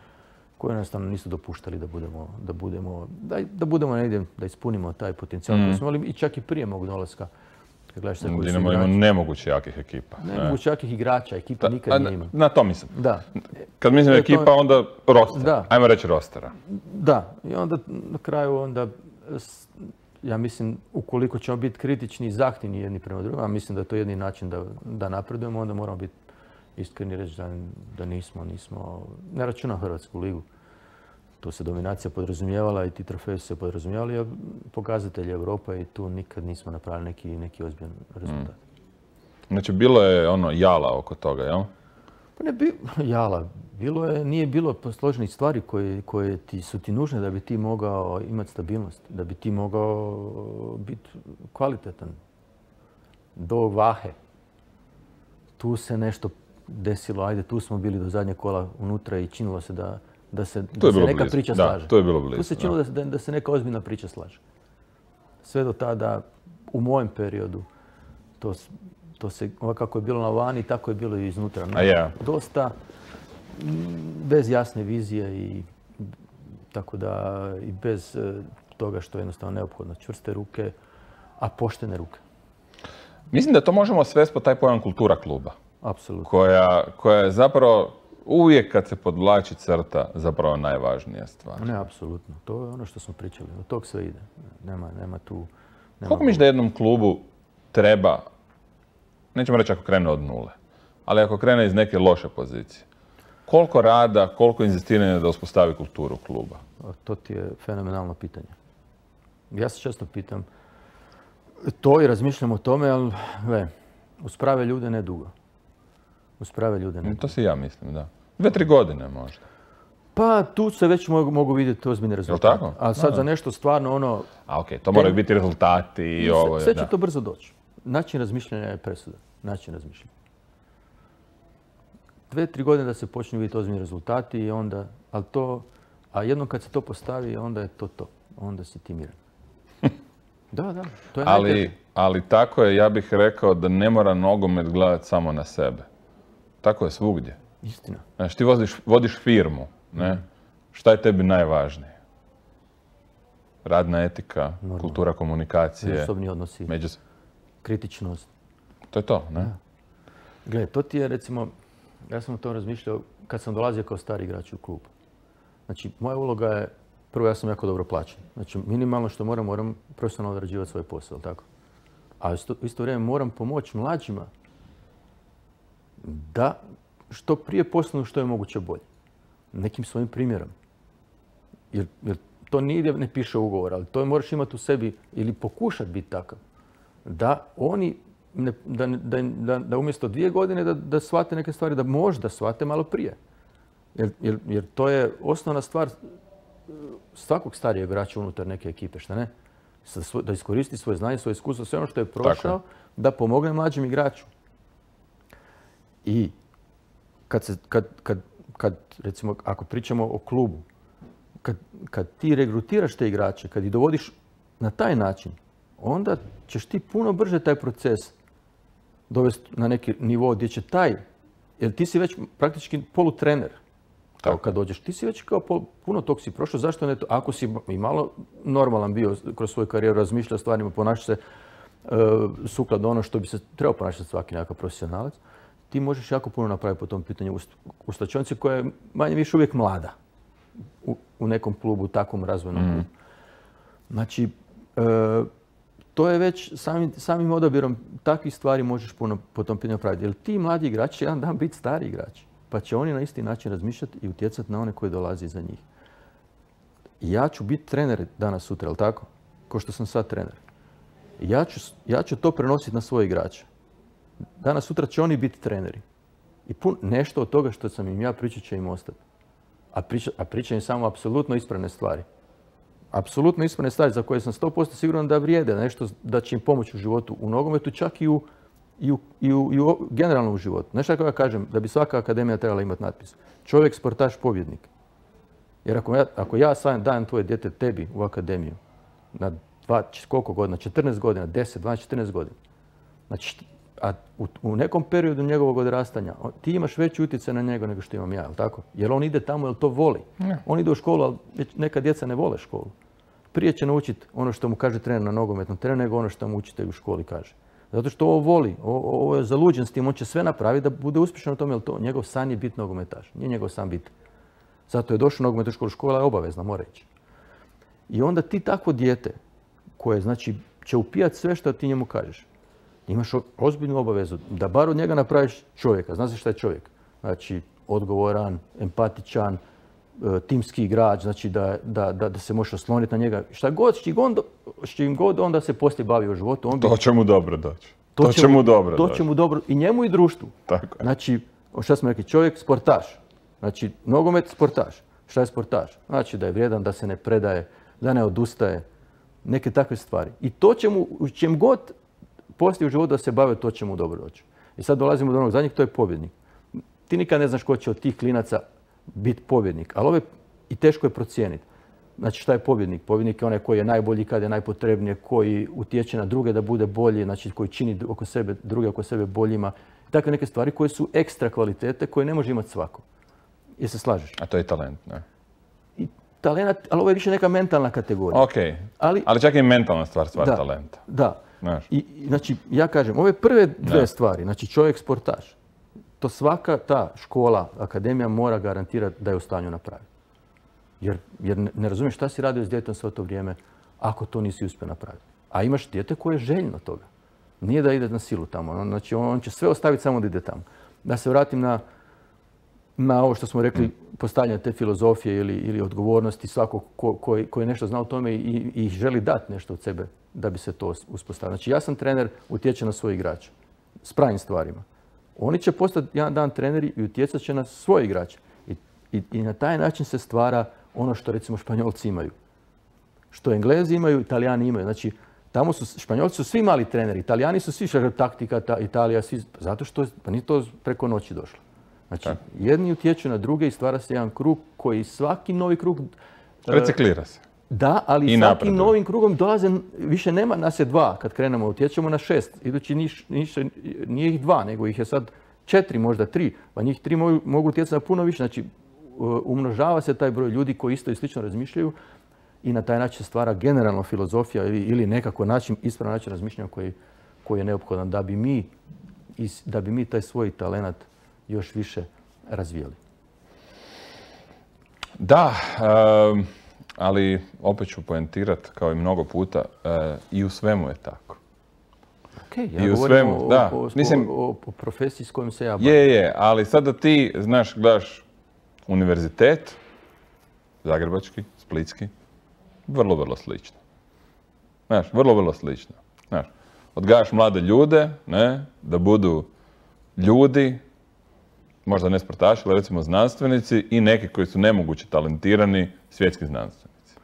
koji jednostavno nisu dopuštali da budemo, da budemo, da, da budemo negdje, da ispunimo taj potencijal mm. koji smo imali i čak i prije mog dolaska. Dinamo ima nemoguće jakih ekipa. Nemoguće jakih igrača, ekipa nikad nije ima. Na to mislim. Da. Kad mislim ekipa, onda roster. Da. Ajmo reći rostera. Da. I onda na kraju onda, ja mislim, ukoliko ćemo biti kritični i zahtjevni jedni prema drugima, a mislim da je to jedini način da, da napredujemo, onda moramo biti iskreni reći da, da nismo, nismo, ne računam Hrvatsku ligu. Tu se dominacija podrazumijevala i ti trofeji su se podrazumijevali, a pokazatelji Europa i tu nikad nismo napravili neki, neki ozbiljan rezultat. Mm. Znači, bilo je ono jala oko toga, jel? Pa ne bi, jala. Bilo je, nije bilo posloženih stvari koje, koje ti, su ti nužne da bi ti mogao imati stabilnost, da bi ti mogao biti kvalitetan. Do Vahe. Tu se nešto desilo, ajde, tu smo bili do zadnjeg kola unutra i činilo se da da se, da se neka blizu. priča da, slaže. To je bilo blizu. Tu se činilo da. Da, da se neka ozbiljna priča slaže. Sve do tada, u mojem periodu, to, to se, ovako kako je bilo na vani, tako je bilo i iznutra. A ja. Dosta bez jasne vizije i tako da i bez toga što je jednostavno neophodno. Čvrste ruke, a poštene ruke. Mislim da to možemo svesti po taj pojam kultura kluba. Apsolutno. Koja, koja je zapravo uvijek kad se podvlači crta zapravo najvažnija stvar. Ne, apsolutno. To je ono što smo pričali. Od tog sve ide. Nema, nema tu... Nema Koliko misliš da jednom klubu treba, nećemo reći ako krene od nule, ali ako krene iz neke loše pozicije, koliko rada, koliko inzistiranja da uspostavi kulturu kluba? To ti je fenomenalno pitanje. Ja se često pitam to i razmišljam o tome, ali gle, uz prave ljude ne dugo. Uz prave ljude ne dugo. To si ja mislim, da. Dve, tri godine možda. Pa tu se već mogu, mogu vidjeti ozbiljne rezultate. Jel' tako? A sad no. za nešto stvarno ono... A okej, okay, to moraju biti rezultati i ovo. Sve će da. to brzo doći. Način razmišljanja je presuda. Način razmišljanja. Dve, tri godine da se počnu vidjeti ozbiljni rezultati i onda... Ali to... A jednom kad se to postavi, onda je to to. Onda si ti miran. Da, da. To je ali, ali tako je, ja bih rekao da ne mora nogomet gledati samo na sebe. Tako je svugdje. Istina. Znači, ti vodiš, vodiš firmu, ne? Šta je tebi najvažnije? Radna etika, Normalno. kultura komunikacije. Međusobni odnosi. Međus... Kritičnost. To je to, ne? Da. Gle, to ti je recimo, ja sam o tom razmišljao kad sam dolazio kao stari igrač u klub. Znači, moja uloga je, prvo ja sam jako dobro plaćen. Znači, minimalno što moram, moram profesionalno odrađivati svoj posao, tako? A u isto, isto vrijeme moram pomoći mlađima da što prije postanu što je moguće bolje. Nekim svojim primjerom. Jer, jer to nigdje ne piše ugovor, ali to moraš imati u sebi ili pokušati biti takav. Da oni, ne, da, da, da, da umjesto dvije godine da, da shvate neke stvari, da možda shvate malo prije. Jer, jer, jer to je osnovna stvar svakog starijeg igrača unutar neke ekipe, šta ne? Da iskoristi svoje znanje, svoje iskustvo, sve ono što je prošao, da pomogne mlađim igraču. I kad, se, kad, kad, kad recimo, ako pričamo o klubu, kad, kad ti regrutiraš te igrače, kad ih dovodiš na taj način, onda ćeš ti puno brže taj proces dovesti na neki nivo gdje će taj, jer ti si već praktički polutrener. Kao kad dođeš, ti si već kao puno tog si prošao, zašto ne to? Ako si i malo normalan bio kroz svoju karijeru, razmišljao stvarima, ponašao se uh, sukladno ono što bi se trebao ponašati svaki nekakav profesionalac, ti možeš jako puno napraviti po tom pitanju u slačionici koja je manje više uvijek mlada u, u nekom klubu, u takvom razvojnom klubu. Mm. Znači, uh, to je već samim, samim odabirom takvih stvari možeš puno po tom pitanju napraviti. Jer ti mladi igrači će jedan dan biti stari igrači. Pa će oni na isti način razmišljati i utjecati na one koji dolazi iza njih. Ja ću biti trener danas sutra, jel tako? Ko što sam sad trener. Ja ću, ja ću to prenositi na svoje igrače. Danas sutra će oni biti treneri. I pun, nešto od toga što sam im ja pričat će im ostati. A, priča, a pričam im samo apsolutno ispravne stvari. Apsolutno ispravne stvari za koje sam sto posto siguran da vrijede, nešto da će im pomoći u životu, u nogometu, čak i u I u, i, u, i u generalno u životu. Znaš kako ja kažem, da bi svaka akademija trebala imati natpis. Čovjek, sportaš, pobjednik. Jer ako ja, ako ja sam dajem tvoje dijete tebi u akademiju na dva, koliko godina, četrnaest godina, deset, dvanaest, četrnaest godina. Znači, a u, u nekom periodu njegovog odrastanja ti imaš veći utjecaj na njega nego što imam ja, jel tako? Jer on ide tamo jer to voli. Ne. On ide u školu, ali neka djeca ne vole školu. Prije će naučiti ono što mu kaže trener na nogometnom terenu nego ono što mu učitelj u školi kaže. Zato što ovo voli, ovo je zaluđen s tim, on će sve napraviti da bude uspješan u tome, jer to njegov san je biti nogometaš, nije njegov san biti. Zato je došao u nogometnu školu, škola je obavezna, mora ići. I onda ti takvo dijete, koje znači će upijati sve što ti njemu kažeš, imaš ozbiljnu obavezu da bar od njega napraviš čovjeka. Znaš šta je čovjek? Znači odgovoran, empatičan, timski igrač, znači da, da, da, da se možeš osloniti na njega. Šta god, s čim god onda se poslije bavi u životu. On bi, to će mu dobro doći. To, to će mu dobro To će mu dobro i njemu i društvu. Tako je. Znači, šta smo rekli, čovjek sportaš. Znači, nogomet sportaš. Šta je sportaš? Znači da je vrijedan, da se ne predaje, da ne odustaje. Neke takve stvari. I to će mu, u čem god poslije u životu da se bave, to će mu dobro doći. I sad dolazimo do onog zadnjeg, to je pobjednik. Ti nikad ne znaš ko će od tih klinaca biti pobjednik, ali ove i teško je procijeniti. Znači šta je pobjednik? Pobjednik je onaj koji je najbolji kad je najpotrebnije, koji utječe na druge da bude bolji, znači koji čini oko sebe, druge oko sebe boljima. Takve neke stvari koje su ekstra kvalitete koje ne može imati svako. Jel se slažeš? A to je talent, ne? I talent, ali ovo je više neka mentalna kategorija. Ok, ali, ali čak i mentalna stvar, stvar da, talenta. Da. I, znači, ja kažem, ove prve dve ne. stvari, znači čovjek sportaš, to svaka ta škola, akademija mora garantirati da je u stanju napraviti. Jer, jer ne, ne razumiješ šta si radio s djetetom sve to vrijeme ako to nisi uspio napraviti. A imaš dijete koje je željno toga. Nije da ide na silu tamo. Znači on, on će sve ostaviti samo da ide tamo. Da se vratim na, na ovo što smo rekli, postavljanje te filozofije ili, ili odgovornosti svakog ko, koji, koji nešto zna o tome i, i želi dati nešto od sebe da bi se to uspostavilo. Znači ja sam trener, utječe na svoje igrače s pravim stvarima. Oni će postati jedan dan treneri i utjecat će na svoje igrače. I, i, i na taj način se stvara ono što recimo Španjolci imaju. Što Englezi imaju, Italijani imaju. Znači, tamo su, Španjolci su svi mali treneri, Italijani su svi šar taktika, ta, Italija, svi, zato što pa nije to preko noći došlo. Znači, tak. jedni utječu na druge i stvara se jedan krug koji svaki novi krug... Reciklira se. Da, ali I svakim napreduje. novim krugom dolaze, više nema nas je dva kad krenemo, utječemo na šest. Idući niš, niš, nije ih dva, nego ih je sad četiri, možda tri. Pa njih tri mogu, mogu utjecati na puno više. Znači, umnožava se taj broj ljudi koji isto i slično razmišljaju i na taj način se stvara generalno filozofija ili, ili nekako način, ispravan način razmišljanja koji, koji je neophodan da bi mi, da bi mi taj svoj talent još više razvijali. Da, um... ali opet ću poentirati, kao i mnogo puta, uh, i u svemu je tako. Okay, ja I u svemu, o, da. O, o, Mislim, o, o profesiji s kojom se ja bavim. Je, je, ali sada ti, znaš, gledaš univerzitet, zagrebački, splitski, vrlo, vrlo slično. Znaš, vrlo, vrlo slično. Znaš, odgajaš mlade ljude, ne, da budu ljudi, možda ne sportaši, ali recimo znanstvenici i neki koji su nemoguće talentirani svjetski znanstvenici.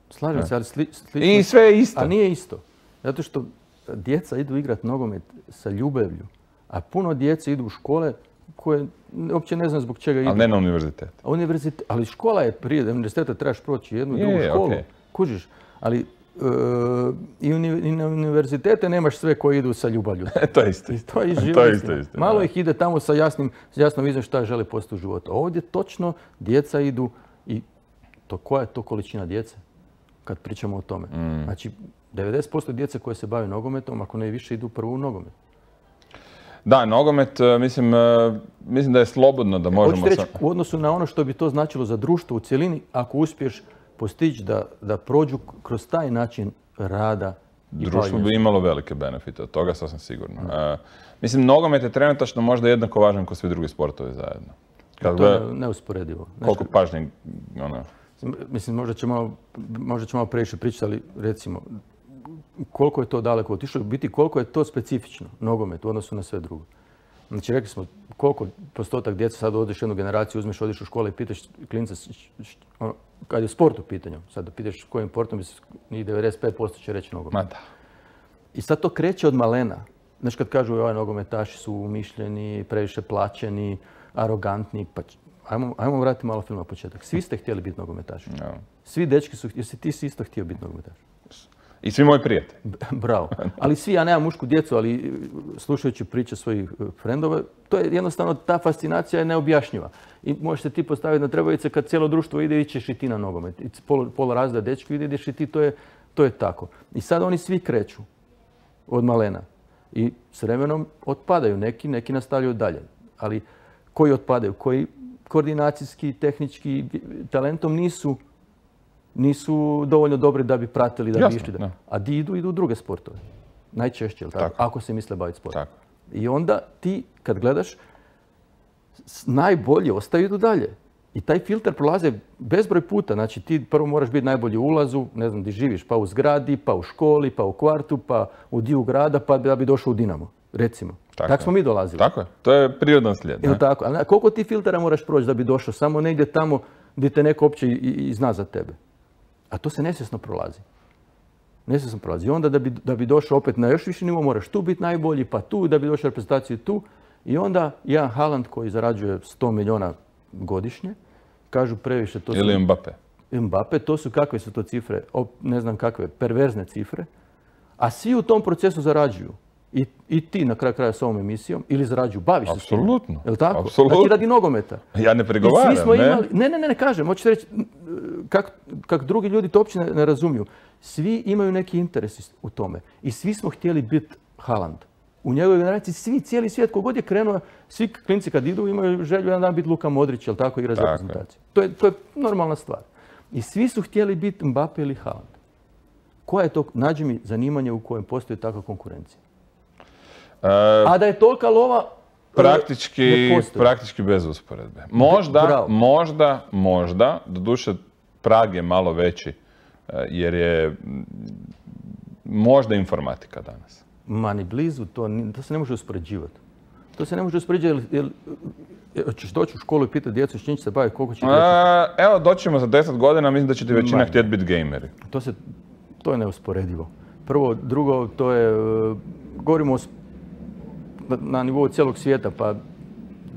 Slažem se, ali sli, slično... I sve je isto. A nije isto. Zato što djeca idu igrati nogomet sa ljubavlju, a puno djece idu u škole koje uopće ne znam zbog čega idu. Ali ne na univerzitet. A univerzitet, ali škola je prije, univerziteta trebaš proći jednu i drugu školu. Okay. Kužiš, ali i na univerzitete nemaš sve koji idu sa ljubavlju. To je isto. To je to isto, isto. Malo ih ide tamo sa jasnim, jasnom vizijom šta žele postati u životu. Ovdje točno djeca idu i to koja je to količina djece kad pričamo o tome. Mm. Znači, devedeset posto djece koje se bave nogometom, ako ne više, idu prvo u nogomet. Da, nogomet, mislim, mislim da je slobodno da možemo... Hoćete reći, u odnosu na ono što bi to značilo za društvo u cjelini, ako uspiješ postići da, da prođu kroz taj način rada i društvo bi imalo velike benefite od toga, sasvim sigurno. Uh, mislim, nogomet je trenutačno možda jednako važan kao svi drugi sportovi zajedno. Kad to je neusporedivo. Koliko pažnje, ono... Mislim, možda ćemo, možda ćemo malo previše pričati, ali recimo, koliko je to daleko otišlo, biti koliko je to specifično, nogomet, u odnosu na sve drugo. Znači, rekli smo, koliko postotak djeca, sad odeš jednu generaciju, uzmeš, odiš u škole i pitaš klinca, ono, kad je sport u pitanju, sad da pitaš kojim sportom, njih devedeset pet posto će reći nogomet. Ma da. I sad to kreće od malena. Znaš, kad kažu, ovaj nogometaši su umišljeni, previše plaćeni, arogantni, pa ajmo, ajmo vratiti malo film na početak. Svi ste htjeli biti nogometaši. No. Svi dečki su, jesi ti si isto htio biti nogometaš? I svi moji prijatelji. Bravo. Ali svi, ja nemam mušku djecu, ali slušajući priče svojih frendova, to je jednostavno, ta fascinacija je neobjašnjiva. I možeš se ti postaviti na trebavice kad cijelo društvo ide, ićeš i ti na nogomet. I pola, pola razda dečki ide, ideš i ti, to je, to je tako. I sad oni svi kreću od malena. I s vremenom otpadaju neki, neki nastavljaju dalje. Ali koji otpadaju, koji koordinacijski, tehnički talentom nisu nisu dovoljno dobri da bi pratili, da bi išli. Da... A di idu, idu u druge sportove. Najčešće, tako? Tako. Ako se misle baviti sportom. Tako. I onda ti, kad gledaš, najbolji ostaju idu dalje. I taj filter prolaze bezbroj puta. Znači, ti prvo moraš biti najbolji u ulazu, ne znam, gdje živiš, pa u zgradi, pa u školi, pa u kvartu, pa u dio grada, pa da bi došao u Dinamo, recimo. Tako, tako smo mi dolazili. Tako je. To je prirodan slijed. Ne? Tako. Ali koliko ti filtera moraš proći da bi došao samo negdje tamo gdje te neko opće i, i zna za tebe? A to se nesvjesno prolazi. Nesvjesno prolazi. I onda da bi, da bi došao opet na još više nivo, moraš tu biti najbolji, pa tu, da bi došao reprezentaciju tu. I onda jedan Haaland koji zarađuje sto milijuna godišnje, kažu previše to su... Ili Mbappe. Mbappe, to su kakve su to cifre, ne znam kakve, perverzne cifre. A svi u tom procesu zarađuju. I, i ti na kraju kraja s ovom emisijom, ili zarađuju, baviš se s tim. Apsolutno. Je li tako? Apsolutno. Znači radi nogometa. Ja ne pregovaram, I svi smo ne? Imali, ne, ne, ne, ne kažem. Hoćete reći, kako kak drugi ljudi to uopće ne, ne razumiju. Svi imaju neki interes u tome. I svi smo htjeli biti Haaland. U njegovoj generaciji svi, cijeli svijet, kogod je krenuo, svi klinci kad idu imaju želju jedan dan biti Luka Modrić, jel tako, igra za reprezentaciju. To je, to je normalna stvar. I svi su htjeli biti Mbappe ili Haaland. Koja je to, nađi mi zanimanje u kojem postoji takva konkurencija? Uh, A da je tolika lova, praktički, praktički bez usporedbe. Možda, Bravo. možda, možda, doduše Prag je malo veći, jer je možda informatika danas. Ma ni blizu, to, to se ne može uspoređivati. To se ne može uspoređivati, jer, jer ćeš doći u školu i pitati djecu s čim će se baviti, koliko će djeca... Evo, doćemo za deset godina, mislim da će ti većina Ma, htjeti biti gameri. To, se, to je neusporedivo. Prvo, drugo, to je, govorimo o, na, na nivou cijelog svijeta, pa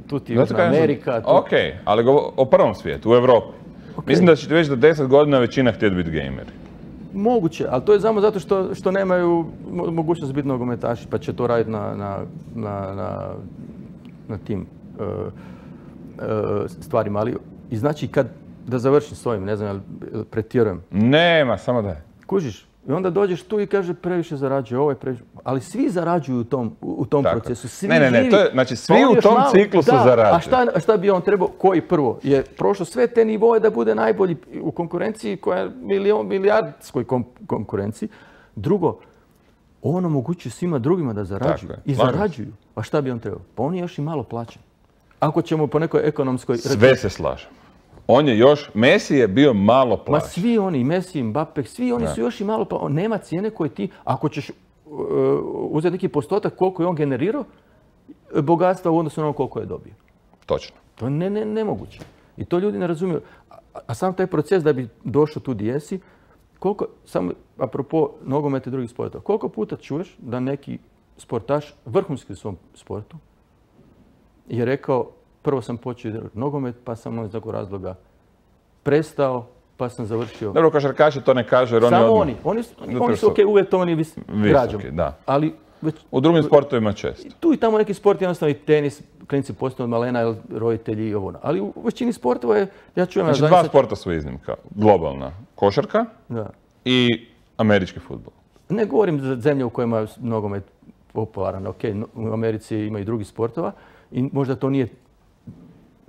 tu ti Južna Amerika... Tu... Ok, ali go, o prvom svijetu, u Europi. Okay. Mislim da će ti već za deset godina većina htjeti biti gameri. Moguće, ali to je samo zato što, što nemaju mogućnost biti nogometaši, pa će to raditi na, na, na, na, na tim uh, uh, stvarima. Ali, i znači, kad, da završim s ovim, ne znam, pretjerujem. Nema, samo da je. Kužiš, i onda dođeš tu i kaže previše zarađuje, ovo je previše. Ali svi zarađuju u tom, u tom procesu. Svi ne, ne, ne, to je, znači svi u tom malo, ciklusu da, zarađuju. A šta, šta bi on trebao, koji prvo? Je prošlo sve te nivoje da bude najbolji u konkurenciji koja je milion, milijardskoj kom, konkurenciji. Drugo, on omogućuje svima drugima da zarađuju. I zarađuju. A šta bi on trebao? Pa on je još i malo plaćen. Ako ćemo po nekoj ekonomskoj... Sve se slažem. On je još, Messi je bio malo plaćen. Ma svi oni, Messi, Mbappe, svi oni ne. su još i malo plaćeni. Nema cijene koje ti, ako ćeš uh, uzeti neki postotak koliko je on generirao, bogatstva u odnosu na ono koliko je dobio. Točno. To je ne, ne, nemoguće. I to ljudi ne razumiju. A, a sam taj proces da bi došao tu gdje jesi, koliko, samo apropo nogometa i drugih sportova, koliko puta čuješ da neki sportaš, vrhunski u svom sportu, je rekao, prvo sam počeo nogomet, pa sam iz nekog razloga prestao pa sam završio... Dobro, košarkaši to ne kažu jer oni Samo odmah... oni. Oni, su- Zato oni su su ok, uvjetovani vis, građom. Visoki, da. Ali već U drugim sportovima često. tu i tamo neki sport, jednostavno i tenis, klinici postaju od malena, jer roditelji i ovo. ono. Ali u većini sportova je, ja čujem... Znači, ja dva zaista- sporta su iznimka. Globalna košarka Da. i američki fudbal. Ne govorim za zemlje u kojima je nogomet popularan. Ok, no- u Americi ima i drugih sportova i možda to nije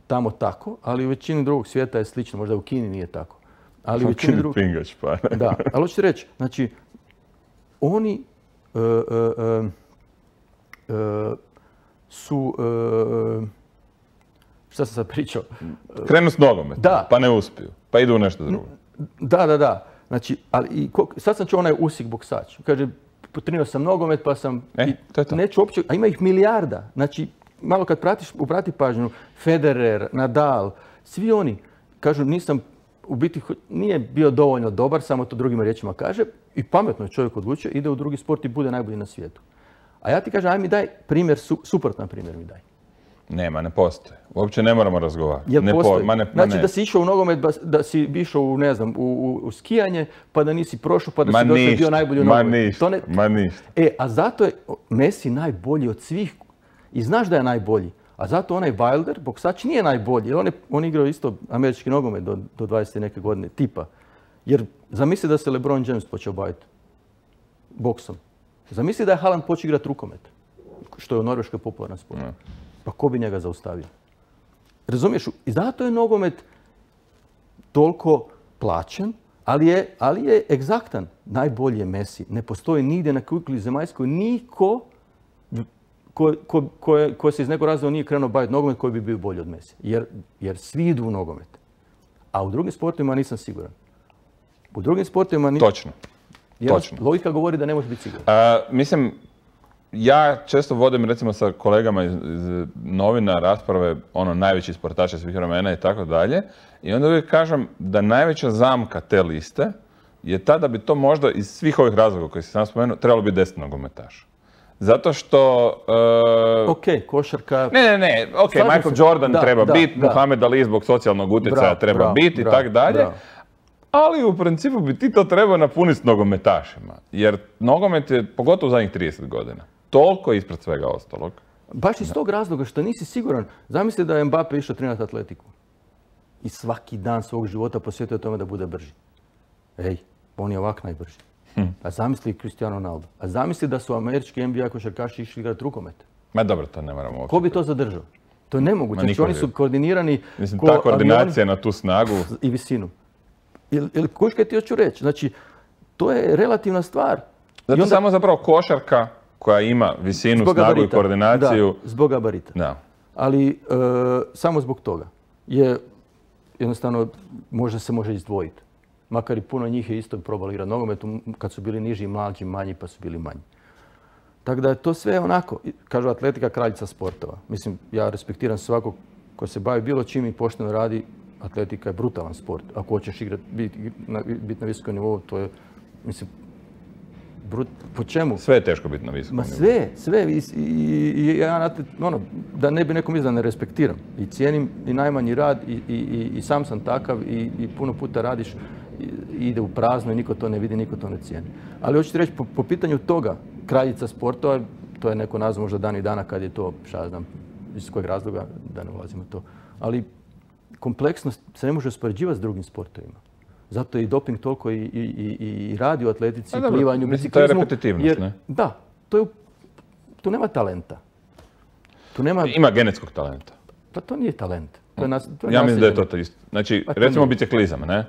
tamo tako, ali u većini drugog svijeta je slično. Možda u Kini nije tako. Ali u većini drugog... Pingač, pa ne. Da, ali hoću reći, znači, oni e, e, e, e, su, e, šta sam sad pričao? Krenu s nogometom, Da. pa ne uspiju, pa idu u nešto drugo. Da, da, da. Znači, ali i ko- sad sam čuo onaj Usik boksač. Kaže, potrenirao sam nogomet pa sam... E, i to je to. Neću uopće, a ima ih milijarda. Znači, malo kad pratiš, uprati pažnju, Federer, Nadal, svi oni kažu nisam, u biti ho- nije bio dovoljno dobar, samo to drugim riječima kaže, i pametno je čovjek odlučio, ide u drugi sport i bude najbolji na svijetu. A ja ti kažem, aj mi daj primjer, su, suprotan primjer mi daj. Nema, ne postoji. Uopće ne moramo razgovarati. Jel ne po- postoji? ma ne, ma Znači ne. da si išao u nogomet, bas- da si išao u, ne znam, u, u, u skijanje, pa da nisi prošao, pa da Ma si došao i bio ništa, najbolji u ma nogometu. ništa, To ne- ma ništa. E, a zato je Messi najbolji od svih. I znaš da je najbolji. A zato onaj Wilder, boksač, nije najbolji. Jer on je on igrao isto američki nogomet do, do dvadeset i neke godine, tipa. Jer zamisli da se LeBron James počeo baviti boksom. Zamisli da je Haaland počeo igrati rukomet, što je u Norveškoj popularan sport. Ne. Pa ko bi njega zaustavio? Razumiješ? I zato je nogomet toliko plaćen, ali je, ali je egzaktan. Najbolji je Messi. Ne postoji nigdje na kugli zemaljskoj niko ko, ko, ko, je- ko se iz nekog razloga nije krenuo baviti nogomet koji bi bio bolji od Messi. Jer, jer svi idu u nogomet. A u drugim sportovima nisam siguran. U drugim sportovima ni... Točno. Jer točno. Logika govori da ne može biti siguran. A, mislim, ja često vodim recimo sa kolegama iz, iz novina rasprave, ono, najveći sportaša svih vremena i tako dalje. I onda uvijek kažem da najveća zamka te liste je ta da bi to možda iz svih ovih razloga koje si sam spomenuo trebalo biti deset nogometaša. Zato što... e, Ok, košarka... Ne, ne, ne, ok, Slažem Michael se. Jordan Da, treba da, biti, da. Muhammed Ali zbog socijalnog utjecaja Bravo, treba bravo, biti i bravo, tako dalje. bravo. Ali u principu bi ti to trebao napuniti s nogometašima. Jer nogomet je, pogotovo u zadnjih trideset godina, toliko ispred svega ostalog. Baš iz tog razloga što nisi siguran. Zamisli da je Mbappe išao trenirati atletiku. I svaki dan svog života posvetio tome da bude brži. Ej, on je ovak najbrži. Hm. A zamisli Cristiano Ronaldo. A zamisli da su američki N B A košarkaši išli igrati rukomet. Ma dobro, to ne moramo uopće. Ko bi to zadržao? To je nemoguće. Ma Znači, niko oni bi. su koordinirani Mislim, ko ta koordinacija avioni na tu snagu. i visinu. Jel, jel kuš kaj ti hoću reći? Znači, to je relativna stvar. Zato I onda- samo zapravo košarka koja ima visinu, Zbog snagu i gabarita. koordinaciju. Da, zbog gabarita. Da. Ali e, samo zbog toga je jednostavno možda se može izdvojiti. Makar i puno njih je isto probalo igrati nogomet kad su bili niži, mlađi, manji pa su bili manji. Tako da je to sve onako, kažu atletika kraljica sportova. Mislim, ja respektiram svakog ko se bavi bilo čim i pošteno radi, atletika je brutalan sport. Ako hoćeš igrati, biti na, bit na visokom nivou, to je, mislim, brut, po čemu? Sve je teško biti na visokom Ma nivou. sve, sve. I, i, i ja, na te- ono, da ne bi nekom mislio da ne respektiram. I cijenim i najmanji rad i, i, i, i sam sam takav i, i puno puta radiš i, i ide u prazno i niko to ne vidi, niko to ne cijeni. Ali hoću ti reći, po, po pitanju toga, kraljica sportova, to je neko nazvao možda dan i dana kad je to, šta ja znam, iz kojeg razloga, da ne ulazimo u to. Ali kompleksnost se ne može uspoređivati s drugim sportovima. Zato je i doping toliko i, i, i, i radi u atletici, A dobro, plivanju, mislim, to je biciklizmu. repetitivnost, jer- ne? Da, to je, u- tu nema talenta. Tu nema, Ima genetskog talenta. pa to nije talent. To je nas, to je Ja mislim da je to naslijeđeno. to isto. Znači, Pa to recimo nije. biciklizam, ne?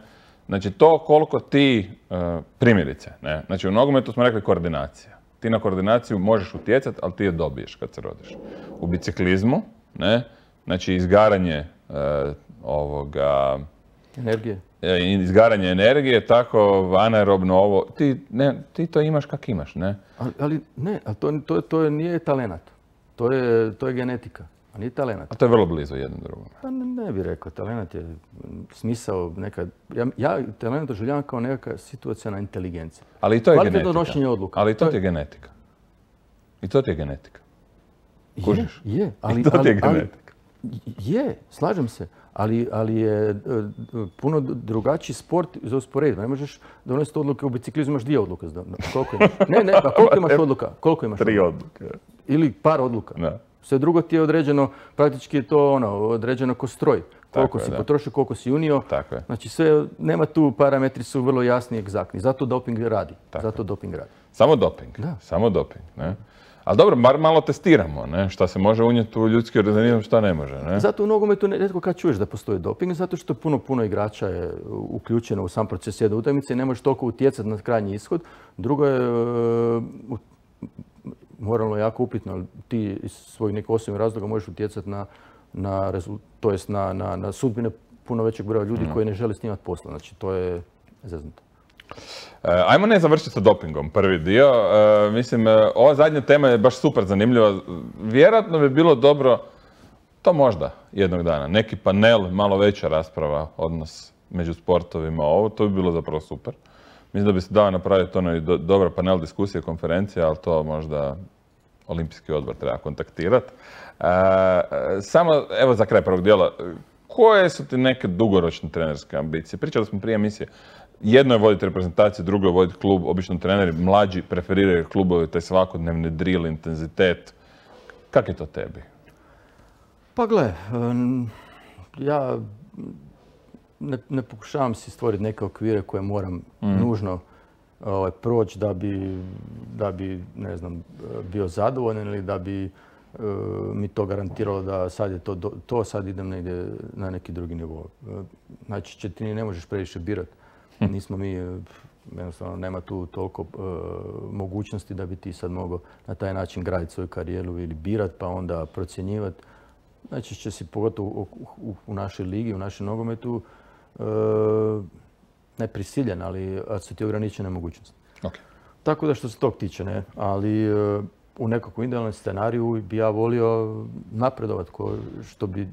Znači, to koliko ti, uh, primjerice, ne? Znači, u nogometu smo rekli koordinacija. Ti na koordinaciju možeš utjecati, ali ti je dobiješ kad se rodiš. U biciklizmu, ne? Znači, izgaranje uh, ovoga, Energije. e, izgaranje energije, tako anaerobno ovo, ti, ne, ti to imaš kak imaš, ne? Ali, ali ne, ali to, to, to nije talenat. To je, to je genetika, a nije talenat. A to je vrlo blizu jedno drugome. Pa ne, ne bih rekao, talent je mm, smisao nekad. Ja, ja talent doživljavam kao nekakva situacionalna inteligencija. Ali i to je Kvalitetno genetika. donošenje odluka. Ali i to To ti je genetika. I to ti je genetika. Je, Kužiš? je, ali, I to ti je ali, ali, genetika. Je, slažem se, ali, ali je e, puno drugačiji sport za usporedbu. Ne možeš donositi odluke u biciklizmu, imaš dvije odluke. Koliko imaš? Ne, ne, pa koliko imaš odluka? Koliko imaš Tri odluka? odluke. Ili par odluka. Da. Sve drugo ti je određeno, praktički je to ono, određeno ko stroj. Koliko je, si da. potrošio, koliko si unio. Tako je. Znači sve, nema tu, parametri su vrlo jasni i egzaktni. Zato doping radi. Tako Zato doping radi. Samo doping. Da. Samo doping. Ne? Ali dobro, bar malo testiramo, ne? Šta se može unijeti u ljudski organizam, šta ne može. Ne? Zato u nogometu rijetko kad čuješ da postoji doping, zato što puno, puno igrača je uključeno u sam proces jedne utakmice i ne možeš toliko utjecati na krajnji ishod. Drugo je, uh, moralno jako upitno, ali ti iz svojih nekih osobnih razloga možeš utjecati na, na, to jest na, na, na sudbine puno većeg broja ljudi mm. koji ne žele snimati posla. Znači, to je zeznuto. Ajmo ne završiti sa dopingom, prvi dio. E, mislim, ova zadnja tema je baš super zanimljiva. Vjerojatno bi bilo dobro, to možda jednog dana, neki panel, malo veća rasprava, odnos među sportovima, ovo, to bi bilo zapravo super. Mislim da bi se dao napraviti ono i do, dobra panel diskusije, konferencija, ali to možda Olimpijski odbor treba kontaktirati. E, samo, evo za kraj prvog dijela, koje su ti neke dugoročne trenerske ambicije? Pričali smo prije emisije. Jedno je voditi reprezentaciju, drugo je voditi klub. Obično treneri mlađi preferiraju klubove, taj svakodnevni drill, intenzitet. Kak je to tebi? Pa gle, ja ne, ne pokušavam si stvoriti neke okvire koje moram mm. nužno ovaj, proći da bi, da bi, ne znam, bio zadovoljan ili da bi uh, mi to garantiralo da sad je to, to sad idem negdje na neki drugi nivo. Znači, ti ne možeš previše birati. Nismo mi, jednostavno nema tu toliko uh, mogućnosti da bi ti sad mogao na taj način graditi svoju karijeru ili birat pa onda procjenjivati. Znači će si pogotovo u, u, u našoj ligi, u našem nogometu uh, ne prisiljen, ali su ti ograničene mogućnosti. Okay. Tako da što se tog tiče, ne, ali uh, u nekakvom idealnom scenariju bi ja volio napredovati ko što bi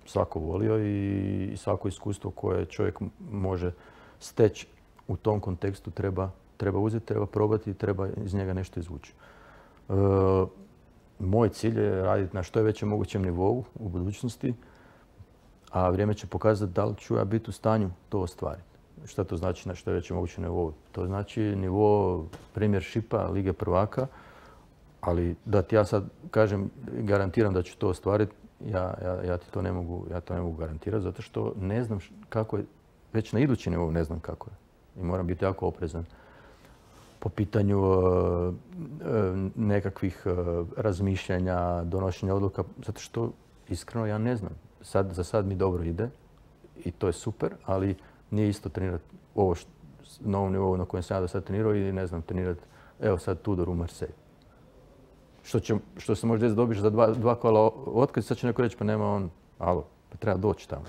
svako volio i, i svako iskustvo koje čovjek može steći u tom kontekstu treba, treba uzeti, treba probati i treba iz njega nešto izvući. E, moj cilj je raditi na što je većem mogućem nivou u budućnosti, a vrijeme će pokazati da li ću ja biti u stanju to ostvariti. Šta to znači na što je većem mogućem nivou? To znači nivo premiershipa, Lige prvaka, ali da ti ja sad kažem, garantiram da ću to ostvariti, ja, ja, ja ti to ne mogu, ja to ne mogu garantirati zato što ne znam kako je. Već na idući nivou ne znam kako je. I moram biti jako oprezan po pitanju uh, nekakvih uh, razmišljanja, donošenja odluka, zato što iskreno ja ne znam. Sad, za sad mi dobro ide i to je super, ali nije isto trenirati ovo što, na ovom nivou na kojem sam ja do sad trenirao i ne znam trenirati, evo sad Tudor u Marseille. Što, će, što se možda dobiš za dva, dva kola otkaz, sad će neko reći pa nema on, alo, pa treba doći tamo.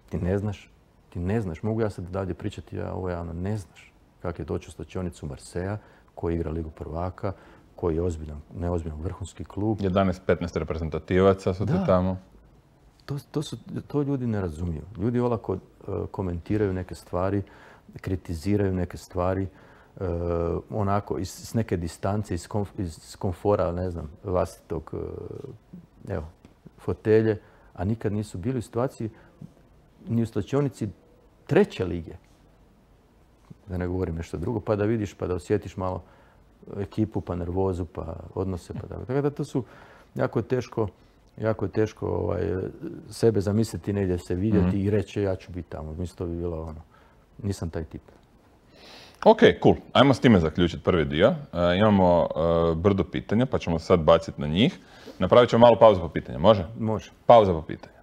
Ti ne znaš. Ti ne znaš, mogu ja sad dalje pričati, ja ovo javno ne znaš kako je doći u slačionicu Marseja, koji igra Ligu prvaka, koji je ozbiljan, neozbiljan vrhunski klub. jedanaest petnaest reprezentativaca su ti tamo. To, to, su, to ljudi ne razumiju. Ljudi olako uh, komentiraju neke stvari, kritiziraju neke stvari, uh, onako iz, iz neke distance, iz, komf, iz komfora, ne znam, vlastitog uh, evo, fotelje, a nikad nisu bili u situaciji ni u slačionici treće lige. Da ne govorim nešto drugo, pa da vidiš, pa da osjetiš malo ekipu, pa nervozu, pa odnose, pa tako. Tako da to su jako je teško, jako je teško ovaj, sebe zamisliti negdje se vidjeti mm-hmm. i reći ja ću biti tamo. Mislim, to bi bilo ono, nisam taj tip. Ok, cool. Ajmo s time zaključiti prvi dio. Uh, imamo uh, brdo pitanja, pa ćemo sad baciti na njih. Napravit ćemo malu pauzu po pitanja. Može? Može. Pauza po pitanja.